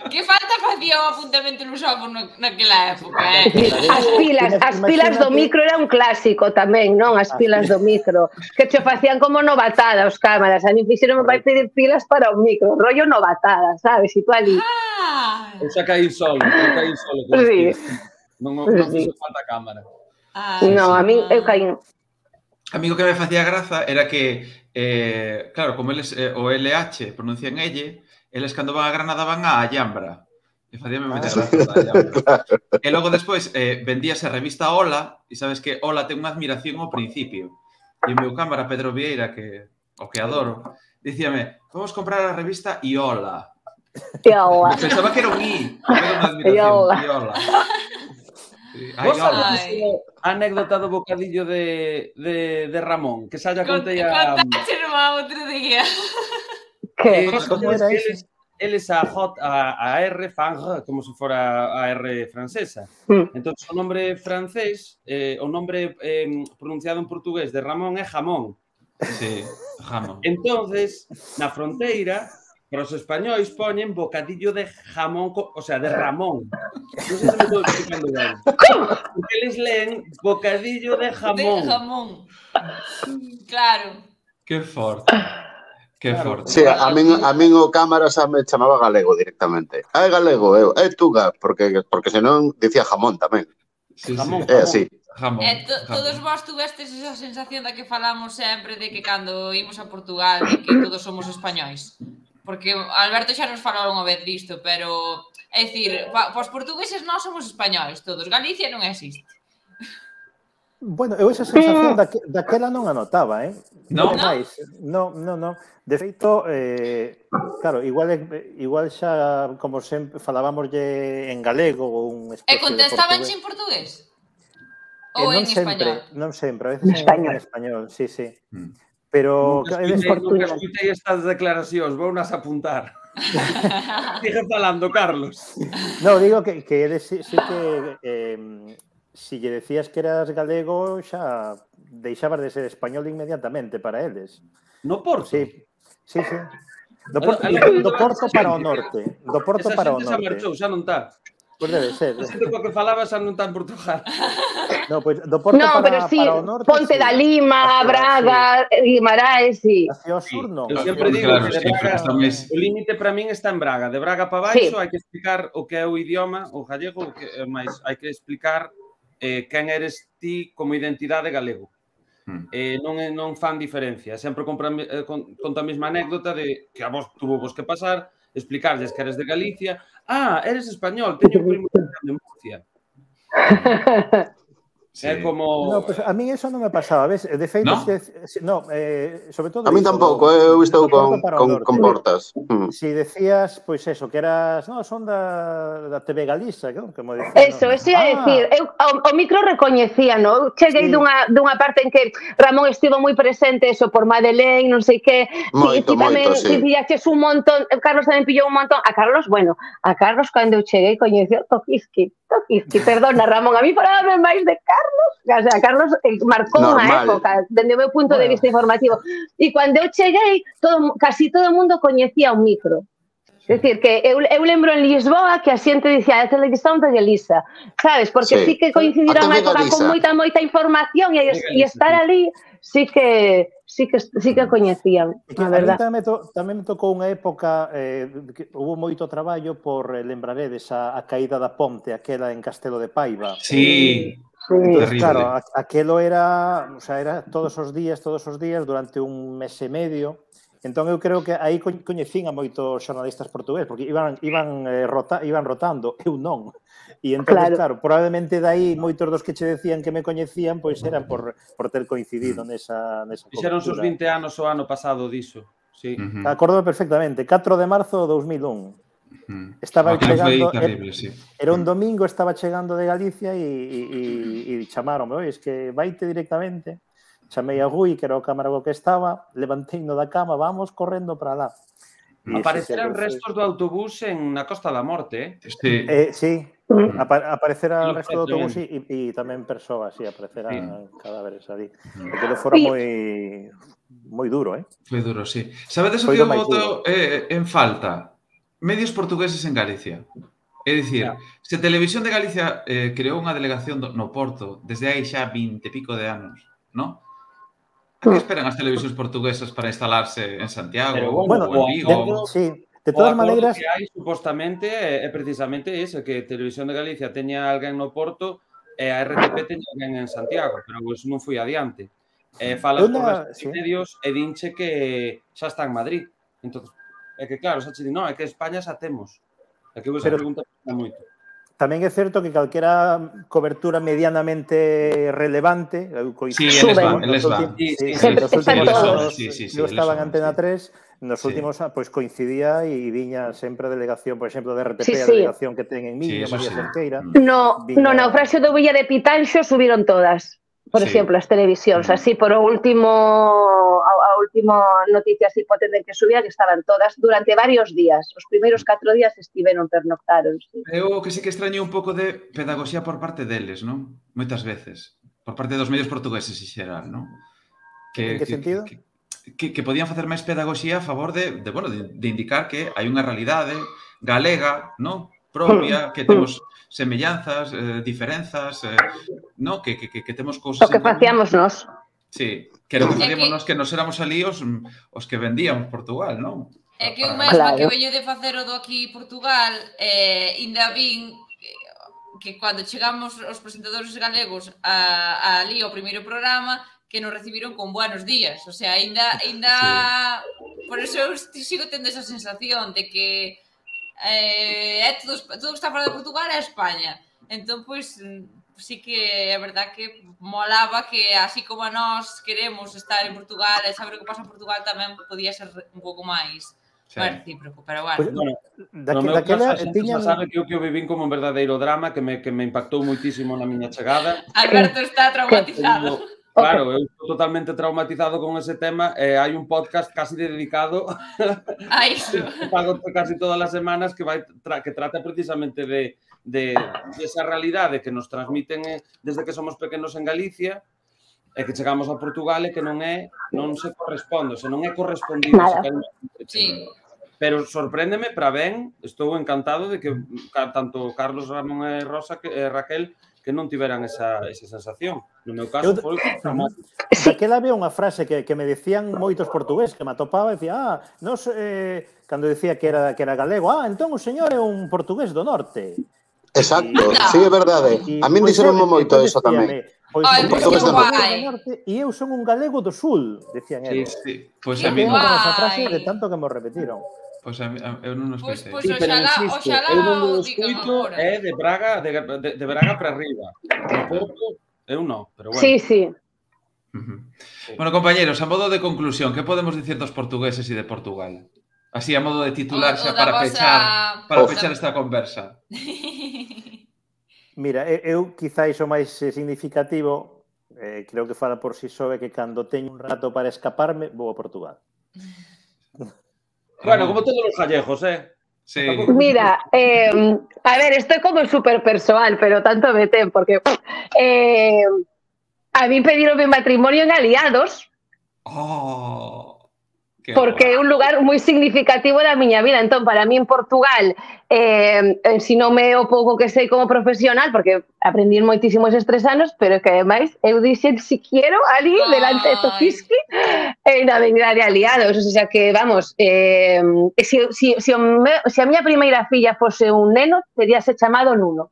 Que falta facía o apuntamento no xófono naquela época, eh? As pilas, as pilas do micro era un clásico tamén, non? As pilas do micro, que che facían como novatada os cámaras. A mí fixeron vai pedir pilas para o micro, rollo novatada, sabes? E tú ali. Eu xa caí solo, eu caí solo. Sí. Non fixo falta cámara. Non, a mí eu caí. A mí o que me facía graza era que, eh, claro, como eles, eh, o L H pronuncian elle, eles cando van a Granada van a Allambra. E facíame meter graza da Allambra. E logo despois eh, vendíase a revista Ola, e sabes que Ola ten unha admiración ao principio. E o meu cámara Pedro Vieira, que o que adoro, dicíame, vamos comprar a revista Iola. Iola. Pensaba que era un I, era unha admiración. Iola. Vos sabes a anécdota do bocadillo de, de, de Ramón, que xa ya contei a... Contáchelo a outro día. Que? Como era eles, eles a J, a, a R fan como se fora a R francesa. Mm. Entón, o nombre francés, eh, o nombre eh, pronunciado en portugués de Ramón é jamón. Sí, jamón. Entonces, na fronteira, para os españois poñen bocadillo de jamón, o sea, de Ramón. Non sei se me estou explicando ben. Porque eles leen bocadillo de jamón. De jamón. Claro. Que forte. Que forte. Sí, a min, a min o cámara xa me chamaba galego directamente. Ah, é galego, eu. É tuga, porque, porque senón dicía jamón tamén. Sí, jamón, sí. É así. Jamón. E to, todos vós tuvestes esa sensación da que falamos sempre de que cando imos a Portugal de que todos somos españois. Porque Alberto xa nos falou unha vez disto, pero é dicir, pa, os portugueses nós somos españois todos, Galicia non existe. Bueno, eu esa sensación daque, daquela non a notaba, eh? Non? Non? Non, non, non. De feito, eh, claro, igual igual xa, como sempre, falábamoslle en galego ou un especie E contestaban en portugués? Ou eh, en sempre, español? Non sempre, a veces en español, en español sí, sí. Mm. Pero... Nunca escutei, nunca escutei estas declaracións, vou nas apuntar. Sigue falando, Carlos. No, digo que, que eres, sí, sí que... Eh, si lle decías que eras galego, xa deixabas de ser español inmediatamente para eles. No Porto? Sí, sí, sí. Do Porto, do, do Porto para o norte. Do Porto para o norte. Esa xente xa marchou, xa non está. Pois debe ser. A xente coa que falaba xa non está en Portugal. No, pois do Porto no, para, pero sí, para o norte. Ponte sí. da Lima, Hacia, Braga, sí. Guimaraes, sí. Hacia o sur non. Eu sempre digo claro, que de sí, Braga, máis... o límite para min está en Braga. De Braga para baixo Sí. hai que explicar o que é o idioma, o gallego, o que é máis, hai que explicar eh, quen eres ti como identidade galego. Mm. Eh, non, non fan diferencia. Sempre compra, eh, con, conta a mesma anécdota de que a vos tuvo vos que pasar, explicarles que eres de Galicia. Ah, eres español, teño un primo de Murcia. Sí. É como... No, pues a mí eso non me pasaba, ves? De feito, ¿No? se, no, eh, sobre todo... A mí iso, tampouco, do- eu estou do con, Porto para o con, norte. con portas. Mm. Si decías, pois eso, que eras, no, son da, da T V Galiza, que, como decían, Eso, no? eso ia Ah, decir, eu, o, o micro recoñecía, no? Eu cheguei Sí. dunha, dunha parte en que Ramón estivo moi presente, eso, por Madeleine, non sei que, Moito, ti, ti tamén, moito, sí. ti pillaches un montón, Carlos tamén pillou un montón, a Carlos, bueno, a Carlos cando eu cheguei coñeceu Tokiski, Tokiski, perdona Ramón, a mí falaba máis de Carlos, o sea, Carlos eh, marcou unha Normal. época, dende o meu punto de Bueno. vista informativo, e cando eu cheguei, todo, casi todo o mundo coñecía o micro. É dicir, que eu, eu lembro en Lisboa que a xente dicía a televisión de Galiza, sabes? Porque Sí. sí, que coincidirá A unha T V época Galiza. con moita, moita información e, Galiza, e estar sí. ali sí que sí que, sí que coñecían, É que a a mí verdad. tamén me, to, tamén me tocou unha época eh, que hubo moito traballo por, eh, lembraredes, a, a caída da ponte, aquela en Castelo de Paiva. Sí. Sí. Entonces, Terrible. claro, a, aquelo era, o sea, era todos os días, todos os días, durante un mes e medio. Entón, eu creo que aí co- coñecín a moitos xornalistas portugueses, porque iban, iban, eh, rota, iban rotando, eu non. E entón, Claro. claro. claro, probablemente dai moitos dos que che decían que me coñecían, pois eran por, por ter coincidido nesa, nesa Fixeron os cobertura. vinte anos o ano pasado diso. Sí. Ujú. Acordome perfectamente, catro de marzo de dos mil un. Ujú. Estaba Aquilo foi chegando... terrible, sí. Era un domingo, estaba chegando de Galicia e, e, e chamaronme, oi, es que vaite directamente. Chamei a Rui, que era o cámarago que estaba, levanteino da cama, vamos correndo para lá. E Apareceran ese, ese, restos do autobús en na Costa da Morte, eh? Sí. Eh, sí, apa aparecerá Sí, o resto do autobús tamén. e, e tamén persoas, sí, aparecerán Sí. cadáveres ali. Porque lo fora Sí. moi moi duro, eh? Foi duro, sí. Sabedes o Foi que do eu máis voto eh, en falta? Medios portugueses en Galicia. É dicir, Ya. se Televisión de Galicia eh, creou unha delegación do, no Porto desde hai xa vinte e pico de anos, non? A que esperan as televisións portuguesas para instalarse en Santiago Pero ou bueno, en o Vigo? acordo- Sí, de O todas acordo maneiras... que hai, supostamente, é, é precisamente ese, que Televisión de Galicia teña alguén no Porto e a R T P teña alguén en Santiago, pero pues, non foi adiante. E falas Una- con restos sí. de medios e dinche que xa está en Madrid. Entón, é que claro, xa che di, non, é que España xa temos. É que vos Pero- pregunta moito. Tamén é certo que calquera cobertura medianamente relevante, eu Sí, coincido, eles van, nos eles van. últimos- Sí, sí, sí, sí, Sempre nos están últimos todos. anos, Sí, sí, sí, eu eles estaba en son, Antena sí. tres, nos Sí. últimos anos, pois coincidía e viña sempre a delegación, por exemplo, de R T P, Sí, a sí. delegación que ten en Sí, Miño, eso María sí. Cerqueira. Mm. No, Viña- no naufraxio do Villa de Pitanxo subiron todas. Por Sí. exemplo, as televisións, Mm. así por o último a, a último noticia así potente que subía que estaban todas durante varios días. Os primeiros catro días estiveron, pernoctaron. Sí. Eu o que sí que extraño un pouco de pedagogía por parte deles, non? Moitas veces. Por parte dos medios portugueses en xeral, non? Que, En que que, sentido? Que, que, que podían facer máis pedagogía a favor de, de, bueno, de, de indicar que hai unha realidade galega, no? Propia, que temos semellanzas, eh, diferenzas, eh, no? Que, que, que temos cousas O que facíamos nós. Sí, que era o que facíamos nós, que nos éramos ali os, os que vendíamos Portugal, non? É que eu mesma que veño de facer o do aquí Portugal, eh, ainda vin que cando chegamos os presentadores galegos a, a ali ao primeiro programa, que nos recibiron con buenos días. O sea, ainda, ainda sí. Por eso eu sigo tendo esa sensación de que eh, é todo, todo que está fora de Portugal é España. Entón, pois, sí que é verdad que molaba que así como a nós queremos estar en Portugal e saber o que pasa en Portugal tamén podía ser un pouco máis sí. recíproco, pero bueno. Pues, bueno no meu caso, a xente tiñan... sabe que eu que o vivín como un verdadeiro drama que me, que me impactou moitísimo na miña chegada. Alberto está traumatizado. Claro, eu estou totalmente traumatizado con ese tema e hai un podcast casi dedicado a iso. Que pago casi todas as semanas que vai tra que trata precisamente de, de, de esa realidade que nos transmiten desde que somos pequenos en Galicia e que chegamos a Portugal e que non é non se corresponde, se non é correspondido. Sí. Pero sorpréndeme para ben, estou encantado de que tanto Carlos, Ramón e Rosa que e Raquel que non tiveran esa, esa sensación. No meu caso, eu, foi dramático. Daquela había unha frase que, que me decían moitos portugués, que me atopaba e decía, ah, nos, eh, cando decía que era, que era galego, ah, entón o señor é un portugués do norte. Exacto, sí, é verdade. A min dixeronme moito eso tamén. Pois un portugués do norte e eu son un galego do sul, decían eles. Sí, sí. Pois a mí esa frase de tanto que me repetiron. Pois a, a, eu non nos pensei. Pois, pois, oxalá, oxalá eu non o escuito é de Braga, de, de, de Braga para arriba. De Porto, eu non, pero bueno. Sí, sí. Uh-huh. Sí. Bueno, compañeros, a modo de conclusión, que podemos dicir dos portugueses e de Portugal? Así, a modo de titular xa para pechar, para pechar esta conversa. Mira, eu quizáis o máis significativo, eh, creo que fala por si só, é que cando teño un rato para escaparme, vou a Portugal. Bueno, como todos los gallegos, ¿eh? Sí. Mira, eh, a ver, esto es como súper personal, pero tanto me tem, porque eh, a mí pidieron mi matrimonio en Aliados. Oh, porque é un lugar moi significativo da miña vida. Entón, para mí en Portugal, eh, ensinoume o pouco que sei como profesional, porque aprendí moitísimo eses tres anos, pero que ademais eu dixen si quiero ali, delante de Tofiski, en a Avenida de Aliados. O sea que, vamos, eh, si, si, si, me, si a miña primeira filla fose un neno, teríase chamado Nuno.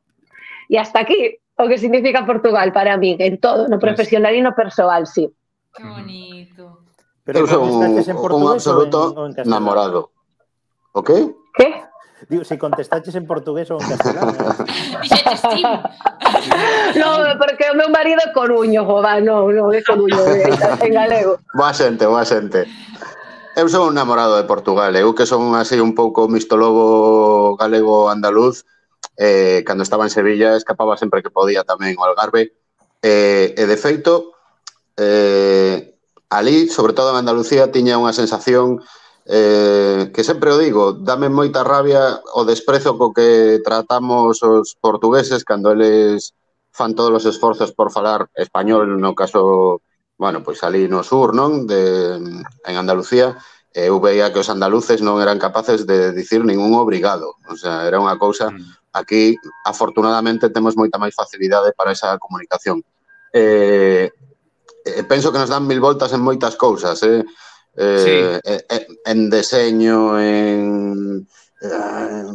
E hasta aquí o que significa Portugal para mí, en todo, no profesional e no persoal, sí. Que bonito. Pero eu son un, un absoluto en, en namorado. O qué? ¿Qué? Digo, si contestaches en portugués ou en castelán. No, porque o meu marido é coruño, joda, non, non é coruño, en galego. Boa xente, boa xente. Eu son un namorado de Portugal, eu que son así un pouco mistolobo galego-andaluz, eh, cando estaba en Sevilla escapaba sempre que podía tamén ao Algarve, eh, e de feito, eh, ali, sobre todo en Andalucía, tiña unha sensación eh, que sempre o digo, dame moita rabia o desprezo co que tratamos os portugueses cando eles fan todos os esforzos por falar español, no caso, bueno, pois ali no sur, non? De, en Andalucía, eu veía que os andaluces non eran capaces de dicir ningún obrigado. O sea, era unha cousa... Aquí, afortunadamente, temos moita máis facilidade para esa comunicación. Eh... Eh, penso que nos dan mil voltas en moitas cousas, eh? Eh, sí. eh, en deseño, en, eh,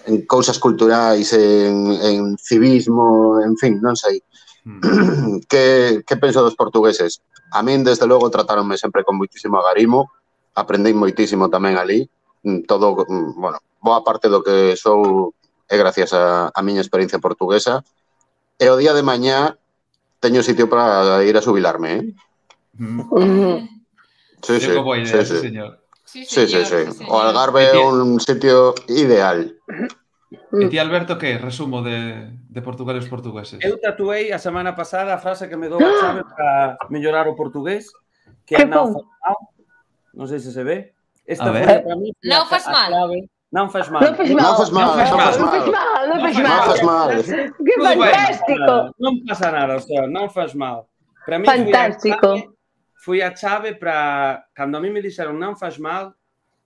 en cousas culturais, en, en civismo, en fin, non sei. Mm. que, que penso dos portugueses? A min, desde logo, tratáronme sempre con moitísimo agarimo, aprendí moitísimo tamén ali, todo, bueno, boa parte do que sou é gracias a, a miña experiencia portuguesa, e o día de mañá teño sitio para ir a xubilarme, eh? Mm. Sí, sí, idea, sí, sí, sí. Señor. Sí, sí, sí, sí. sí. O Algarve é un sitio ideal. E ti, Alberto, que resumo de, de Portugal e os portugueses? Eu tatuei a semana pasada a frase que me dou a chave para mellorar o portugués, que é non faz mal. Non sei se se ve. Esta foi para mí non faz mal. Non faz mal. Non faz mal. Non faz mal. Non faz mal. Non faz mal. Que fantástico. Non pasa nada, o sea, non faz mal. Para mí fantástico. foi a chave para... Cando a mí me dixeron non faz mal,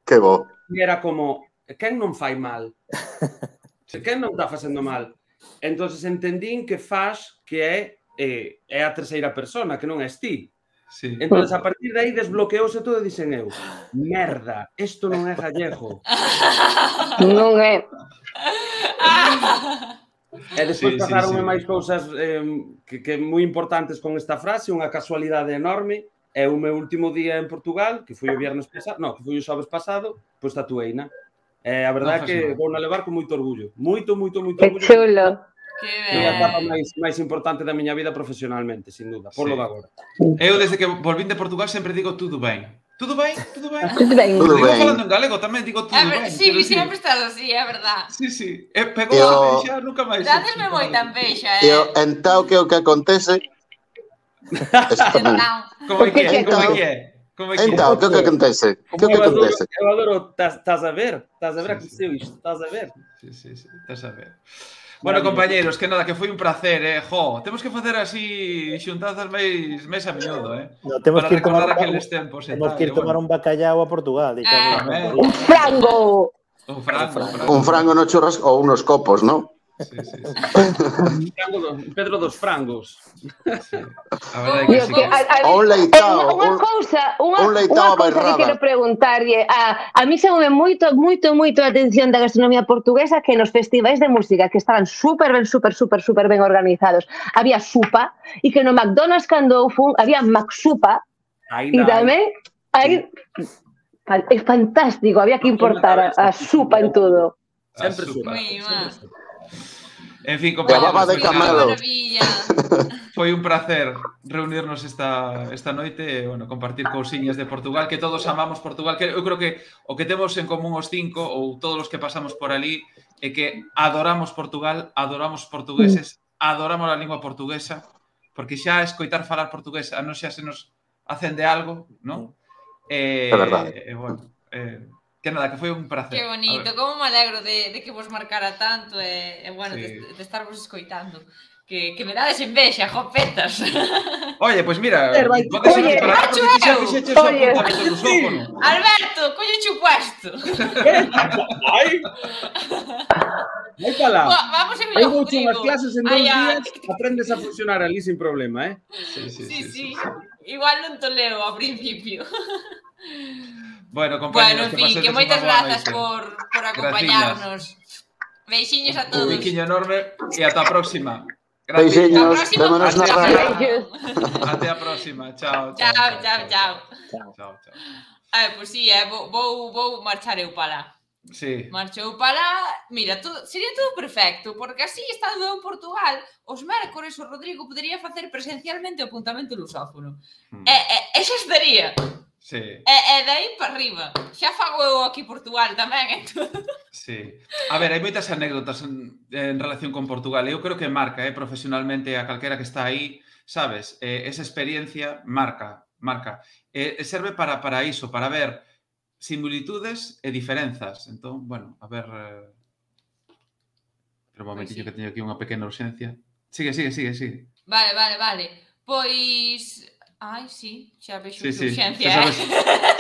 Que bo. era como, quen non fai mal? Quen non está facendo mal? Entón, entendín que faz que é, eh, é a terceira persona, que non és ti. Sí. Entón, a partir de aí desbloqueouse todo e dixen eu, merda, isto non é gallego. Non é. E despois Sí, sí, pasaronme sí. máis cousas eh, que, que moi importantes con esta frase, unha casualidade enorme. É o meu último día en Portugal, que foi o viernes pasado, no, que foi o xoves pasado, pois tatueina. E a verdade é que vou na levar con moito orgullo. Moito, moito, moito Que orgullo. chulo. É a etapa máis, máis importante da miña vida profesionalmente, sin duda, por lo Sí. de agora. Eu, desde que volvín de Portugal, sempre digo tudo ben. Tudo ben, tudo ben. Tudo ben. Tudo Digo ben. falando en galego tamén, digo tudo É ver- ben. Sí, pero sempre estás así, é verdad. Sí, sí. E pegou Eu- a envexa, nunca máis. Dadesme moita envexa, E eh. o entao que o que acontece... Eso tamén. Entón, Como é que é? Porque Como é entao- que é? Como é que é? Entao, que o que acontece? Que o que Eu adoro, acontece? eu adoro, estás a ver? Estás a ver, Sí, aconteceu isto, estás a ver? Sí, sí, sí. Estás a ver. Bueno, compañeiros, que nada, que foi un placer, eh. Jo, temos que facer así xuntanzas máis mes a miúdo, eh. No, temos Para que ir tomar recordar un, aqueles tempos e temos tal, que ir e tomar bueno. un bacallao a Portugal. E Ah. Tamén. Un frango. Un frango, un frango. Un frango no churrasco ou unos copos, non? Sí, sí, sí. Frango do- Pedro dos frangos. Sí. A verdade é que Dios, sí. que a, a, O un leitao, unha, unha un- cousa, unha, un leitao unha a cousa que bairrada. quero preguntarlle. A, a mí chamoume moito, moito, moito a atención da gastronomía portuguesa que nos festivais de música que estaban super ben, super, super, super ben organizados. Había supa e que no McDonald's cando eu fun había McSupa e Ainda hai. tamén aí fan- é fantástico, había que importar a, a supa en todo. A Sempre supa. supa. Muy sempre mal. supa. En fin, De baba compañeros, de pois camelo. nada, Maravilla. foi un placer reunirnos esta, esta noite e, bueno, compartir cousiñas de Portugal, que todos amamos Portugal, que eu creo que o que temos en común os cinco, ou todos os que pasamos por ali, é que adoramos Portugal, adoramos portugueses, adoramos a lingua portuguesa, porque xa escoitar falar portugués a nos xa se nos acende algo, non? E, É verdade. E, bueno, eh, que nada, que foi un placer. Que bonito, A ver, como me alegro de, de que vos marcara tanto e, e bueno, Sí. de, de estarvos escoitando. Que, que me dades envexa, jopetas. Oye, pois pues mira, Pero hai- podes Oye, esperar porque ti xa fixeches o oye. apuntamento do sófono. Alberto, coño chupuesto. Ai! Vai para lá. Vamos en Hai Villa vouche unhas Rodrigo. clases en dous Ai, ai. días, aprendes a funcionar ali sin problema, eh? Sí, sí, Sí, sí, sí. sí. Igual non to leo ao principio. Bueno, Bueno, compañeros, en fin, que pasedes moitas unha boa grazas noite. por, por acompañarnos. Beixiños a Un todos. biquiño enorme e ata a próxima. Beixiños, Hasta a próxima. vémonos na Hasta- radio. Beijos. Até a próxima. Chao, Chao, chao, chao. Chao, chao. Ah, pois sí, eh, vou, vou, vou marchar eu para lá. Sí. Marchou para lá, mira, todo, sería todo perfecto, porque así, estando eu en Portugal, os mércores o Rodrigo podería facer presencialmente o apuntamento lusófono. Hmm. E, e, e xa estaría. Sí, E, e de aí para arriba. Xa fago eu aquí Portugal tamén, entón. sí. A ver, hai moitas anécdotas en, en relación con Portugal. Eu creo que marca, eh, profesionalmente a calquera que está aí, sabes? Eh, esa experiencia marca, marca. E eh, serve para, para iso, para ver similitudes e diferenzas. Entón, bueno, a ver... Eh... Pero un momentillo Pois sí. que teño aquí unha pequena urxencia. Sigue, sigue, sigue, sigue. Vale, vale, vale. Pois... Ai, sí, xa vexo Sí, que sí. urxencia, Xa sabes, eh?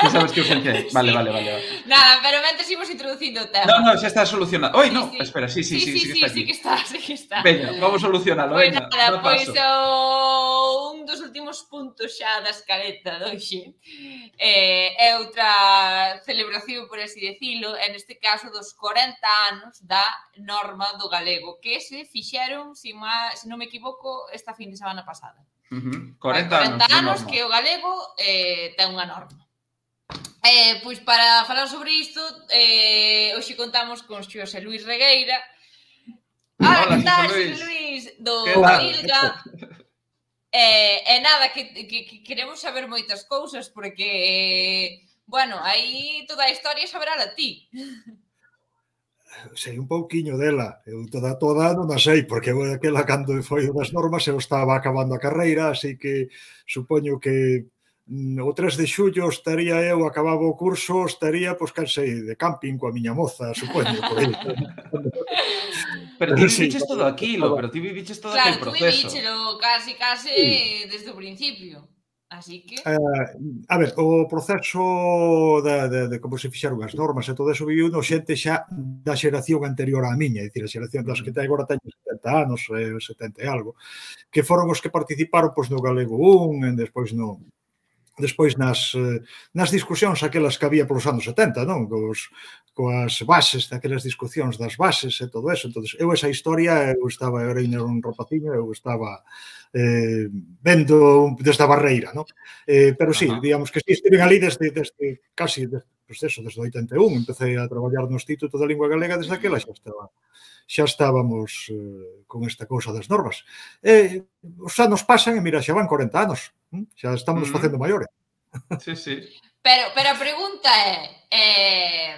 xa sabes que urxencia é. Vale, Sí. vale, vale, vale. Nada, pero mentes imos introducindo o tema. No, no, xa está solucionado. Oi, Sí, no, sí. espera, sí, sí, sí, sí, sí, que está sí, aquí. que está, sí que está. Veña, vamos a solucionalo, Pois veña, nada, dá pois paso. o, un dos últimos puntos xa da escaleta de hoxe eh, é outra celebración, por así decilo, en este caso dos corenta anos da norma do galego, que se fixeron, se, ma, se non me equivoco, esta fin de semana pasada. Uh-huh. Hai corenta, corenta anos anos, que o galego eh, ten unha norma. Eh, pois para falar sobre isto, eh, hoxe contamos con Xosé Luís Regueira. Hola, Hola, que tal, Xosé Xosé Luís? Do Que tal? Vilga. Eh, e nada, que, que, que queremos saber moitas cousas, porque, eh, bueno, aí toda a historia saberala ti. Sei un pouquiño dela, eu toda toda non a sei, porque eu aquela cando foi das normas eu estaba acabando a carreira, así que supoño que mm, o tres de xullo estaría eu, acababa o curso, estaría, pois, cansei de camping coa miña moza, supoño, por aí. Pero ti Sí, viviches todo aquilo, pero ti viviches todo Claro, aquel tú proceso. vivíchelo casi, casi Sí. desde o principio. Así que... A ver, o proceso de como se fixeron as normas e todo eso viviu no xente xa da xeración anterior á miña, é dicir, a xeración das que agora teñen setenta anos, setenta e algo, que foron os que participaron no Galego un, e despois no... despois nas, nas discusións aquelas que había polos anos setenta, non? Cos, coas bases, daquelas discusións das bases e todo eso. Entón, eu esa historia, eu estaba, eu era un rapaciño, eu estaba eh, vendo desde a barreira, non? Eh, pero sí, digamos que sí, estive ali desde, desde casi, pues eso, desde o oitenta e un, empecé a traballar no Instituto da Lingua Galega, desde aquela xa estaba xa estábamos eh, con esta cousa das normas. Eh, os anos pasan e mira, xa van corenta anos. Xa estamos uh-huh. facendo maiores. Sí, sí. Pero, pero a pregunta é, eh,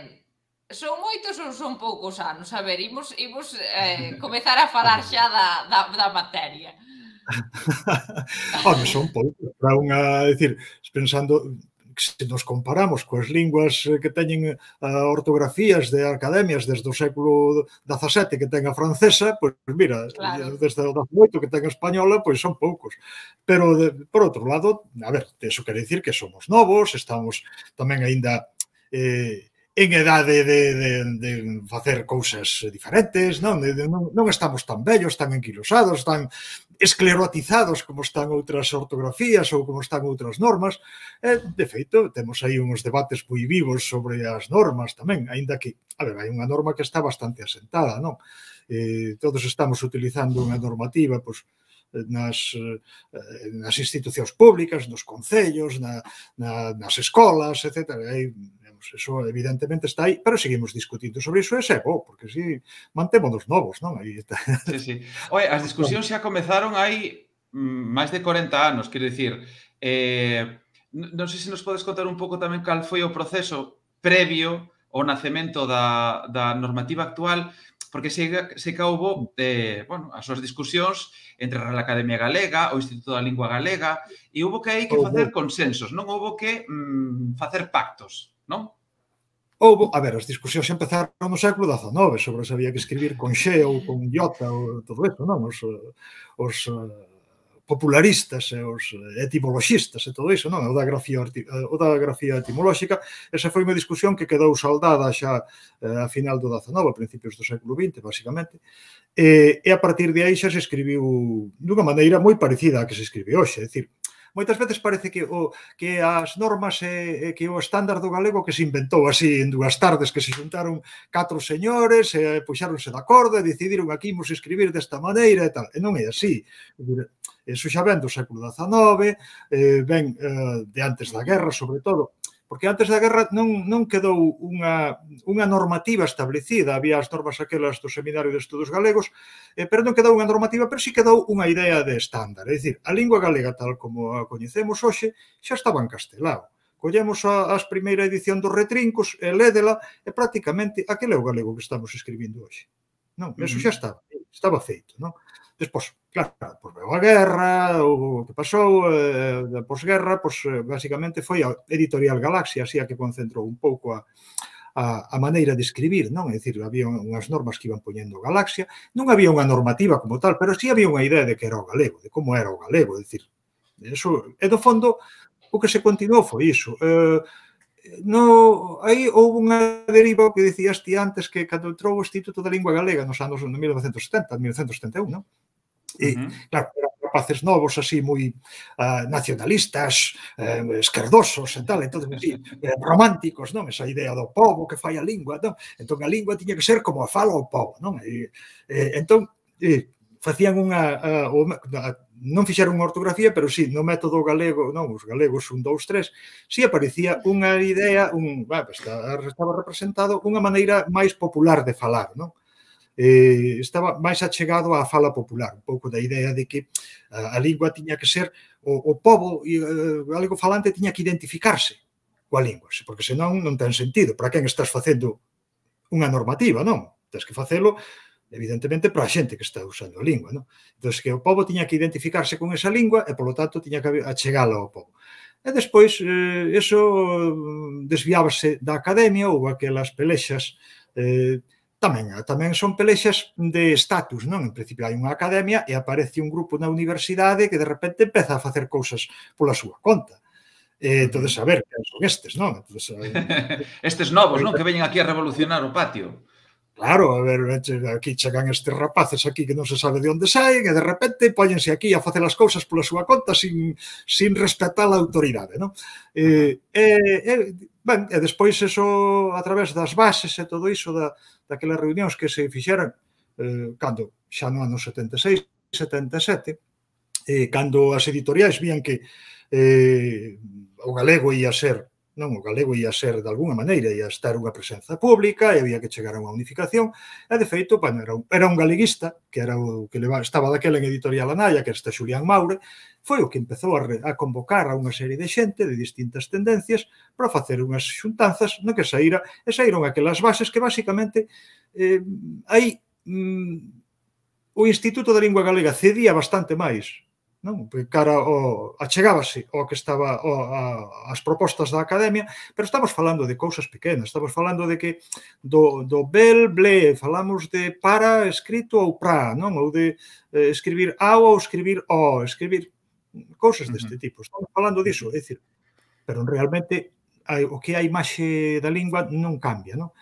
son moitos ou son poucos anos? A ver, imos, imos eh, comezar a falar xa da, da, da materia. Home, son poucos. Para unha, decir, pensando... se nos comparamos coas linguas que teñen ortografías de academias desde o século dezasete que ten a francesa, pois mira, claro. Desde o dezaoito que ten a española, pois son poucos. Pero, de, por outro lado, a ver, eso quere dicir que somos novos, estamos tamén aínda eh, en edade de, de, de facer cousas diferentes, non? De, de, non, non estamos tan vellos, tan enquilosados, tan esclerotizados como están outras ortografías ou como están outras normas. E, de feito, temos aí uns debates moi vivos sobre as normas tamén, aínda que, a ver, hai unha norma que está bastante asentada, non? Eh, todos estamos utilizando unha normativa, pois, nas, nas institucións públicas, nos concellos, na, na, nas escolas, etcétera. Hai, eso evidentemente está aí, pero seguimos discutindo sobre iso, e é bo, porque si mantémonos novos, non? Aí está. Sí, sí. Oye, as discusións xa comezaron hai máis de corenta anos, quero dicir, eh, non sei se nos podes contar un pouco tamén cal foi o proceso previo ao nacemento da, da normativa actual, porque sei, sei que houve eh, bueno, as súas discusións entre a Real Academia Galega, o Instituto da Lingua Galega, e houve que hai que facer consensos, non houve que mm, facer pactos, non? Houve, a ver, as discusións empezaron no século dezanove sobre se había que escribir con xe ou con iota ou todo eso, non? Os, os popularistas e os etimoloxistas e todo iso, non? O da grafía, o da grafía etimolóxica, esa foi unha discusión que quedou saldada xa a final do dezanove, a principios do século vinte, basicamente, e, e a partir de aí xa se escribiu dunha maneira moi parecida a que se escribe hoxe, é dicir, moitas veces parece que o que as normas e que o estándar do galego que se inventou así en dúas tardes, que se xuntaron catro señores e puxáronse de acordo e decidiron aquí imos escribir desta maneira e tal. E non é así. Eso xa ven do século dezanove, ven de antes da guerra, sobre todo, porque antes da guerra non, non quedou unha, unha normativa establecida, había as normas aquelas do Seminario de Estudos Galegos, eh, pero non quedou unha normativa, pero sí quedou unha idea de estándar. É dicir, a lingua galega tal como a coñecemos hoxe xa estaba en castelao. Collemos a, a primeira edición dos retrincos e lédela e prácticamente aquele é o galego que estamos escribindo hoxe. Non, eso xa estaba, estaba feito, non? Despois, claro, pois veo a guerra, o que pasou, eh, da posguerra, pois basicamente foi a Editorial Galaxia, así a que concentrou un pouco a, a, a maneira de escribir, non? É dicir, había unhas normas que iban poñendo Galaxia, non había unha normativa como tal, pero sí había unha idea de que era o galego, de como era o galego, é dicir, eso, e do fondo, o que se continuou foi iso. Eh, no, aí houve unha deriva que dicías ti antes que cando entrou o Instituto da Lingua Galega nos anos mil novecentos setenta, mil novecentos setenta e un, non? E, uh-huh. claro, eran rapaces novos así moi uh, nacionalistas, eh, esquerdosos e tal, entón, así, eh, románticos, non? Esa idea do pobo que fai a lingua, non? Entón a lingua tiña que ser como a fala o pobo, non? E, eh, entón, eh, facían unha... Uh, uh, non fixeron unha ortografía, pero sí, no método galego, non, os galegos un, dous, tres, sí aparecía unha idea, un, bah, estaba representado unha maneira máis popular de falar, non? Eh, estaba máis achegado á fala popular, un pouco da idea de que a, a lingua tiña que ser, o, o pobo uh, galego falante tiña que identificarse coa lingua, porque senón non ten sentido. Para quen estás facendo unha normativa, non? Tens que facelo evidentemente para a xente que está usando a lingua, non? Entón, que o pobo tiña que identificarse con esa lingua e, polo tanto, tiña que achegala ao pobo. E despois, eh, eso desviábase da academia, ou aquelas pelexas eh, tamén, tamén son pelexas de estatus, non? En principio hai unha academia e aparece un grupo na universidade que de repente empeza a facer cousas pola súa conta. E, entón, a ver, que son estes, non? Entonces, estes novos, non? Que veñen aquí a revolucionar o patio. Claro, a ver, aquí chegan estes rapaces aquí que non se sabe de onde saen e de repente póñense aquí a facer as cousas pola súa conta sin, sin respetar a autoridade, non? E, e, e, ben, e despois eso, a través das bases e todo iso da, daquelas reunións que se fixeran eh, cando xa no ano setenta e seis, setenta e sete, eh, cando as editoriais vían que eh, o galego ia ser non, o galego ia ser de alguna maneira, ia estar unha presenza pública e había que chegar a unha unificación e de feito, bueno, era un, era un galeguista que era o que leva, estaba daquela en Editorial Anaya, que era este Xulián Maure, foi o que empezou a, re, a convocar a unha serie de xente de distintas tendencias para facer unhas xuntanzas no que saíra, e saíron aquelas bases que basicamente eh, aí mm, o Instituto da Lingua Galega cedía bastante máis, non? Cara ao, achegábase ao que estaba ao, a, as propostas da academia, pero estamos falando de cousas pequenas, estamos falando de que do, do bel, ble, falamos de para escrito ou pra, non? Ou de eh, escribir ao ou escribir o, escribir cousas deste tipo, estamos falando diso, é dicir, pero realmente hai, o que a imaxe da lingua non cambia, non?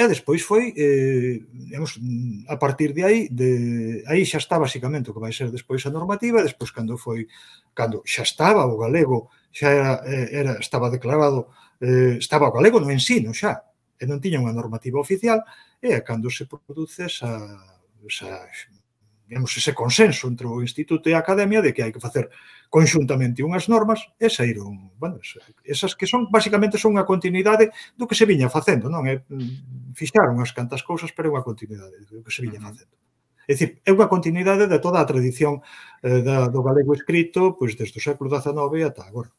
E despois foi, eh, digamos, a partir de aí, de, aí xa está basicamente o que vai ser despois a normativa, despois cando foi, cando xa estaba o galego, xa era, era estaba declarado, eh, estaba o galego no ensino xa, e non tiña unha normativa oficial, e cando se produce esa, esa digamos, ese consenso entre o Instituto e a Academia de que hai que facer conxuntamente unhas normas e saíron, bueno, esas que son, basicamente, son unha continuidade do que se viña facendo, non? É, fixaron as cantas cousas, pero é unha continuidade do que se viña facendo. É dicir, é unha continuidade de toda a tradición eh, da, do galego escrito, pois, desde o século dezanove ata agora.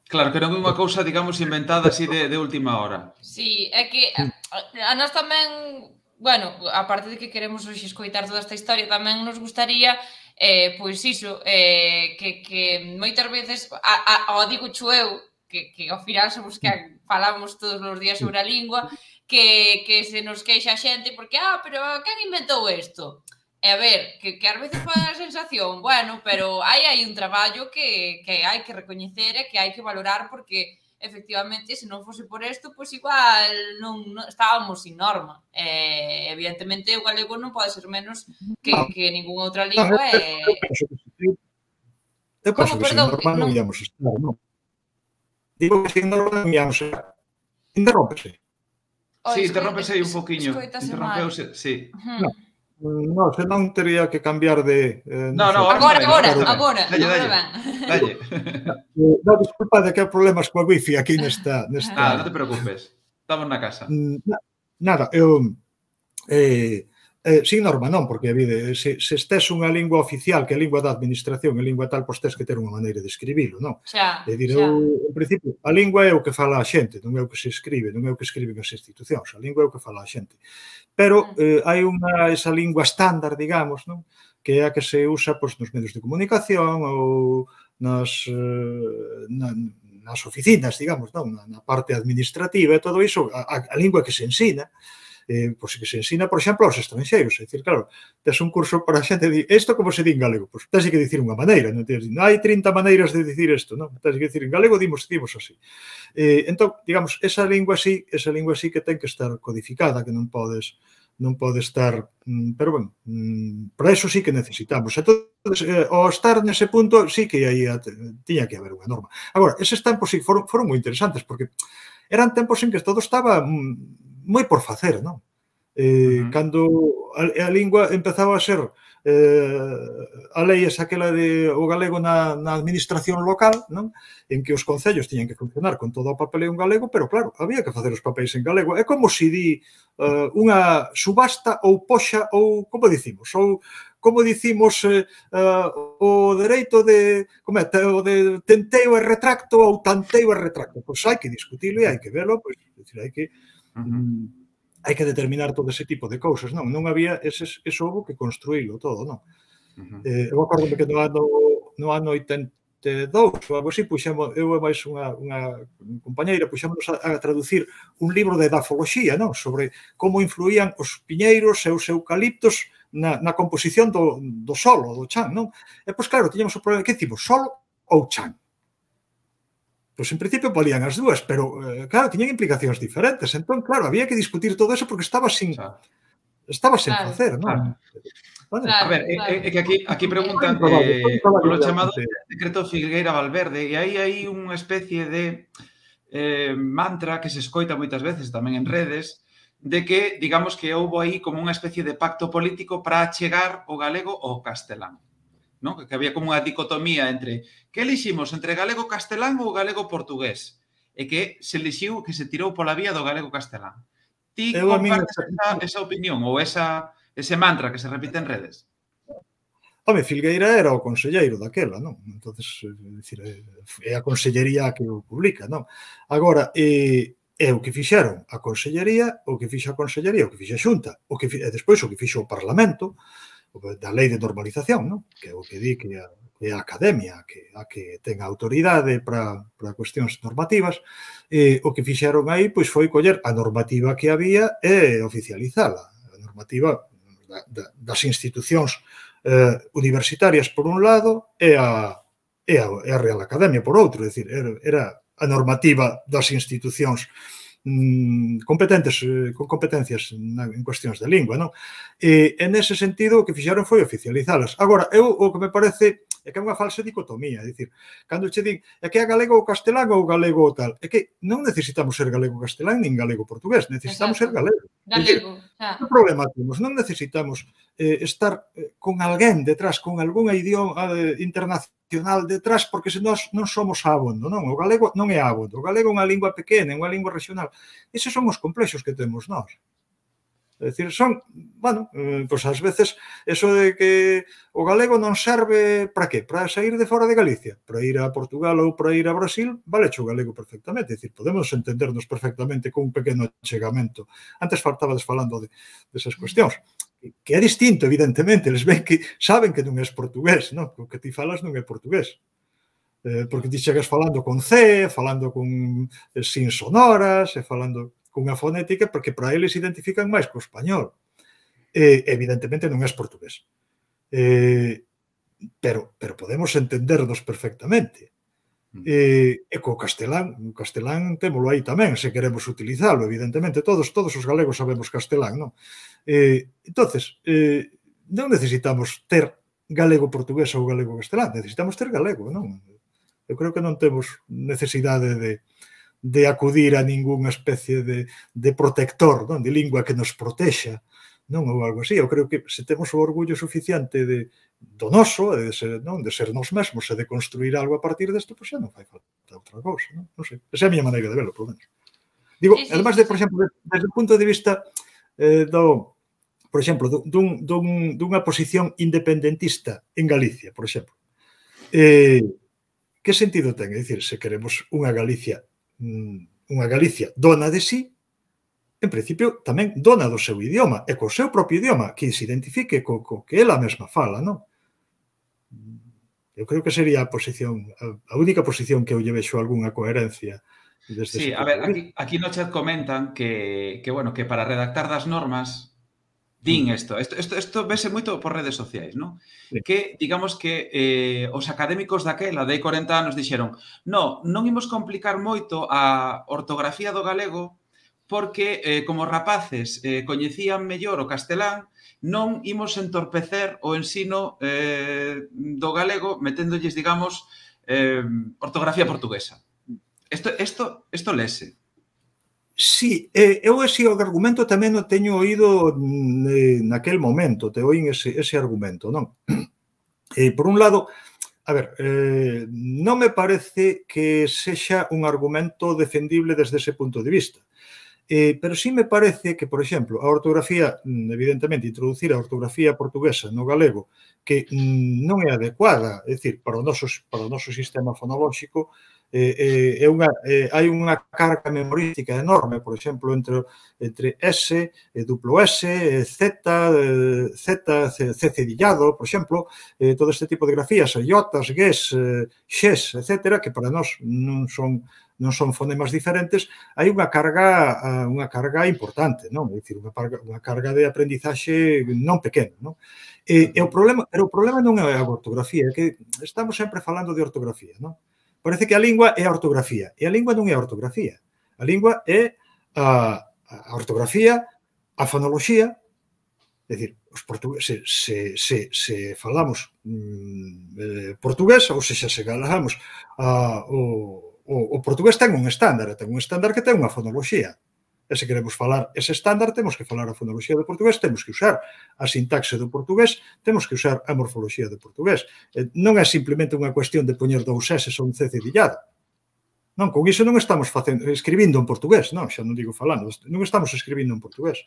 Claro, que non é unha cousa, digamos, inventada así de, de última hora. Sí, é que a, a nós tamén... Bueno, aparte de que queremos hoxe escoitar toda esta historia, tamén nos gustaría, eh, pois iso, eh, que, que moitas veces, a, a, o digo cho eu, que, que ao final somos que falamos todos os días sobre a lingua, que, que se nos queixa a xente, porque, ah, pero quen inventou isto? E a ver, que, que ás veces pode dar a sensación, bueno, pero hai aí un traballo que, que hai que recoñecer e que hai que valorar, porque efectivamente, se non fose por isto, pois igual non, non estábamos sin norma. Eh, evidentemente, o galego non pode ser menos que, que ninguna outra lingua. E... Eu penso que sin norma non íamos estar, non? Digo que sin norma non íamos estar. Interrómpese. Sí, interrómpese aí un poquinho. Interrompeuse, sí. No, se non tería que cambiar de... Eh, no, no, agora, agora, agora. Dalle, dalle. dalle. No, disculpa de que hai problemas coa wifi aquí nesta... nesta... Ah, non te preocupes. Estamos na casa. Nada, eu... Eh, eh, sin norma non, porque vide, se, se estés unha lingua oficial, que é a lingua da administración, a lingua tal, pois tes que ter unha maneira de escribilo, non? Xa, é dicir, eu, en principio, a lingua é o que fala a xente, non é o que se escribe, non é o que escriben as institucións, a lingua é o que fala a xente. Pero eh, hai unha, esa lingua estándar, digamos, non? Que é a que se usa pois, nos medios de comunicación ou nas, eh, na, nas oficinas, digamos, non? Na, na parte administrativa e todo iso, a, a lingua que se ensina, eh, pois que se ensina, por exemplo, aos estranxeiros. É dicir, claro, tes un curso para a xente de isto como se di en galego. Pois tens que dicir unha maneira, non tens, non hai trinta maneiras de dicir isto, non? Tens que dicir en galego, dimos, dimos así. Eh, entón, digamos, esa lingua así, esa lingua así que ten que estar codificada, que non podes non pode estar, pero, bueno, para eso sí que necesitamos. Entón, eh, ao estar nese punto, sí que aí tiña que haber unha norma. Agora, eses tempos sí foron, foron moi interesantes, porque eran tempos en que todo estaba moi por facer, non? Eh, uh -huh. Cando a, a lingua empezaba a ser eh, a lei esa aquela de o galego na, na administración local, non? En que os concellos tiñan que funcionar con todo o papeleo en galego, pero claro, había que facer os papéis en galego. É como se di uh, unha subasta ou poxa ou, como dicimos, ou como dicimos eh, uh, o dereito de, como é, o de tenteo e retracto ou tanteo e retracto. Pois hai que discutilo e hai que velo, pois, decir, hai que uh -huh. um, hai que determinar todo ese tipo de cousas, non? Non había eses, eso houve que construílo todo, non? Uh -huh. eh, eu acordo que no ano, no ano oitenta e dous ou algo así, puxemos, eu e máis unha, unha compañeira, puxemos a, a traducir un libro de edafoloxía, non? Sobre como influían os piñeiros e os eucaliptos na, na composición do, do solo, do chan, non? E, pois, claro, tiñamos o problema, que dicimos, solo ou chan? Pois, en principio, valían as dúas, pero, eh, claro, tiñan implicacións diferentes. Entón, claro, había que discutir todo eso porque estaba sin... Estaba sen Claro. facer, non? Claro. Bueno, A ver, é, é que aquí, aquí preguntan eh, polo chamado decreto Filgueira Valverde, e aí hai unha especie de eh, mantra que se escoita moitas veces tamén en redes, de que, digamos, que houbo aí como unha especie de pacto político para achegar o galego ao castelán. ¿No? Que había como unha dicotomía entre que eliximos entre galego-castelán ou galego-portugués, e que se elixiu que se tirou pola vía do galego-castelán. Ti Eu a min- compartes esa, esa opinión ou esa, ese mantra que se repite en redes? Home, Filgueira era o conselleiro daquela, non? Entonces, é dicir, é a consellería que o publica, non? Agora, é, é o que fixeron a consellería, o que fixa a consellería, o que fixa a Xunta, o que, e despois o que fixo o Parlamento, da lei de normalización, non? Que é o que di que a, que a academia que, a que ten autoridade para, para cuestións normativas, e o que fixeron aí pois foi coller a normativa que había e oficializala. A normativa da, da, das institucións eh, universitarias por un lado e a, e a, e a Real Academia por outro. É dicir, era, era a normativa das institucións competentes, con competencias en cuestións de lingua, non? E, en ese sentido, o que fixeron foi oficializalas. Agora, eu, o que me parece é que é unha falsa dicotomía, é dicir, cando che din, é que é galego ou castelán ou galego ou tal, é que non necesitamos ser galego castelán nin galego portugués, necesitamos ser galego. Galego, xa. Que problema temos? Non necesitamos eh, estar eh, con alguén detrás, con algún idioma eh, internacional detrás, porque se nós non somos abondo, non? O galego non é abondo. O galego é unha lingua pequena, é unha lingua regional. Eses son os complexos que temos nós. É dicir, son, bueno, eh, pois ás veces, eso de que o galego non serve para que? Para sair de fora de Galicia, para ir a Portugal ou para ir a Brasil, vale o galego perfectamente. É dicir, podemos entendernos perfectamente con un pequeno achegamento. Antes faltabades falando de, desas cuestións. Que é distinto, evidentemente, eles ven que saben que non é portugués, non? O que ti falas non é portugués. Eh, porque ti chegas falando con C, falando con eh, sin sonoras, e falando cunha fonética, porque para eles identifican máis co español. Eh, evidentemente non é portugués. Eh, pero, pero podemos entendernos perfectamente. E, e co castelán, o castelán témolo aí tamén, se queremos utilizalo, evidentemente, todos todos os galegos sabemos castelán, non? Eh, entonces, eh, non necesitamos ter galego-portugués ou galego-castelán, necesitamos ter galego, non? Eu creo que non temos necesidade de, de acudir a ningunha especie de, de protector, non? De lingua que nos protexa, non? Ou algo así. Eu creo que se temos o orgullo suficiente de, do noso, de ser, non? De ser nós mesmos e de construir algo a partir desto, pois xa non fai falta outra cousa, non? Non sei. Esa é a miña maneira de verlo, por lo menos. Digo, sí, sí, además de, por exemplo, desde o punto de vista eh, do, por exemplo, dun, dun, dunha posición independentista en Galicia, por exemplo. Eh, que sentido ten? É dicir, se queremos unha Galicia, unha Galicia dona de sí, en principio, tamén dona do seu idioma, e co seu propio idioma, que se identifique co, co que ela mesma fala, non? Eu creo que sería a posición, a única posición que eu lle vexo algunha coherencia. Desde sí, a ver, aquí, aquí no chat comentan que, que, bueno, que para redactar das normas din isto, isto, isto, isto vese moito por redes sociais, non? Sí. Que, digamos que eh, os académicos daquela, de hai corenta anos, dixeron no, non imos complicar moito a ortografía do galego porque, eh, como rapaces eh, coñecían mellor o castelán, non imos entorpecer o ensino eh, do galego meténdolles, digamos, eh, ortografía portuguesa. Isto, isto, isto lese. Sí, eh, eu ese argumento tamén o teño oído eh, naquel momento, te oín ese, ese argumento, non? Eh, por un lado, a ver, eh, non me parece que sexa un argumento defendible desde ese punto de vista. Eh, pero sí me parece que, por exemplo, a ortografía, evidentemente, introducir a ortografía portuguesa no galego que non é adecuada, é dicir, para o noso, para o noso sistema fonolóxico, eh, eh, é unha, eh, hai unha carga memorística enorme, por exemplo, entre, entre S, eh, duplo S, eh, Z, eh, Z, C, C cedillado, por exemplo, eh, todo este tipo de grafías, iotas, gues, eh, xes, etcétera, que para nós non son non son fonemas diferentes, hai unha carga unha carga importante, non? É dicir, unha carga, unha carga de aprendizaxe non pequena, non? E, e o problema, pero o problema non é a ortografía, é que estamos sempre falando de ortografía, non? Parece que a lingua é a ortografía, e a lingua non é a ortografía. A lingua é a, a ortografía, a fonoloxía, é dicir, os portugueses, se, se, se falamos mm, eh, portugués, ou se xa se falamos a, o O, o portugués ten un estándar, ten un estándar que ten unha fonoloxía. E se queremos falar ese estándar, temos que falar a fonoloxía do portugués, temos que usar a sintaxe do portugués, temos que usar a morfoloxía do portugués. Non é simplemente unha cuestión de poñer dous S ou un C cedillado. Non, con iso non estamos facendo, escribindo en portugués, non, xa non digo falando, non estamos escribindo en portugués.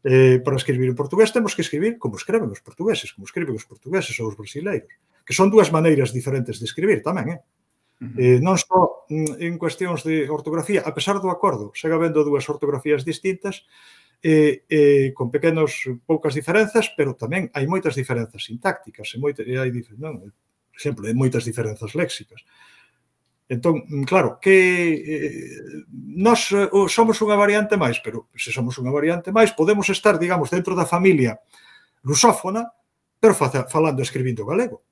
Eh, para escribir en portugués temos que escribir como escreven os portugueses, como escriben os portugueses ou os brasileiros, que son dúas maneiras diferentes de escribir tamén, eh? Eh, non só en cuestións de ortografía, a pesar do acordo, segue habendo dúas ortografías distintas, eh, eh, con pequenos, poucas diferenzas, pero tamén hai moitas diferenzas sintácticas, e moita, e hai, non, por exemplo, hai moitas diferenzas léxicas. Entón, claro, que eh, nós eh, somos unha variante máis, pero se somos unha variante máis, podemos estar, digamos, dentro da familia lusófona, pero falando e escribindo galego.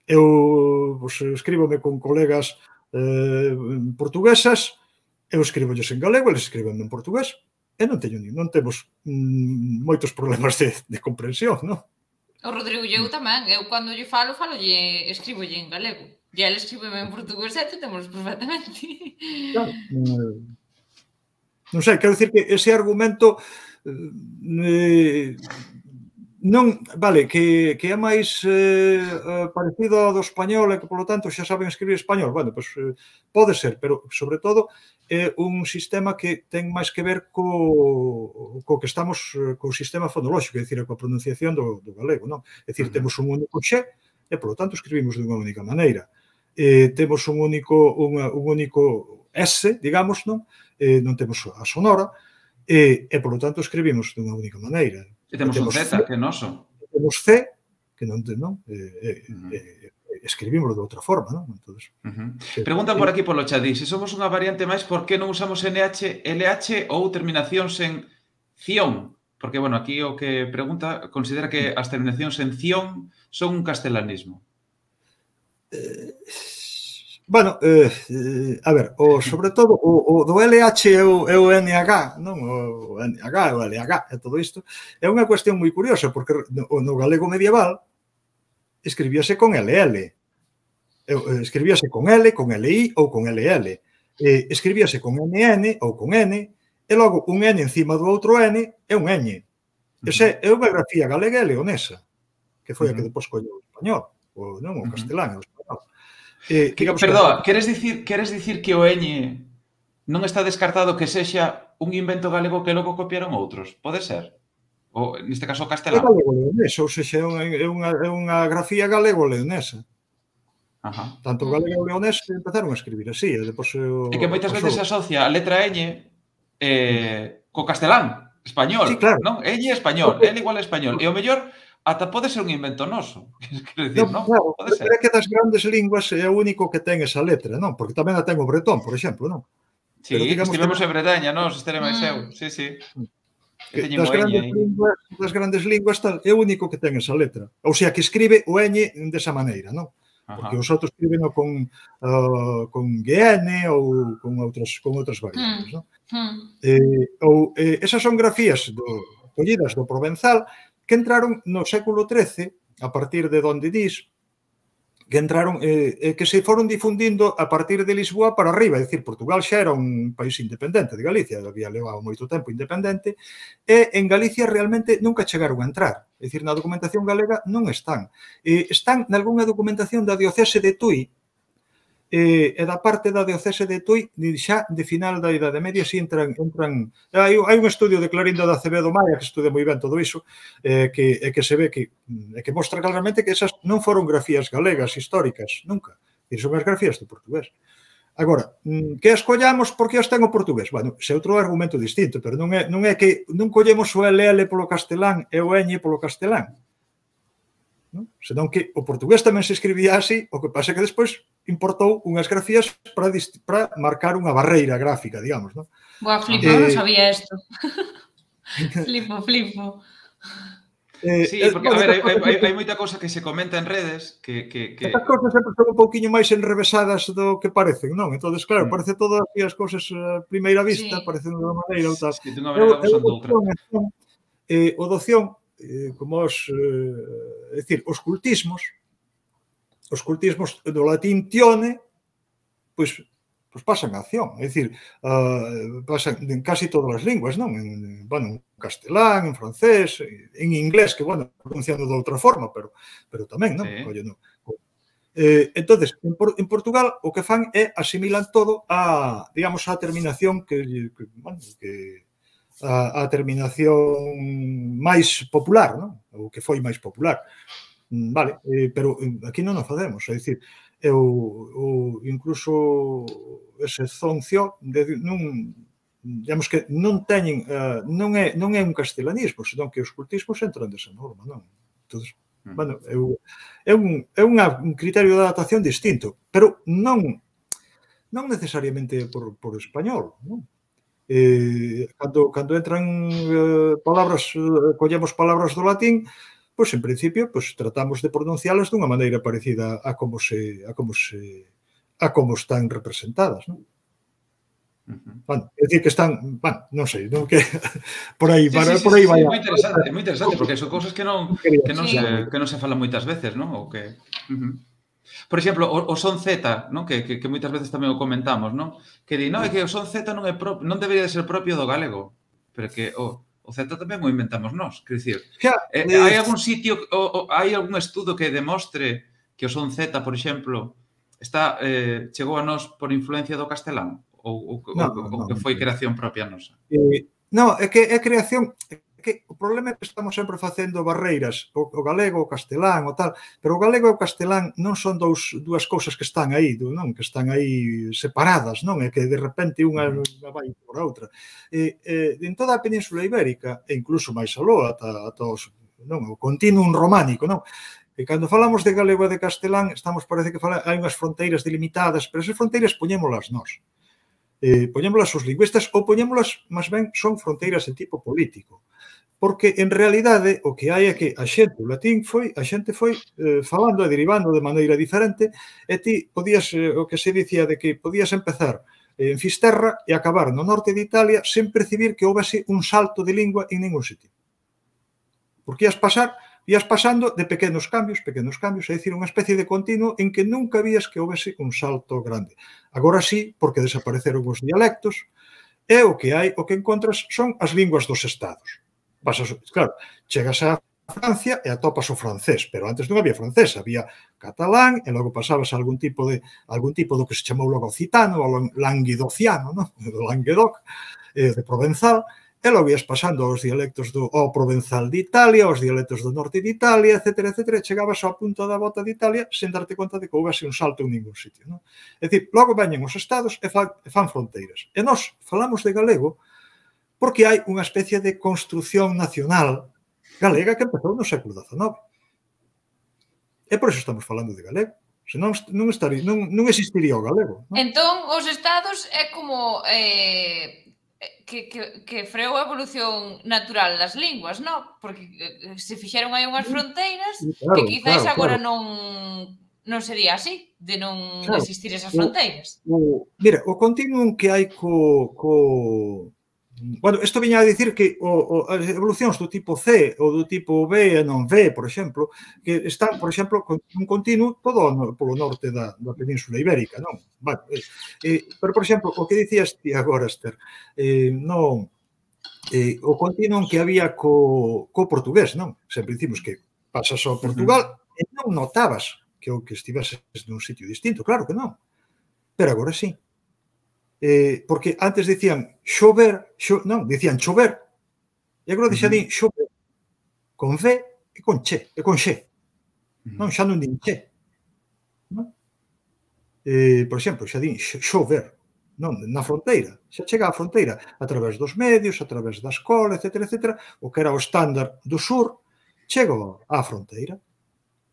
Eu pues, escríbome con colegas eh, portuguesas, eu escribolles en galego, eles escriben en portugués, e non teño non temos mm, moitos problemas de, de comprensión, non? O Rodrigo e eu tamén, eu cando lle falo, falo lle, escribolle en galego, e ele escríbeme en portugués e temos perfectamente. Claro, non sei, quero dicir que ese argumento eh, non, vale, que, que é máis eh, parecido ao do español e que, polo tanto, xa saben escribir español. Bueno, pois pues, eh, pode ser, pero, sobre todo, é un sistema que ten máis que ver co, co que estamos, co sistema fonolóxico, é dicir, coa pronunciación do, do galego, non? É dicir, temos un único xe e, polo tanto, escribimos dunha única maneira. Eh, temos un único, unha, un único S, digamos, non? Eh, non temos a sonora e, e, polo tanto, escribimos dunha única maneira. E temos un Z, que é noso. Temos C, que non, non? Eh, eh, eh, escribímoslo de outra forma, non? Entonces, uh -huh. Pregunta por aquí polo chat, se somos unha variante máis, por que non usamos N H, L H ou terminacións en ción? Porque, bueno, aquí o que pregunta considera que as terminacións en ción son un castelanismo. Eh... Bueno, eh, a ver, o, sobre todo, o, o do L H e o, e o N H, non? O N H, o L H e todo isto, é unha cuestión moi curiosa, porque no, no galego medieval escribíase con L L. Escribíase con L, con L I ou con L L. Eh, escribíase con N N ou con N, e logo un N encima do outro N é un Ñ. Esa é unha grafía galega e leonesa, que foi a que depois colleu o español, o, non, o castelán e o español. Eh, que, perdón, que... queres dicir, queres dicir que o Ñ non está descartado que sexa un invento galego que logo copiaron outros? Pode ser? Ou, neste caso, o castelán? É galego-leonés, ou sexa, é unha, é unha grafía galego-leonesa. Ajá. Tanto o galego e o leonés empezaron a escribir así. E, depois, o, e que moitas veces se asocia a letra Ñ eh, co castelán, español, sí, claro. Non? Ñ español, L igual a español. E o mellor... ata pode ser un invento noso. Quero dicir, non? Claro, pode ser. É que das grandes linguas é o único que ten esa letra, non? Porque tamén a ten o bretón, por exemplo, non? Sí, estivemos en Bretaña, non? Estere máis eu. Sí, sí. Das grandes, linguas, das grandes linguas tal, é o único que ten esa letra. Ou sea, que escribe o Ñ desa maneira, non? Porque os outros escriben con, uh, con G N ou con outras, con outras variantes, non? Eh, ou, eh, esas son grafías do, collidas do provenzal que entraron no século trece, a partir de donde dis, que entraron, eh, que se foron difundindo a partir de Lisboa para arriba, é dicir, Portugal xa era un país independente de Galicia, había levado moito tempo independente, e en Galicia realmente nunca chegaron a entrar, é dicir, na documentación galega non están. Eh, están nalgúna documentación da diocese de Tui, e, e da parte da diocese de Tui xa de final da Idade Media si entran, entran hai, hai un estudio de Clorinda de Acevedo Maia que estudia moi ben todo iso eh, que, e que se ve que, e que mostra claramente que esas non foron grafías galegas históricas, nunca, e son as grafías do portugués. Agora, que escollamos porque as ten o portugués? Bueno, se outro argumento distinto, pero non é, non é que non collemos o L L polo castelán e o Ñ polo castelán, non? Senón que o portugués tamén se escribía así, o que pasa que despois importou unhas grafías para, para marcar unha barreira gráfica, digamos, non? Boa, flipo, eh, non sabía isto. flipo, flipo. Eh, sí, porque, a ver, hai, hai, hai moita cosa que se comenta en redes que... que, que... Estas cosas sempre son un pouquiño máis enrevesadas do que parecen, non? Entón, claro, parece todo así as cosas a primeira vista, sí. Parecen de unha maneira ou tal. Sí, de unha maneira ou de outra. Eh, o doción, eh, como os... Eh, é dicir, os cultismos, os cultismos do latín tione, pois, pois pasan a acción. É dicir, uh, pasan en casi todas as linguas, non? En, bueno, en castelán, en francés, en inglés, que, bueno, pronunciando de outra forma, pero, pero tamén, non? Sí. Colle, non? Eh, entonces, en, Por, en Portugal, o que fan é asimilan todo a, digamos, a terminación que, que, bueno, que a, a terminación máis popular, non? O que foi máis popular. Vale, eh, pero aquí non o facemos, é dicir, eu, eu incluso ese zoncio de, non, digamos que non teñen, uh, non, é, non é un castelanismo, senón que os cultismos entran desa norma, non? Entonces, mm. bueno, eu, é, un, é unha, un criterio de adaptación distinto, pero non non necesariamente por, por español, non? Eh, cando, cando entran uh, palabras, uh, collemos palabras do latín, pois en principio pois tratamos de pronuncialas dunha maneira parecida a como se a como se a como están representadas, non? Uh-huh. Bueno, é dicir que están, bueno, non sei, non que por aí, sí, para, sí, por aí sí, vai. É moi interesante, é moi interesante porque son cousas que non que non sí. se que non se falan moitas veces, non? Ou que uh-huh. Por exemplo, o, o son Z, non? Que, que, que moitas veces tamén o comentamos, non? Que di, non, é que o son Z non é pro, non debería de ser propio do galego, pero que o O Z tamén o inventamos nós, quer dicir, eh, hai algún sitio, o, o, hai algún estudo que demostre que o son Z, por exemplo, está eh, chegou a nós por influencia do castelán ou, ou, no, ou, no, ou que foi creación propia nosa? Eh, non, é que é creación, é que o problema é que estamos sempre facendo barreiras, o, o galego, o castelán, o tal, pero o galego e o castelán non son dous, dúas cousas que están aí, non? Que están aí separadas, non? É que de repente unha, unha vai por outra. E, eh, en toda a Península Ibérica, e incluso máis aló, ata, ata os, non, o continuum románico, non? E cando falamos de galego e de castelán, estamos, parece que fala, hai unhas fronteiras delimitadas, pero esas fronteiras poñémolas nós. Eh, poñémolas os lingüistas ou poñémolas, máis ben, son fronteiras de tipo político. Porque, en realidade, o que hai é que a xente, o latín foi, a xente foi eh, falando e derivando de maneira diferente e ti podías, eh, o que se dicía de que podías empezar en Fisterra e acabar no norte de Italia sen percibir que houvese un salto de lingua en ningún sitio. Porque ias pasar, ias pasando de pequenos cambios, pequenos cambios, é dicir, unha especie de continuo en que nunca vías que houvese un salto grande. Agora sí, porque desapareceron os dialectos, e o que hai, o que encontras son as linguas dos estados. Pasas, claro, chegas a Francia e atopas o francés, pero antes non había francés, había catalán e logo pasabas a algún tipo de algún tipo do que se chamou logo occitano, o languedociano, non? Do Languedoc, eh, de Provenzal, e logo ias pasando aos dialectos do ao Provenzal de Italia, aos dialectos do norte de Italia, etcétera, etcétera, e chegabas ao punto da bota de Italia sen darte conta de que houvese un salto en ningún sitio, non? É dicir, logo veñen os estados e fan, e fan fronteiras. E nós falamos de galego porque hai unha especie de construción nacional galega que empezou no século dezenove. E por eso estamos falando de galego. Senón non, estaría, non, non existiría o galego. Non? Entón, os estados é como eh, que, que, que freou a evolución natural das linguas, non? Porque se fixeron aí unhas fronteiras claro, que quizáis claro, agora claro. non non sería así, de non claro. existir esas fronteiras. O, o, mira, o continuum que hai co... co Bueno, isto viña a dicir que o, o, as evolucións do tipo C ou do tipo B e non V, por exemplo, que están, por exemplo, con un continuo todo no, polo norte da, da Península Ibérica, non? Bueno, eh, pero, por exemplo, o que dicías ti agora, Esther, eh, non, eh, o continuo que había co, co portugués, non? Sempre dicimos que pasas ao Portugal uh-huh. e non notabas que o que estiveses nun sitio distinto, claro que non. pero agora sí. Eh, porque antes dicían xover, xo, non, dicían chover, e agora xa din xover, con V e con che, e con xe. Non, xa non din che. Non? Eh, por exemplo, xa din xover, non, na fronteira, xa chega á fronteira a través dos medios, a través da escola, etcétera, etcétera, o que era o estándar do sur, chega á fronteira.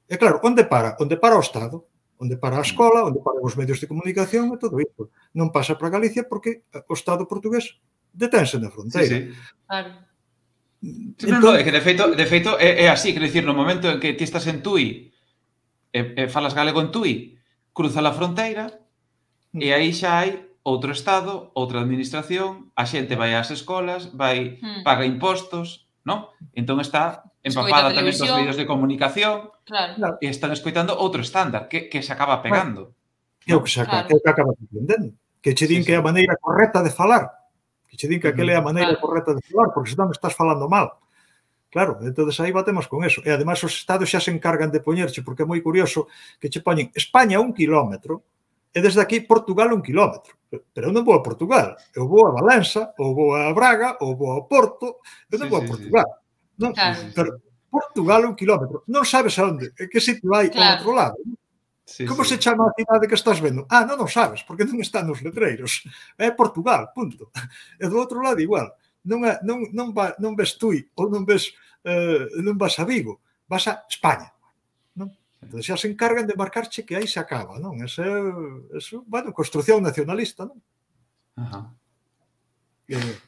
E claro, onde para? Onde para o Estado, onde para a escola, onde para os medios de comunicación e todo isto. Non pasa para Galicia porque o Estado portugués detense na fronteira. Sí, sí. Claro. Sí, entón, no, no, é que de feito, de feito é, é así, quero dicir, no momento en que ti estás en Tui e, e falas galego en Tui, cruza a fronteira e aí xa hai outro Estado, outra administración, a xente vai ás escolas, vai, Hmm. paga impostos, non? Entón está empapada tamén dos medios de comunicación Claro. e están escoitando outro estándar que, que se acaba pegando. É o que se acaba, é o que acaba aprendendo. Que che din que é a maneira correcta de falar. Que che din que aquela é a maneira correcta de falar, porque senón estás falando mal. Claro, entonces aí batemos con eso. E ademais os estados xa se encargan de poñerche, porque é moi curioso que che poñen España un kilómetro e desde aquí Portugal un kilómetro. Pero eu non vou a Portugal, eu vou a Valença, ou vou a Braga, ou vou ao Porto, eu non vou a Portugal. Non? Pero Portugal un kilómetro, non sabes a onde, en que sitio vai ao outro lado. Sí, Como sí. se chama a cidade que estás vendo? Ah, non o sabes, porque non está nos letreiros. É Portugal, punto. E do outro lado igual. Non, é, non, non, va, non ves Tui ou non ves eh, non vas a Vigo, vas a España. Non? Entón xa se encargan de marcarche que aí se acaba, non? Ese, eso, bueno, construcción nacionalista, non? Ajá. Eh,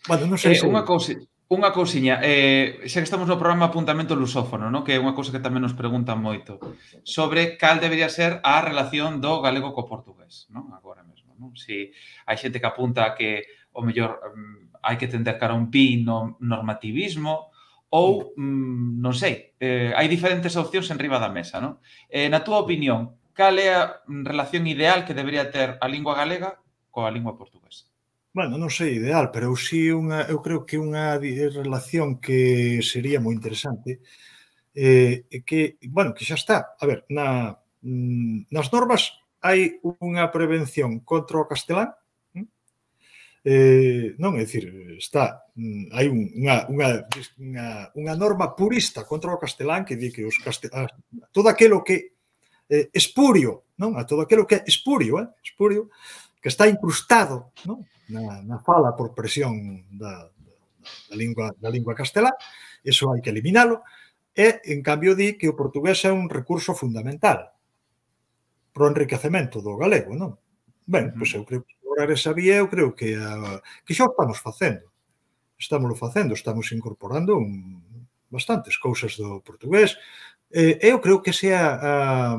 bueno, non sei eh, se... Unha cousa... Unha cousiña, eh, xa que estamos no programa Apuntamento Lusófono, ¿no? Que é unha cousa que tamén nos preguntan moito, sobre cal debería ser a relación do galego co portugués, ¿no? Agora mesmo, ¿no? Si hai xente que apunta que o mellor um, hai que tender cara a un pi no normativismo ou, um, non sei, eh, hai diferentes opcións en riba da mesa, ¿no? Eh, na túa opinión, cal é a relación ideal que debería ter a lingua galega coa lingua portuguesa? Bueno, non sei ideal, pero eu sí unha, eu creo que unha relación que sería moi interesante eh, que, bueno, que xa está. A ver, na, nas normas hai unha prevención contra o castelán, eh, non, é dicir, está, hai unha, unha, unha, unha norma purista contra o castelán que di que os castelán, todo aquilo que eh, espurio, non? A todo aquilo que é espurio, eh? espurio, que está incrustado, non? Na, na fala por presión da, da, lingua, da lingua castelá, eso hai que eliminalo, e, en cambio, di que o portugués é un recurso fundamental para o enriquecemento do galego, non? Ben, pois eu creo que explorar esa vía, eu creo que, a, que xa o estamos facendo. Estamos facendo, estamos incorporando un, bastantes cousas do portugués, e eu creo que ese, a, a,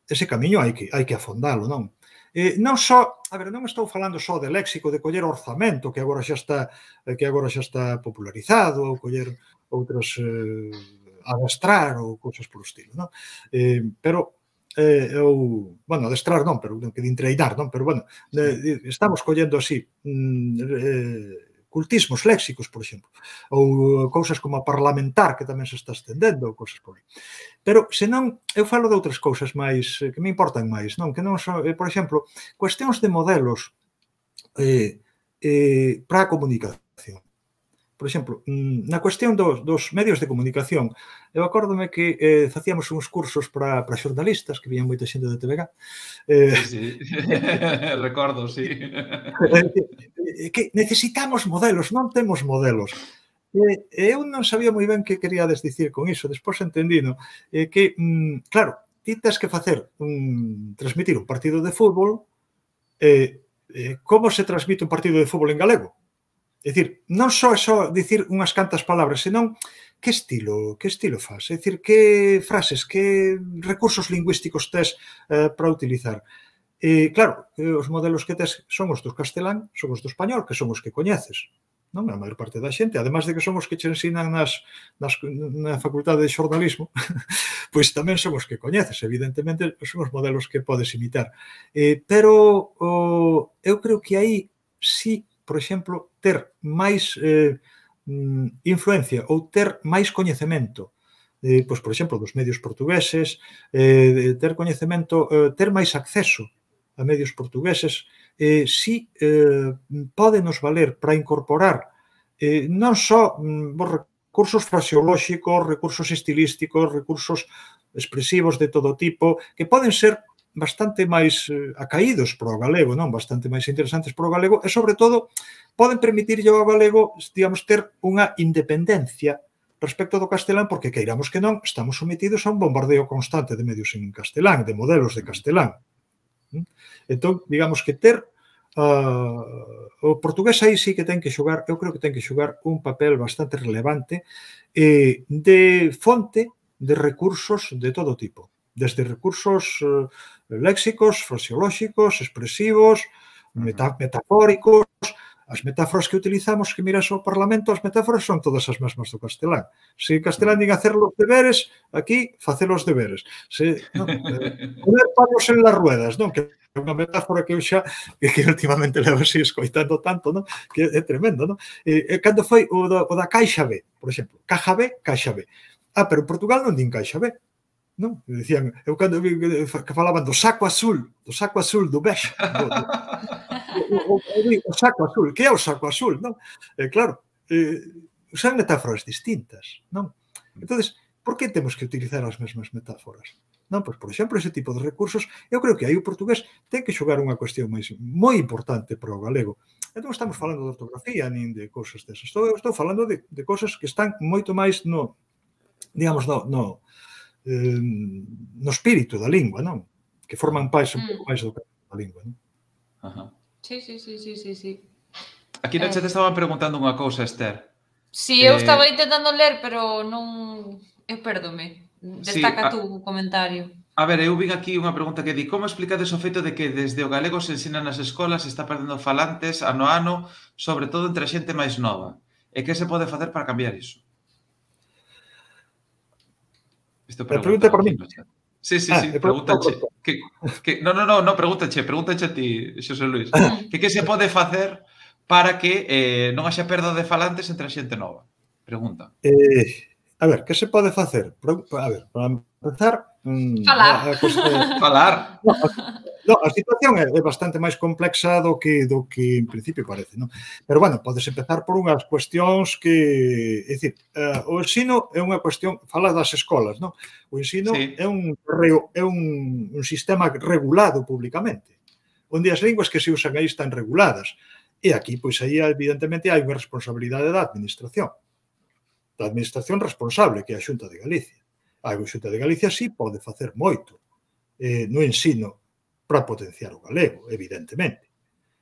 ese camiño hai que, hai que afondalo, non? Eh, non só, a ver, non estou falando só de léxico, de coller orzamento, que agora xa está que agora xa está popularizado, ou coller outros eh, adestrar ou cousas por estilo, non? Eh, pero eh, eu, bueno, adestrar non, pero que de entreinar, non? Pero bueno, eh, estamos collendo así mm, eh, cultismos léxicos, por exemplo, ou cousas como a parlamentar, que tamén se está estendendo, ou cousas por aí. Pero, senón, eu falo de outras cousas máis, que me importan máis, non? Que non son, por exemplo, cuestións de modelos eh, eh, para a comunicación. Por exemplo, na cuestión dos, dos medios de comunicación, eu acórdome que eh, facíamos uns cursos para, para xornalistas, que vían moita xente de T V G. Eh, sí, sí. Recordo, sí. Que necesitamos modelos, non temos modelos. E eu non sabía moi ben que queríades dicir con iso, despois entendino eh, que, mm, claro, ti tens que facer un, transmitir un partido de fútbol, eh, eh, como se transmite un partido de fútbol en galego? É dicir, non só é só dicir unhas cantas palabras, senón que estilo, que estilo faz? É dicir, que frases, que recursos lingüísticos tes eh, para utilizar? E, claro, os modelos que tes son os do castelán, son os do español, que son os que coñeces, non? A maior parte da xente, además de que son os que che ensinan nas, nas, na facultade de xornalismo, pois tamén son os que coñeces, evidentemente, son os modelos que podes imitar. Eh, pero o, eu creo que aí sí, por exemplo, ter máis eh, influencia ou ter máis coñecemento, eh, pois, por exemplo, dos medios portugueses, eh, ter coñecemento, eh, ter máis acceso a medios portugueses, eh, si eh, pódenos valer para incorporar eh, non só mm, recursos fraseolóxicos, recursos estilísticos, recursos expresivos de todo tipo, que poden ser bastante máis eh, acaídos para o galego, non? Bastante máis interesantes para o galego, e, sobre todo, poden permitirlle ao galego, digamos, ter unha independencia respecto do castelán, porque, queiramos que non, estamos sometidos a un bombardeo constante de medios en castelán, de modelos de castelán. Entón, digamos que ter uh, o portugués aí sí que ten que xogar, eu creo que ten que xogar un papel bastante relevante eh, de fonte de recursos de todo tipo, desde recursos uh, léxicos, fraseolóxicos, expresivos, meta metafóricos. As metáforas que utilizamos, que miras ao Parlamento, as metáforas son todas as mesmas do castelán. Se en castelán din hacer los deberes, aquí facer os deberes. Se, non, eh, poner palos en las ruedas, non? Que é unha metáfora que eu xa, que, que últimamente levo así escoitando tanto, non? Que é tremendo, non? E, cando foi o da, o da caixa B, por exemplo, caja B, caixa B. Ah, pero en Portugal non din caixa B. Non? Dicían, eu cando vi que falaban do saco azul, do saco azul, do bexe, do, do, O, o, o saco azul, que é o saco azul, non? Eh, claro, eh, usan metáforas distintas, non? Entonces, por que temos que utilizar as mesmas metáforas? Non, pois, por exemplo, ese tipo de recursos, eu creo que aí o portugués ten que xogar unha cuestión máis moi importante para o galego. E non estamos falando de ortografía nin de cousas desas. Estou, estou falando de, de cousas que están moito máis no, digamos, no, no, eh, no espírito da lingua, non? Que forman parte un pouco máis do que da lingua, non? Ajá. Sí, sí, sí, sí, sí, sí. Aquí no chat estaban preguntando unha cousa, Esther. Sí, eu estaba intentando ler, pero non... Eu perdome. Destaca sí, tu comentario. A ver, eu vin aquí unha pregunta que di: como explicades o feito de que desde o galego se ensina nas escolas e está perdendo falantes ano a ano, sobre todo entre a xente máis nova? E que se pode facer para cambiar iso? Isto pregunta por mí. Sí, sí, sí, ah, pregúntache. Que, que, no, no, no, no, pregúntache, pregúntache a ti, Xosé Luis. Que que se pode facer para que eh, non haxa perda de falantes entre a xente nova? Pregunta. Eh, a ver, que se pode facer? A ver, para empezar... Mm, Falar. A, a, a, Falar. No, a, no, a situación é, é bastante máis complexa do que do que en principio parece, non? Pero, bueno, podes empezar por unhas cuestións que... É dicir, uh, o ensino é unha cuestión... Fala das escolas, non? O ensino sí. é, un, é un, un sistema regulado públicamente, onde as linguas que se usan aí están reguladas. E aquí, pois, aí, evidentemente, hai unha responsabilidade da administración. Da administración responsable, que é a Xunta de Galicia. A Xunta de Galicia sí pode facer moito eh, no ensino para potenciar o galego, evidentemente.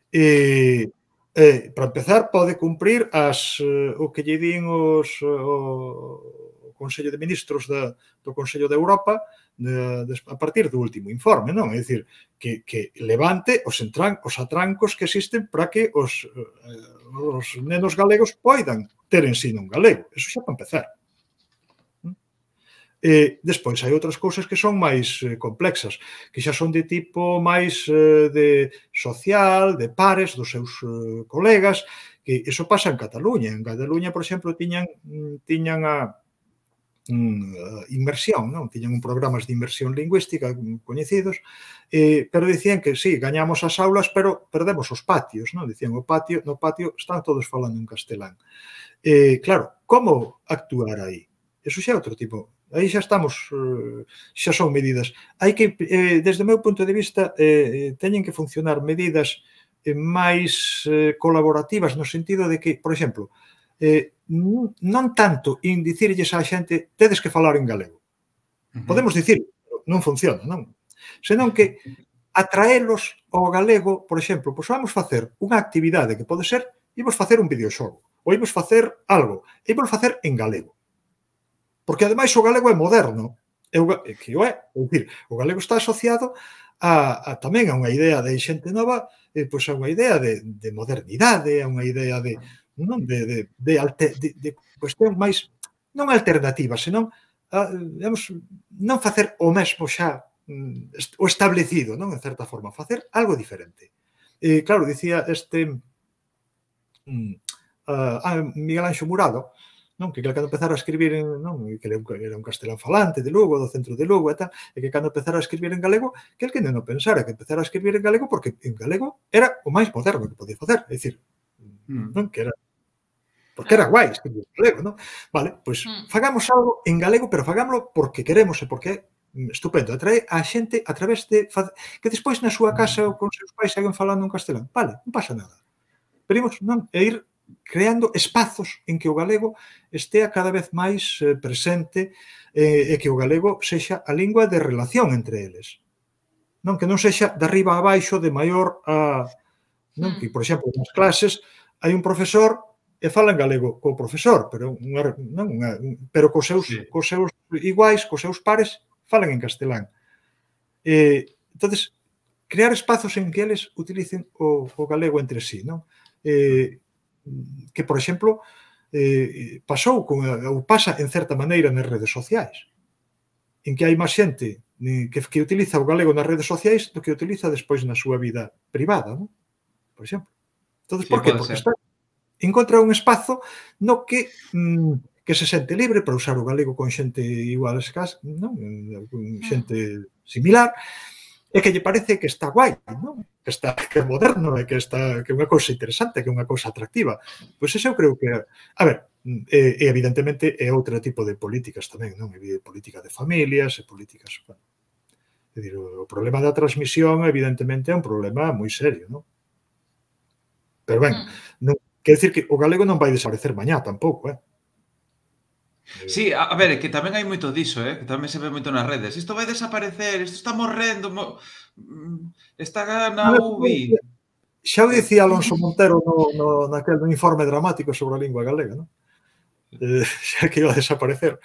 E, eh, para empezar, pode cumprir as, eh, o que lle din os, o, o Consello de Ministros da, do Consello de Europa de, de, a partir do último informe, non? É dicir, que, que levante os, entran, os atrancos que existen para que os, eh, os nenos galegos poidan ter ensino en galego. Eso xa para empezar. E despois hai outras cousas que son máis eh, complexas, que xa son de tipo máis eh, de social, de pares dos seus eh, colegas, que eso pasa en Cataluña. En Cataluña, por exemplo, tiñan tiñan a mm, inmersión, non? Tiñan un programas de inmersión lingüística coñecidos, eh, pero dicían que sí, gañamos as aulas, pero perdemos os patios, non? Dicían, o patio, no patio están todos falando en castelán. Eh, claro, como actuar aí? Eso xa é outro tipo. Aí xa estamos, xa son medidas. Hai que, desde o meu punto de vista, teñen que funcionar medidas máis colaborativas no sentido de que, por exemplo, non tanto en dicirlles á xente tedes que falar en galego. Podemos dicir, non funciona, non? Senón que atraelos ao galego, por exemplo, pois vamos facer unha actividade que pode ser, imos facer un videoxogo, ou imos facer algo, e imos facer en galego. Porque, ademais, o galego é moderno, é o, que o é, é dicir, o galego está asociado a, a tamén a unha idea de xente nova, eh, pois a unha idea de, de modernidade, a unha idea de, non, de, de, de, alter, de, de cuestión máis, non alternativa, senón, a, digamos, non facer o mesmo xa, o establecido, non, en certa forma, facer algo diferente. Eh, claro, dicía este uh, uh, Miguel Anxo Murado, non? Que cando empezara a escribir en, non? Que era un castelán falante de Lugo, do centro de Lugo e tal, e que cando empezara a escribir en galego, que el que non pensara que empezara a escribir en galego porque en galego era o máis moderno que podía facer, é dicir, non? Que era porque era guai escribir en galego, non? Vale, pois fagamos algo en galego, pero fagámoslo porque queremos e porque é estupendo, atrae a xente a través de que despois na súa casa ou con seus pais seguen falando en castelán, vale, non pasa nada. Pero non, é ir creando espazos en que o galego estea cada vez máis eh, presente eh, e que o galego sexa a lingua de relación entre eles. Non que non sexa de arriba a baixo, de maior a... Non? Que, por exemplo, nas clases hai un profesor e fala en galego co profesor, pero unha, non, unha, pero cos seus, sí. cos seus iguais, cos seus pares, falan en castelán. Eh, entonces, crear espazos en que eles utilicen o, o galego entre sí, non? Eh, que, por exemplo, eh, pasou con, ou pasa en certa maneira nas redes sociais, en que hai máis xente que, que utiliza o galego nas redes sociais do que utiliza despois na súa vida privada, non? Por exemplo. Entón, sí, por que? Porque está, encontra un espazo no que mm, que se sente libre para usar o galego con xente igual a escasa, non? Con xente similar, e que lle parece que está guai, non? Que está que é moderno e que está que é unha cousa interesante, que é unha cousa atractiva. Pois eso eu creo que, a ver, e, e evidentemente é outro tipo de políticas tamén, non? É política de familias, e políticas, bueno. É dicir, o problema da transmisión evidentemente é un problema moi serio, non? Pero ben, non quer decir que o galego non vai desaparecer mañá tampouco, eh? Sí, a ver, que tamén hai moito diso, eh? Que tamén se ve moito nas redes. Isto vai desaparecer, isto está morrendo, mo... está na U B I. Xa o dicía Alonso Montero no, no, naquel no informe dramático sobre a lingua galega, non? Eh, xa que iba a desaparecer.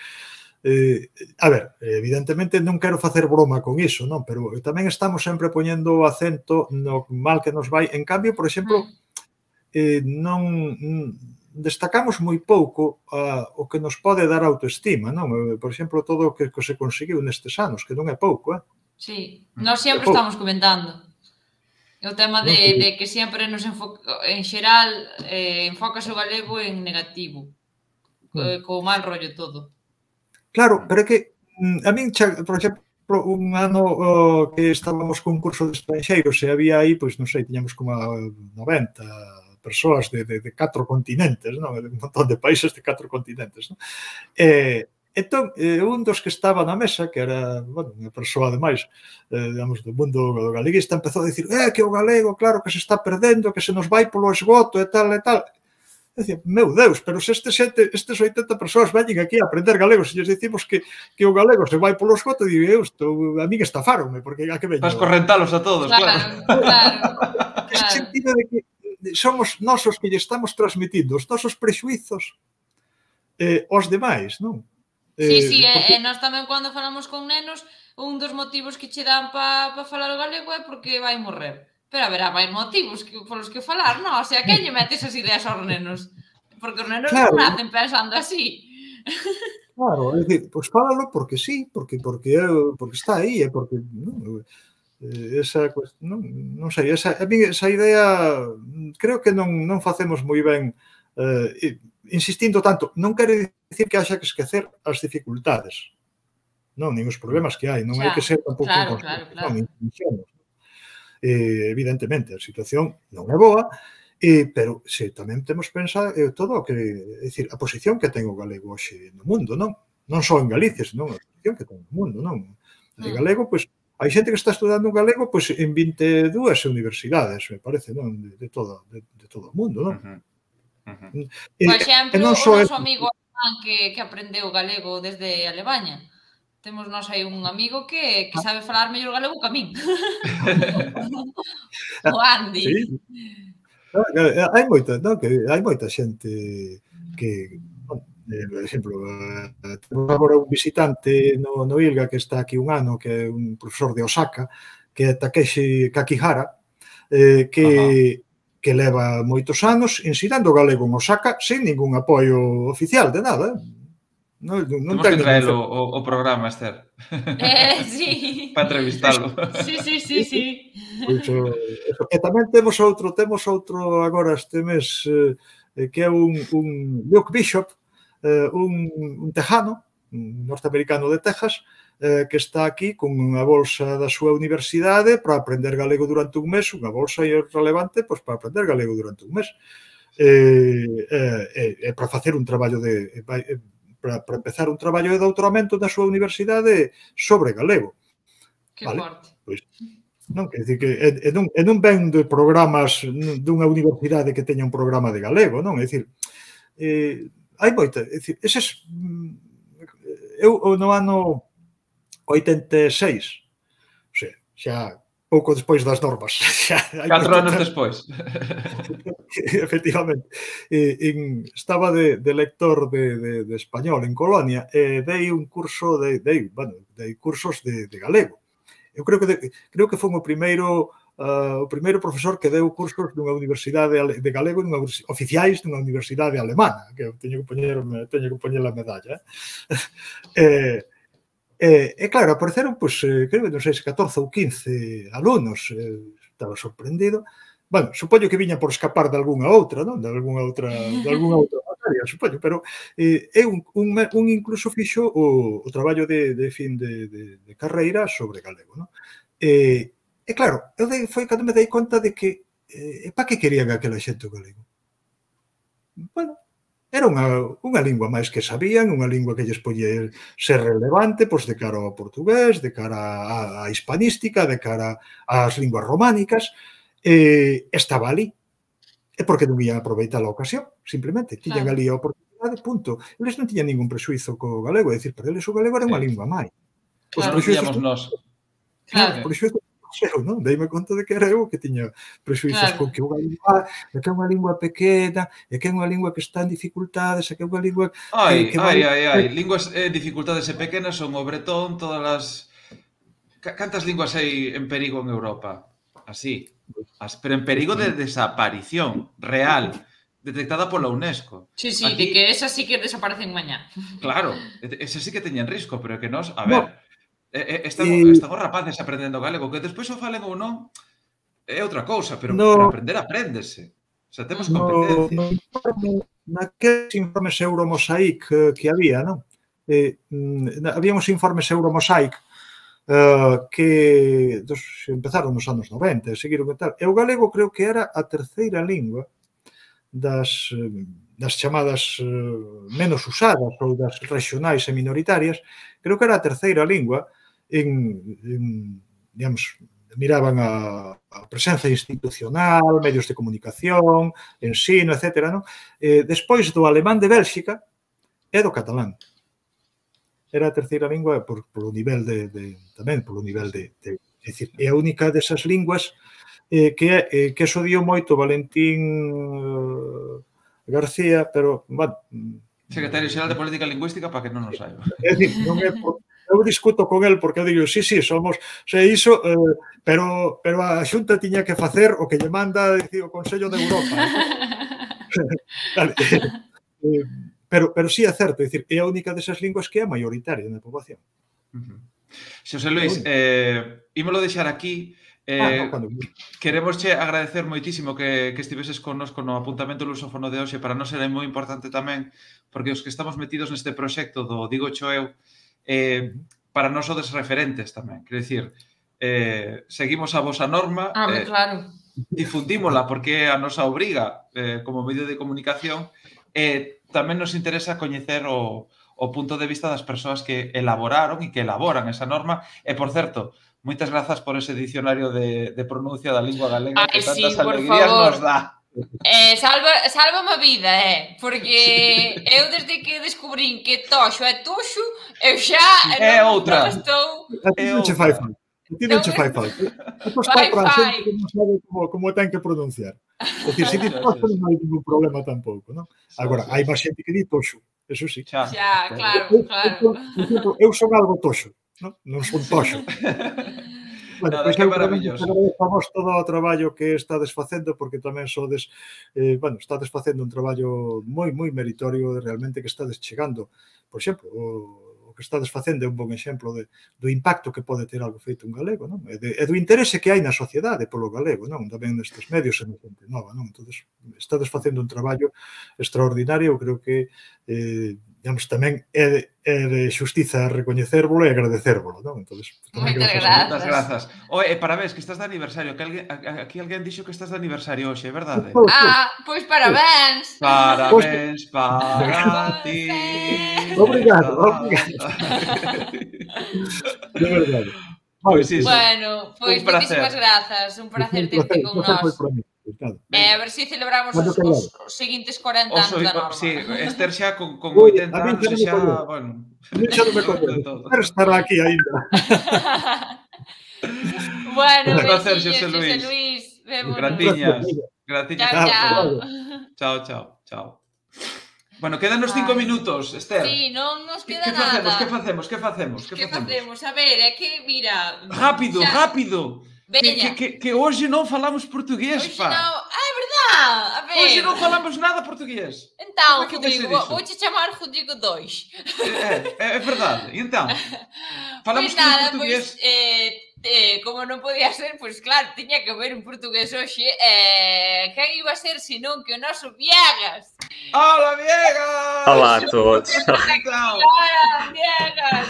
Eh, a ver, evidentemente non quero facer broma con iso, non? Pero tamén estamos sempre poñendo acento no mal que nos vai. En cambio, por exemplo, eh, non... destacamos moi pouco a, o que nos pode dar autoestima, non? Por exemplo, todo o que, que se conseguiu nestes anos, que non é pouco, eh? Sí, nós sempre estamos comentando o tema de, de que sempre nos enfoca, en xeral, eh, enfocas o galego en negativo, eh, co mal rollo todo. Claro, pero é que a min, por exemplo, un ano uh, que estábamos con un curso de estranxeiros e había aí, pois non sei, tiñamos como noventa persoas de, de, de catro continentes, non? Un montón de países de catro continentes, non? E, entón, eh, un dos que estaba na mesa, que era, bueno, unha persoa, ademais, eh, digamos, do mundo galeguista, empezou a dicir, eh, que o galego, claro, que se está perdendo, que se nos vai polo esgoto, e tal, e tal. E dicía, meu Deus, pero se este xente, estes oitenta persoas veñen aquí a aprender galego, se lles dicimos que, que o galego se vai polo esgoto, digo, eu, isto, a min estafaronme, porque a que veño? Vas correntalos a todos, claro. Claro, claro. Ese sentido de que somos nós os que lle estamos transmitindo os nosos prexuizos eh, aos demais, non? Sí, sí, porque... e nós tamén cando falamos con nenos, un dos motivos que che dan para pa falar o galego é porque vai morrer. Pero haberá máis motivos que, polos que falar, non? O sea, que lle mete esas ideas aos nenos? Porque os nenos claro. non nacen pensando así. Claro, é dicir, pois fálalo porque sí, porque porque porque está aí, é porque... Non, esa non, non sei, esa, a mí esa idea creo que non, non facemos moi ben eh, insistindo tanto, non quere dicir que haxa que esquecer as dificultades, non, nin os problemas que hai, non hai que ser tampouco claro, claro, claro. Non, eh, evidentemente a situación non é boa, eh, pero se tamén temos pensar eh, todo o que, é dicir, a posición que ten o galego hoxe no mundo, non? Non só en Galicia, senón a posición que ten no mundo, non? De galego, pois, hai xente que está estudando galego pois, en vinte e dúas universidades, me parece, non? De, de, todo, de, de todo o mundo, non? Uh-huh. Uh-huh. E, Por exemplo, o noso é... amigo que, que aprendeu galego desde Alemanha. Temos nós aí un amigo que, que sabe falar mellor galego que a min. O Andy. Sí. Hai moita, non? Que hai moita xente que... Eh, por exemplo, eh, temos agora un visitante no, no ILGA que está aquí un ano, que é un profesor de Osaka, que é Takeshi Kakihara, eh, que, que leva moitos anos ensinando galego en Osaka sin ningún apoio oficial de nada. Non, non Temos que traer o, o programa, Esther. Eh, sí. Para entrevistalo. Sí, sí, sí, sí. Pues, uh, e tamén temos outro, temos outro agora este mes, eh, que é un, un Luke Bishop, eh, un, un tejano, un norteamericano de Texas, eh, que está aquí con unha bolsa da súa universidade para aprender galego durante un mes, unha bolsa relevante pois, para aprender galego durante un mes. E eh, eh, eh, para facer un traballo de... Eh, para, para empezar un traballo de doutoramento na súa universidade sobre galego. Que vale? forte. Pois, non, quer dizer que e, e, non, e non ven de programas dunha universidade que teña un programa de galego, non? É dicir, eh, hai moita, é dicir, eses... Eu no ano oitenta e seis, o sea, xa pouco despois das normas. Xa, Catro anos despois. Efectivamente. E, en, estaba de, de lector de, de, de español en Colonia e dei un curso de, de, bueno, dei cursos de, de galego. Eu creo que de, creo que foi o primeiro uh, o primeiro profesor que deu cursos dunha universidade de galego dunha, oficiais dunha universidade alemana, que eu teño que poñer, teño que poñer a medalla. Eh, E, e claro, apareceron, pois, eh, creo que non sei se catorce ou quince alumnos, eh, estaba sorprendido. Bueno, supoño que viña por escapar de algunha outra, non? De algunha outra, de algunha outra materia, supoño, pero eh, é un, un, un incluso fixo o, o traballo de, de fin de, de, de carreira sobre galego, non? E, e claro, eu dei, foi cando me dei conta de que eh, para que querían aquela xente o galego? Bueno, era unha, unha lingua máis que sabían, unha lingua que lles podía ser relevante pois, de cara ao portugués, de cara á hispanística, de cara ás linguas románicas, e estaba ali. E porque non ian aproveitar a ocasión, simplemente. Tiñan ali a oportunidade, punto. Eles non tiñan ningún prexuizo co galego, é dicir, para eles o galego era unha lingua máis. Os prexuizos nós. Claro, por iso eu, non? Deime conta de que era eu que tiña prexuizos claro. Con que o galego é que é unha lingua pequena, é que é unha lingua que está en dificultades, é que é unha lingua ai, que, que ai, vai... ai, ai, linguas eh, dificultades e pequenas son o bretón, todas as... Cantas linguas hai en perigo en Europa? Así. As, pero en perigo de desaparición real, detectada pola UNESCO. Sí, sí, aquí... de que esas sí que desaparecen mañá. Claro, esas sí que teñen risco, pero que nos, a ver... No. Están, e... están os rapaces aprendendo galego, que despois o falen ou non é outra cousa, pero, no, pero aprender apréndese. O sea, temos competencias. No, no, naqueles informes Euromosaic que había, non? Eh, había uns informes Euromosaic eh, que dos, empezaron nos anos noventa e seguiron e tal. E o galego creo que era a terceira lingua das, das chamadas menos usadas ou das regionais e minoritarias. Creo que era a terceira lingua en, en digamos, miraban a, a presenza institucional, medios de comunicación, ensino, etcétera, non? Eh, despois do alemán de Bélxica e do catalán. Era a terceira lingua por, por o nivel de, de tamén polo nivel de, de é dicir, é a única desas linguas eh, que eh, que eso dio moito Valentín eh, García, pero, bueno, Secretario Xeral de Política Lingüística para que non nos saiba. É dicir, non é por, eu discuto con el porque eu digo, sí, sí, somos, sei iso, eh, pero pero a Xunta tiña que facer o que lle manda dicir, o Consello de Europa. Vale. eh, pero pero sí é certo, é dicir, é a única desas linguas que é mayoritaria na poboación. Uh-huh. Xosé Luis, eh, ímolo deixar aquí. Eh, ah, no, queremos che agradecer moitísimo que, que estiveses connosco no apuntamento lusófono de hoxe. Para nós era moi importante tamén, porque os que estamos metidos neste proxecto do Digo Cho Eu, eh, para nós sodes referentes tamén. Quer dicir, eh, seguimos a vosa norma, ah, eh, claro. difundímola porque é a nosa obriga eh, como medio de comunicación, e eh, tamén nos interesa coñecer o, o punto de vista das persoas que elaboraron e que elaboran esa norma. E, por certo, moitas grazas por ese dicionario de, de pronuncia da lingua galega. Ai, que tantas sí, alegrías favor. nos dá. Eh, salva, salva a vida, eh? Porque eu desde que descubrín que toxo é toxo, eu xa é non, outra. non estou... A ti non che fai falta. A ti non che fai falta. Depois fai para a xente que non sabe como, como ten que pronunciar. É dicir, se ti toxo non hai ningún problema tampouco, non? Agora, hai máis xente que di toxo, eso sí. Xa, xa claro, eu, claro. Eu, eu son algo toxo. Non, non son toxo. Bueno, Nada, pois que eu maravilloso. agradecemos todo o traballo que estades facendo, porque tamén sodes, eh, bueno, estades facendo un traballo moi, moi meritorio realmente que estades chegando. Por exemplo, o, o que estades facendo é un bon exemplo de, do impacto que pode ter algo feito un galego, non? E, de, e do interese que hai na sociedade polo galego, non? Tamén nestes medios e na xente nova, non? Entón, estades facendo un traballo extraordinario, eu creo que eh, digamos, tamén é de, é de xustiza recoñecérvolo e agradecérvolo, non? Entón, moitas grazas. Moitas grazas. Oe, parabéns, que estás de aniversario, que alguén, aquí alguén dixo que estás de aniversario hoxe, é verdade? Ah, pois parabéns. Parabéns para ti. Obrigado, obrigado. De verdade. Pois iso. Bueno, pois moitísimas grazas, un placer terte con nós. Eh, a ver se celebramos os, os, os seguintes corenta anos da norma. Sí, Esther xa con, con oitenta anos e xa, bueno... A mí xa non me coñece, pero estará aquí ainda. Bueno, un placer, besiños, Xosé Luis. Xosé Luis. Gratiñas. Gratiñas. Chao, chao. Chao, chao, chao. Bueno, quedan os cinco minutos, Esther. Sí, non nos queda que nada. Que facemos? Que facemos? Que facemos? Que facemos? A ver, é que, mira... Rápido, xa... rápido. Que, que, que, que hoxe non falamos portugués, hoxe pa. Non... Ah, é verdade. A ver. Hoxe non falamos nada portugués. Então, Rodrigo, vou te chamar Rodrigo dois. É, é, é verdade. E então? Falamos pois nada, portugués. Pois, eh, eh, como non podía ser, pois claro, tiña que ver un portugués hoxe. Eh, quen iba a ser, senón que o noso Viegas. Hola, Viegas! Olá a todos. Hola, Viegas!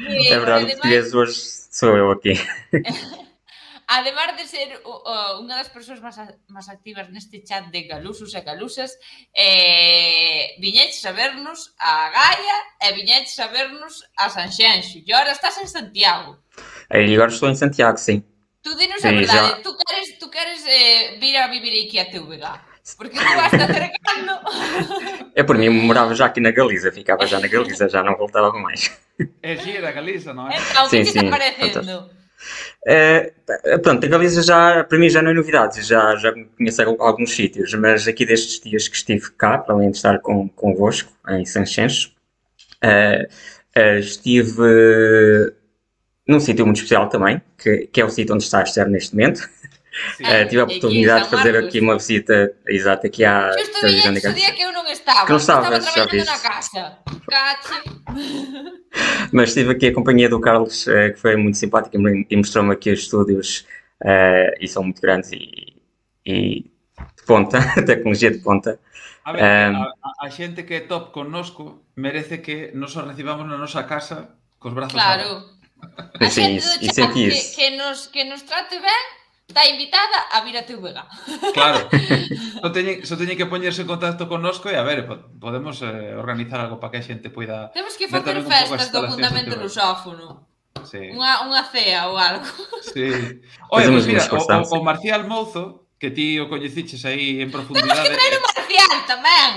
É verdade, o português hoje sou eu aqui. Además de ser uh, unha das persoas máis, máis activas neste chat de galusos e galusas, eh, viñeches a vernos a Gaia e viñeches a vernos a Sanxenxo. E agora estás en Santiago. E agora estou em Santiago, sim. Tu dinos a verdade, já... tu queres, tu queres eh, vir a vivir aqui a T V G? Porque tu vas te acercando. É por mim, morava já aqui na Galiza, ficava já na Galiza, já não voltava mais. É gira a Galiza, não é? Então, o que te está parecendo? É, pronto, a Galiza já, para mim já não é novidade, já, já conheço alguns sítios, mas aqui destes dias que estive cá, para além de estar com, convosco, em Sanxenxo, uh, uh, estive uh, num sítio muito especial também, que, que é o sítio onde está a Esther neste momento. Uh, tive a oportunidade de fazer aqui uma visita exata aqui à televisão da Galiza. Que eu não estava, que não estava, estava trabalhando na casa. Mas estive aqui a companhia do Carlos, uh, que foi muito simpático e mostrou-me aqui os estúdios uh, e são muito grandes e, e de ponta, tecnologia de ponta. A ver, um, a, a xente que é top connosco merece que nos o recibamos na nosa casa cos brazos claro. abertos. A Sim, xente e senti que, isso. que, nos, que nos trate ben está invitada a vir a T V G. Claro, só teñen, só teñen que poñerse en contacto connosco e a ver, podemos eh, organizar algo para que a xente poida... Temos que facer festas do fundamento lusófono. Sí. Unha, unha cea ou algo. Sí. Oye, pues mira, o, o, o Marcial Mouzo, que ti o coñeciches aí en profundidade... Temos que traer o Marcial tamén.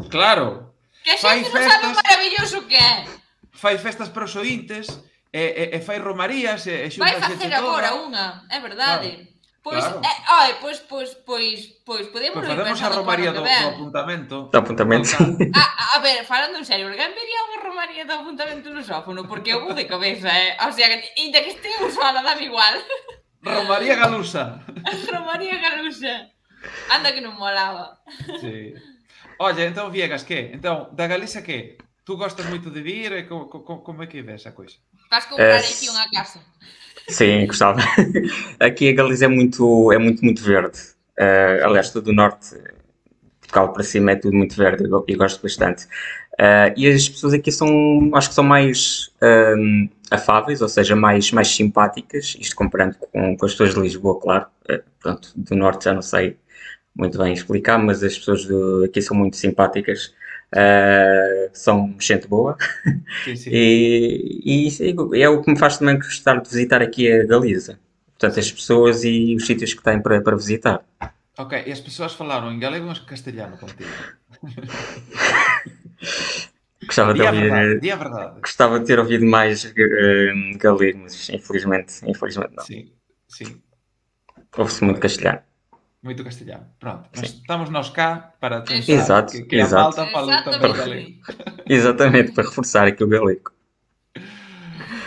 Claro. Que a xente non sabe o maravilloso que é. Fai festas para os ointes, e, e, e fai romarías, e, e xunta vai facer agora unha, é verdade. Claro. Pois, claro. eh, ai, pois, pois, pois, pois, podemos pues facemos a romaría do, do apuntamento. Do apuntamento. A, a ver, falando en serio, alguén vería unha romaría do apuntamento lusófono, porque eu vou de cabeza, eh? O sea, inda que estea usada, dame igual. Romaría galusa. Romaría galusa. Anda que non molaba. Sí. Oye, entón, Viegas, que? Entón, da Galiza, que? Tú gostas moito de vir, e como, como, como é que ves a coisa? Vas comprar es... aquí unha casa. Sim, gostava. Aqui a Galiza é muito, é muito, muito verde. Uh, aliás, todo o norte, Portugal para cima, é tudo muito verde e gosto bastante. Uh, e as pessoas aqui são, acho que são mais um, afáveis, ou seja, mais, mais simpáticas, isto comparando com, com as pessoas de Lisboa, claro. Uh, pronto, do norte já não sei muito bem explicar, mas as pessoas do, aqui são muito simpáticas. Uh, são gente boa. Sim, sim. E, e é o que me faz também gostar de visitar aqui a Galiza, portanto as pessoas e os sítios que têm para, para visitar. Ok, e as pessoas falaram em galego ou em castelhano contigo? Gostava de ouvir, verdade, dia verdade. Gostava de ter ouvido mais uh, galego, mas infelizmente, infelizmente não. Sim, sim. Ouve-se muito castelhano. Muito castelhano. Pronto, mas estamos nós cá para tentar exato, que, que exato. a malta fale também galego. Exatamente, para reforçar aqui o galego.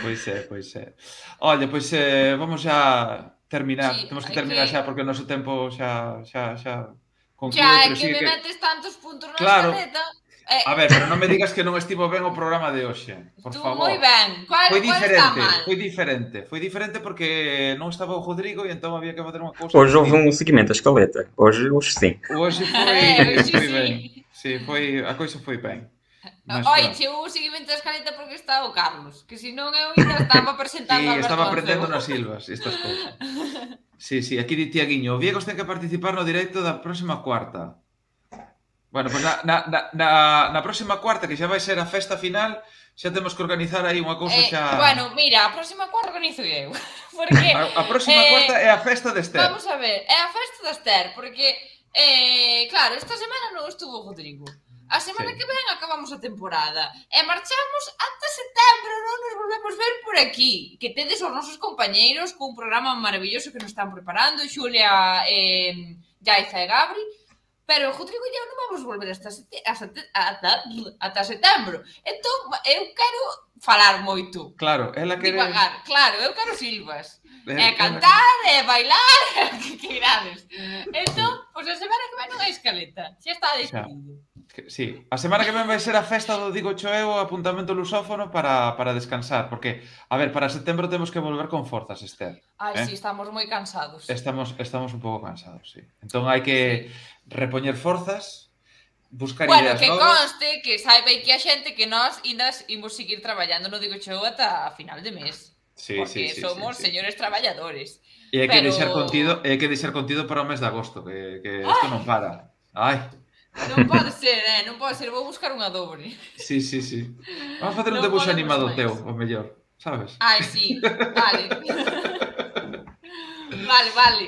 Pois é, pois é. Olha, pois eh, vamos já terminar. Sí, temos que terminar que... xa porque o noso tempo xa, xa, xa concluíu. Xa, é que me que... metes tantos puntos na claro. Escaleta. A ver, pero non me digas que non estivo ben o programa de hoxe, por Tú favor. moi ben. Cual, Foi cual está diferente, mal? foi diferente. Foi diferente porque non estaba o Rodrigo e entón había que fazer unha cousa. Hoje houve um seguimento da escaleta. Hoje, hoje sim. Hoxe foi, Eh, hoxe foi sí. ben. Sí, foi, a coisa foi ben. Mas, Oi, pronto. che o seguimento da escaleta porque está o Carlos, que se non eu ainda estaba presentando Sí, a Alberto estaba Mancebo. aprendendo nas silvas estas cousas. Sí, sí, aquí di Tiaguiño, o Viegos ten que participar no directo da próxima cuarta. Bueno, pois pues na, na, na, na próxima cuarta, que xa vai ser a festa final, xa temos que organizar aí unha cousa Eh, xa... bueno, mira, a próxima cuarta organizo eu. Porque, A, a próxima eh, cuarta é a festa de Esther. Vamos a ver, é a festa da Esther, porque, eh, claro, esta semana non estuvo o Rodrigo. A semana Sí. que ven acabamos a temporada e marchamos ata setembro, non nos volvemos ver por aquí. Que tedes os nosos compañeiros cun programa maravilloso que nos están preparando, Xulia, eh, Jaiza e Gabri, pero o Rodrigo e eu non vamos volver hasta, sete, hasta, ata, ata setembro. Entón, eu quero falar moito. Claro, ela quere... Divagar, claro, eu quero silvas. Eh, É cantar, é bailar, que que irades. Entón, pois a semana que vai non hai escaleta. Xa está decidido. Sí, a semana que ven vai ser a festa do Digo Choeo, apuntamento lusófono para, para descansar, porque, a ver, para setembro temos que volver con forzas, Esther. Ai, eh? sí, estamos moi cansados. Estamos, estamos un pouco cansados, sí. Entón hai que repoñer forzas, buscar Bueno, ideas que novas. conste, que saiba que a xente que nós indas imos seguir traballando no Digo Show ata a final de mes. Sí, porque sí, sí, somos sí, sí. señores traballadores. E hai que Pero- deixar contido, e hai que deixar contido para o mes de agosto, que, que isto non para. Ai, Non pode ser, eh? Non pode ser, vou buscar unha dobre. sí, sí, sí. Vamos a facer un Non debuxo podemos animado máis. teu, o mellor, sabes? Ai, sí, vale. Vale, vale.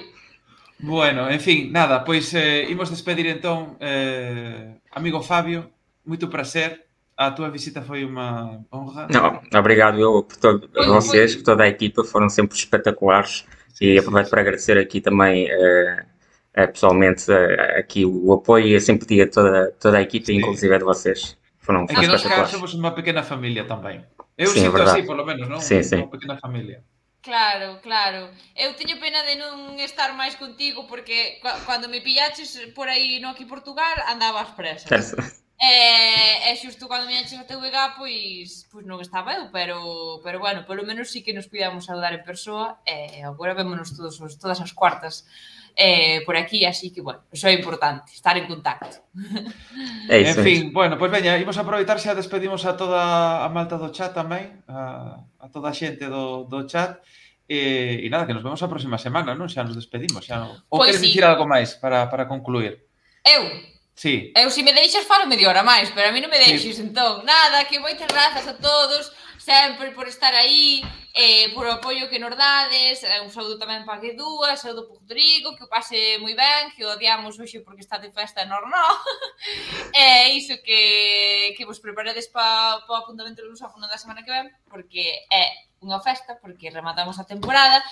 Bueno, en fin, nada, pois eh, imos despedir entón, eh, amigo Fabio, moito prazer, a túa visita foi unha honra. Não, obrigado eu por todo, a vocês, por toda a equipa, foram sempre espetaculares e aproveito para agradecer aqui também eh, eh, pessoalmente eh, aqui o apoio e a simpatia de toda, toda a equipa, inclusive de vocês. Foram É que nós cá espetaculares. somos unha pequena familia tamén. Eu Sim, é sinto verdade. así, polo menos, non? Sim, sim. Unha pequena familia. Claro, claro. Eu teño pena de non estar máis contigo porque cu- cando me pillaches por aí no aquí Portugal andaba ás presas. Certo. E, e xusto cando me enches a T V G, pois, pois non estaba eu, pero, pero bueno, polo menos sí que nos cuidamos saudar en persoa e agora vémonos todos os, todas as cuartas eh, por aquí, así que, bueno, iso é importante, estar en contacto. É En isso, é fin, isso. bueno, pois veña, imos aproveitar xa despedimos a toda a malta do chat tamén, a, a toda a xente do, do chat, e, e nada, que nos vemos a próxima semana, non? Xa nos despedimos, xa non... Ou Pois queres sí. dicir algo máis para, para concluir? Eu, Sí. eu se me deixas falo media hora máis, pero a mí non me Sí. deixes, entón, nada, que moitas grazas a todos, sempre por estar aí, eh, por o apoio que nos dades, eh, un saúdo tamén para que dúas, saúdo para o Rodrigo, que o pase moi ben, que o odiamos hoxe porque está de festa normal, e iso que, que vos preparedes para pa o apuntamento do lusófono da semana que ven, porque é unha festa, porque rematamos a temporada,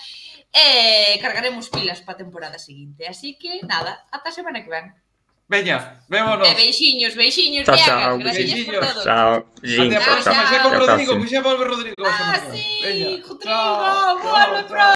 e cargaremos pilas para a temporada seguinte, así que nada, ata a semana que ven. Veña, vémonos. E beixiños, beixiños, Chao, viagas, chao. gracias por Beixiños. todo. Tchau. Até Beijinhos, a tchau, próxima, tchau. xa con Até a Rodrigo, próxima. que xa volve Rodrigo. Ah, Veña. sí, Rodrigo, Chao, vuelve chao, pronto.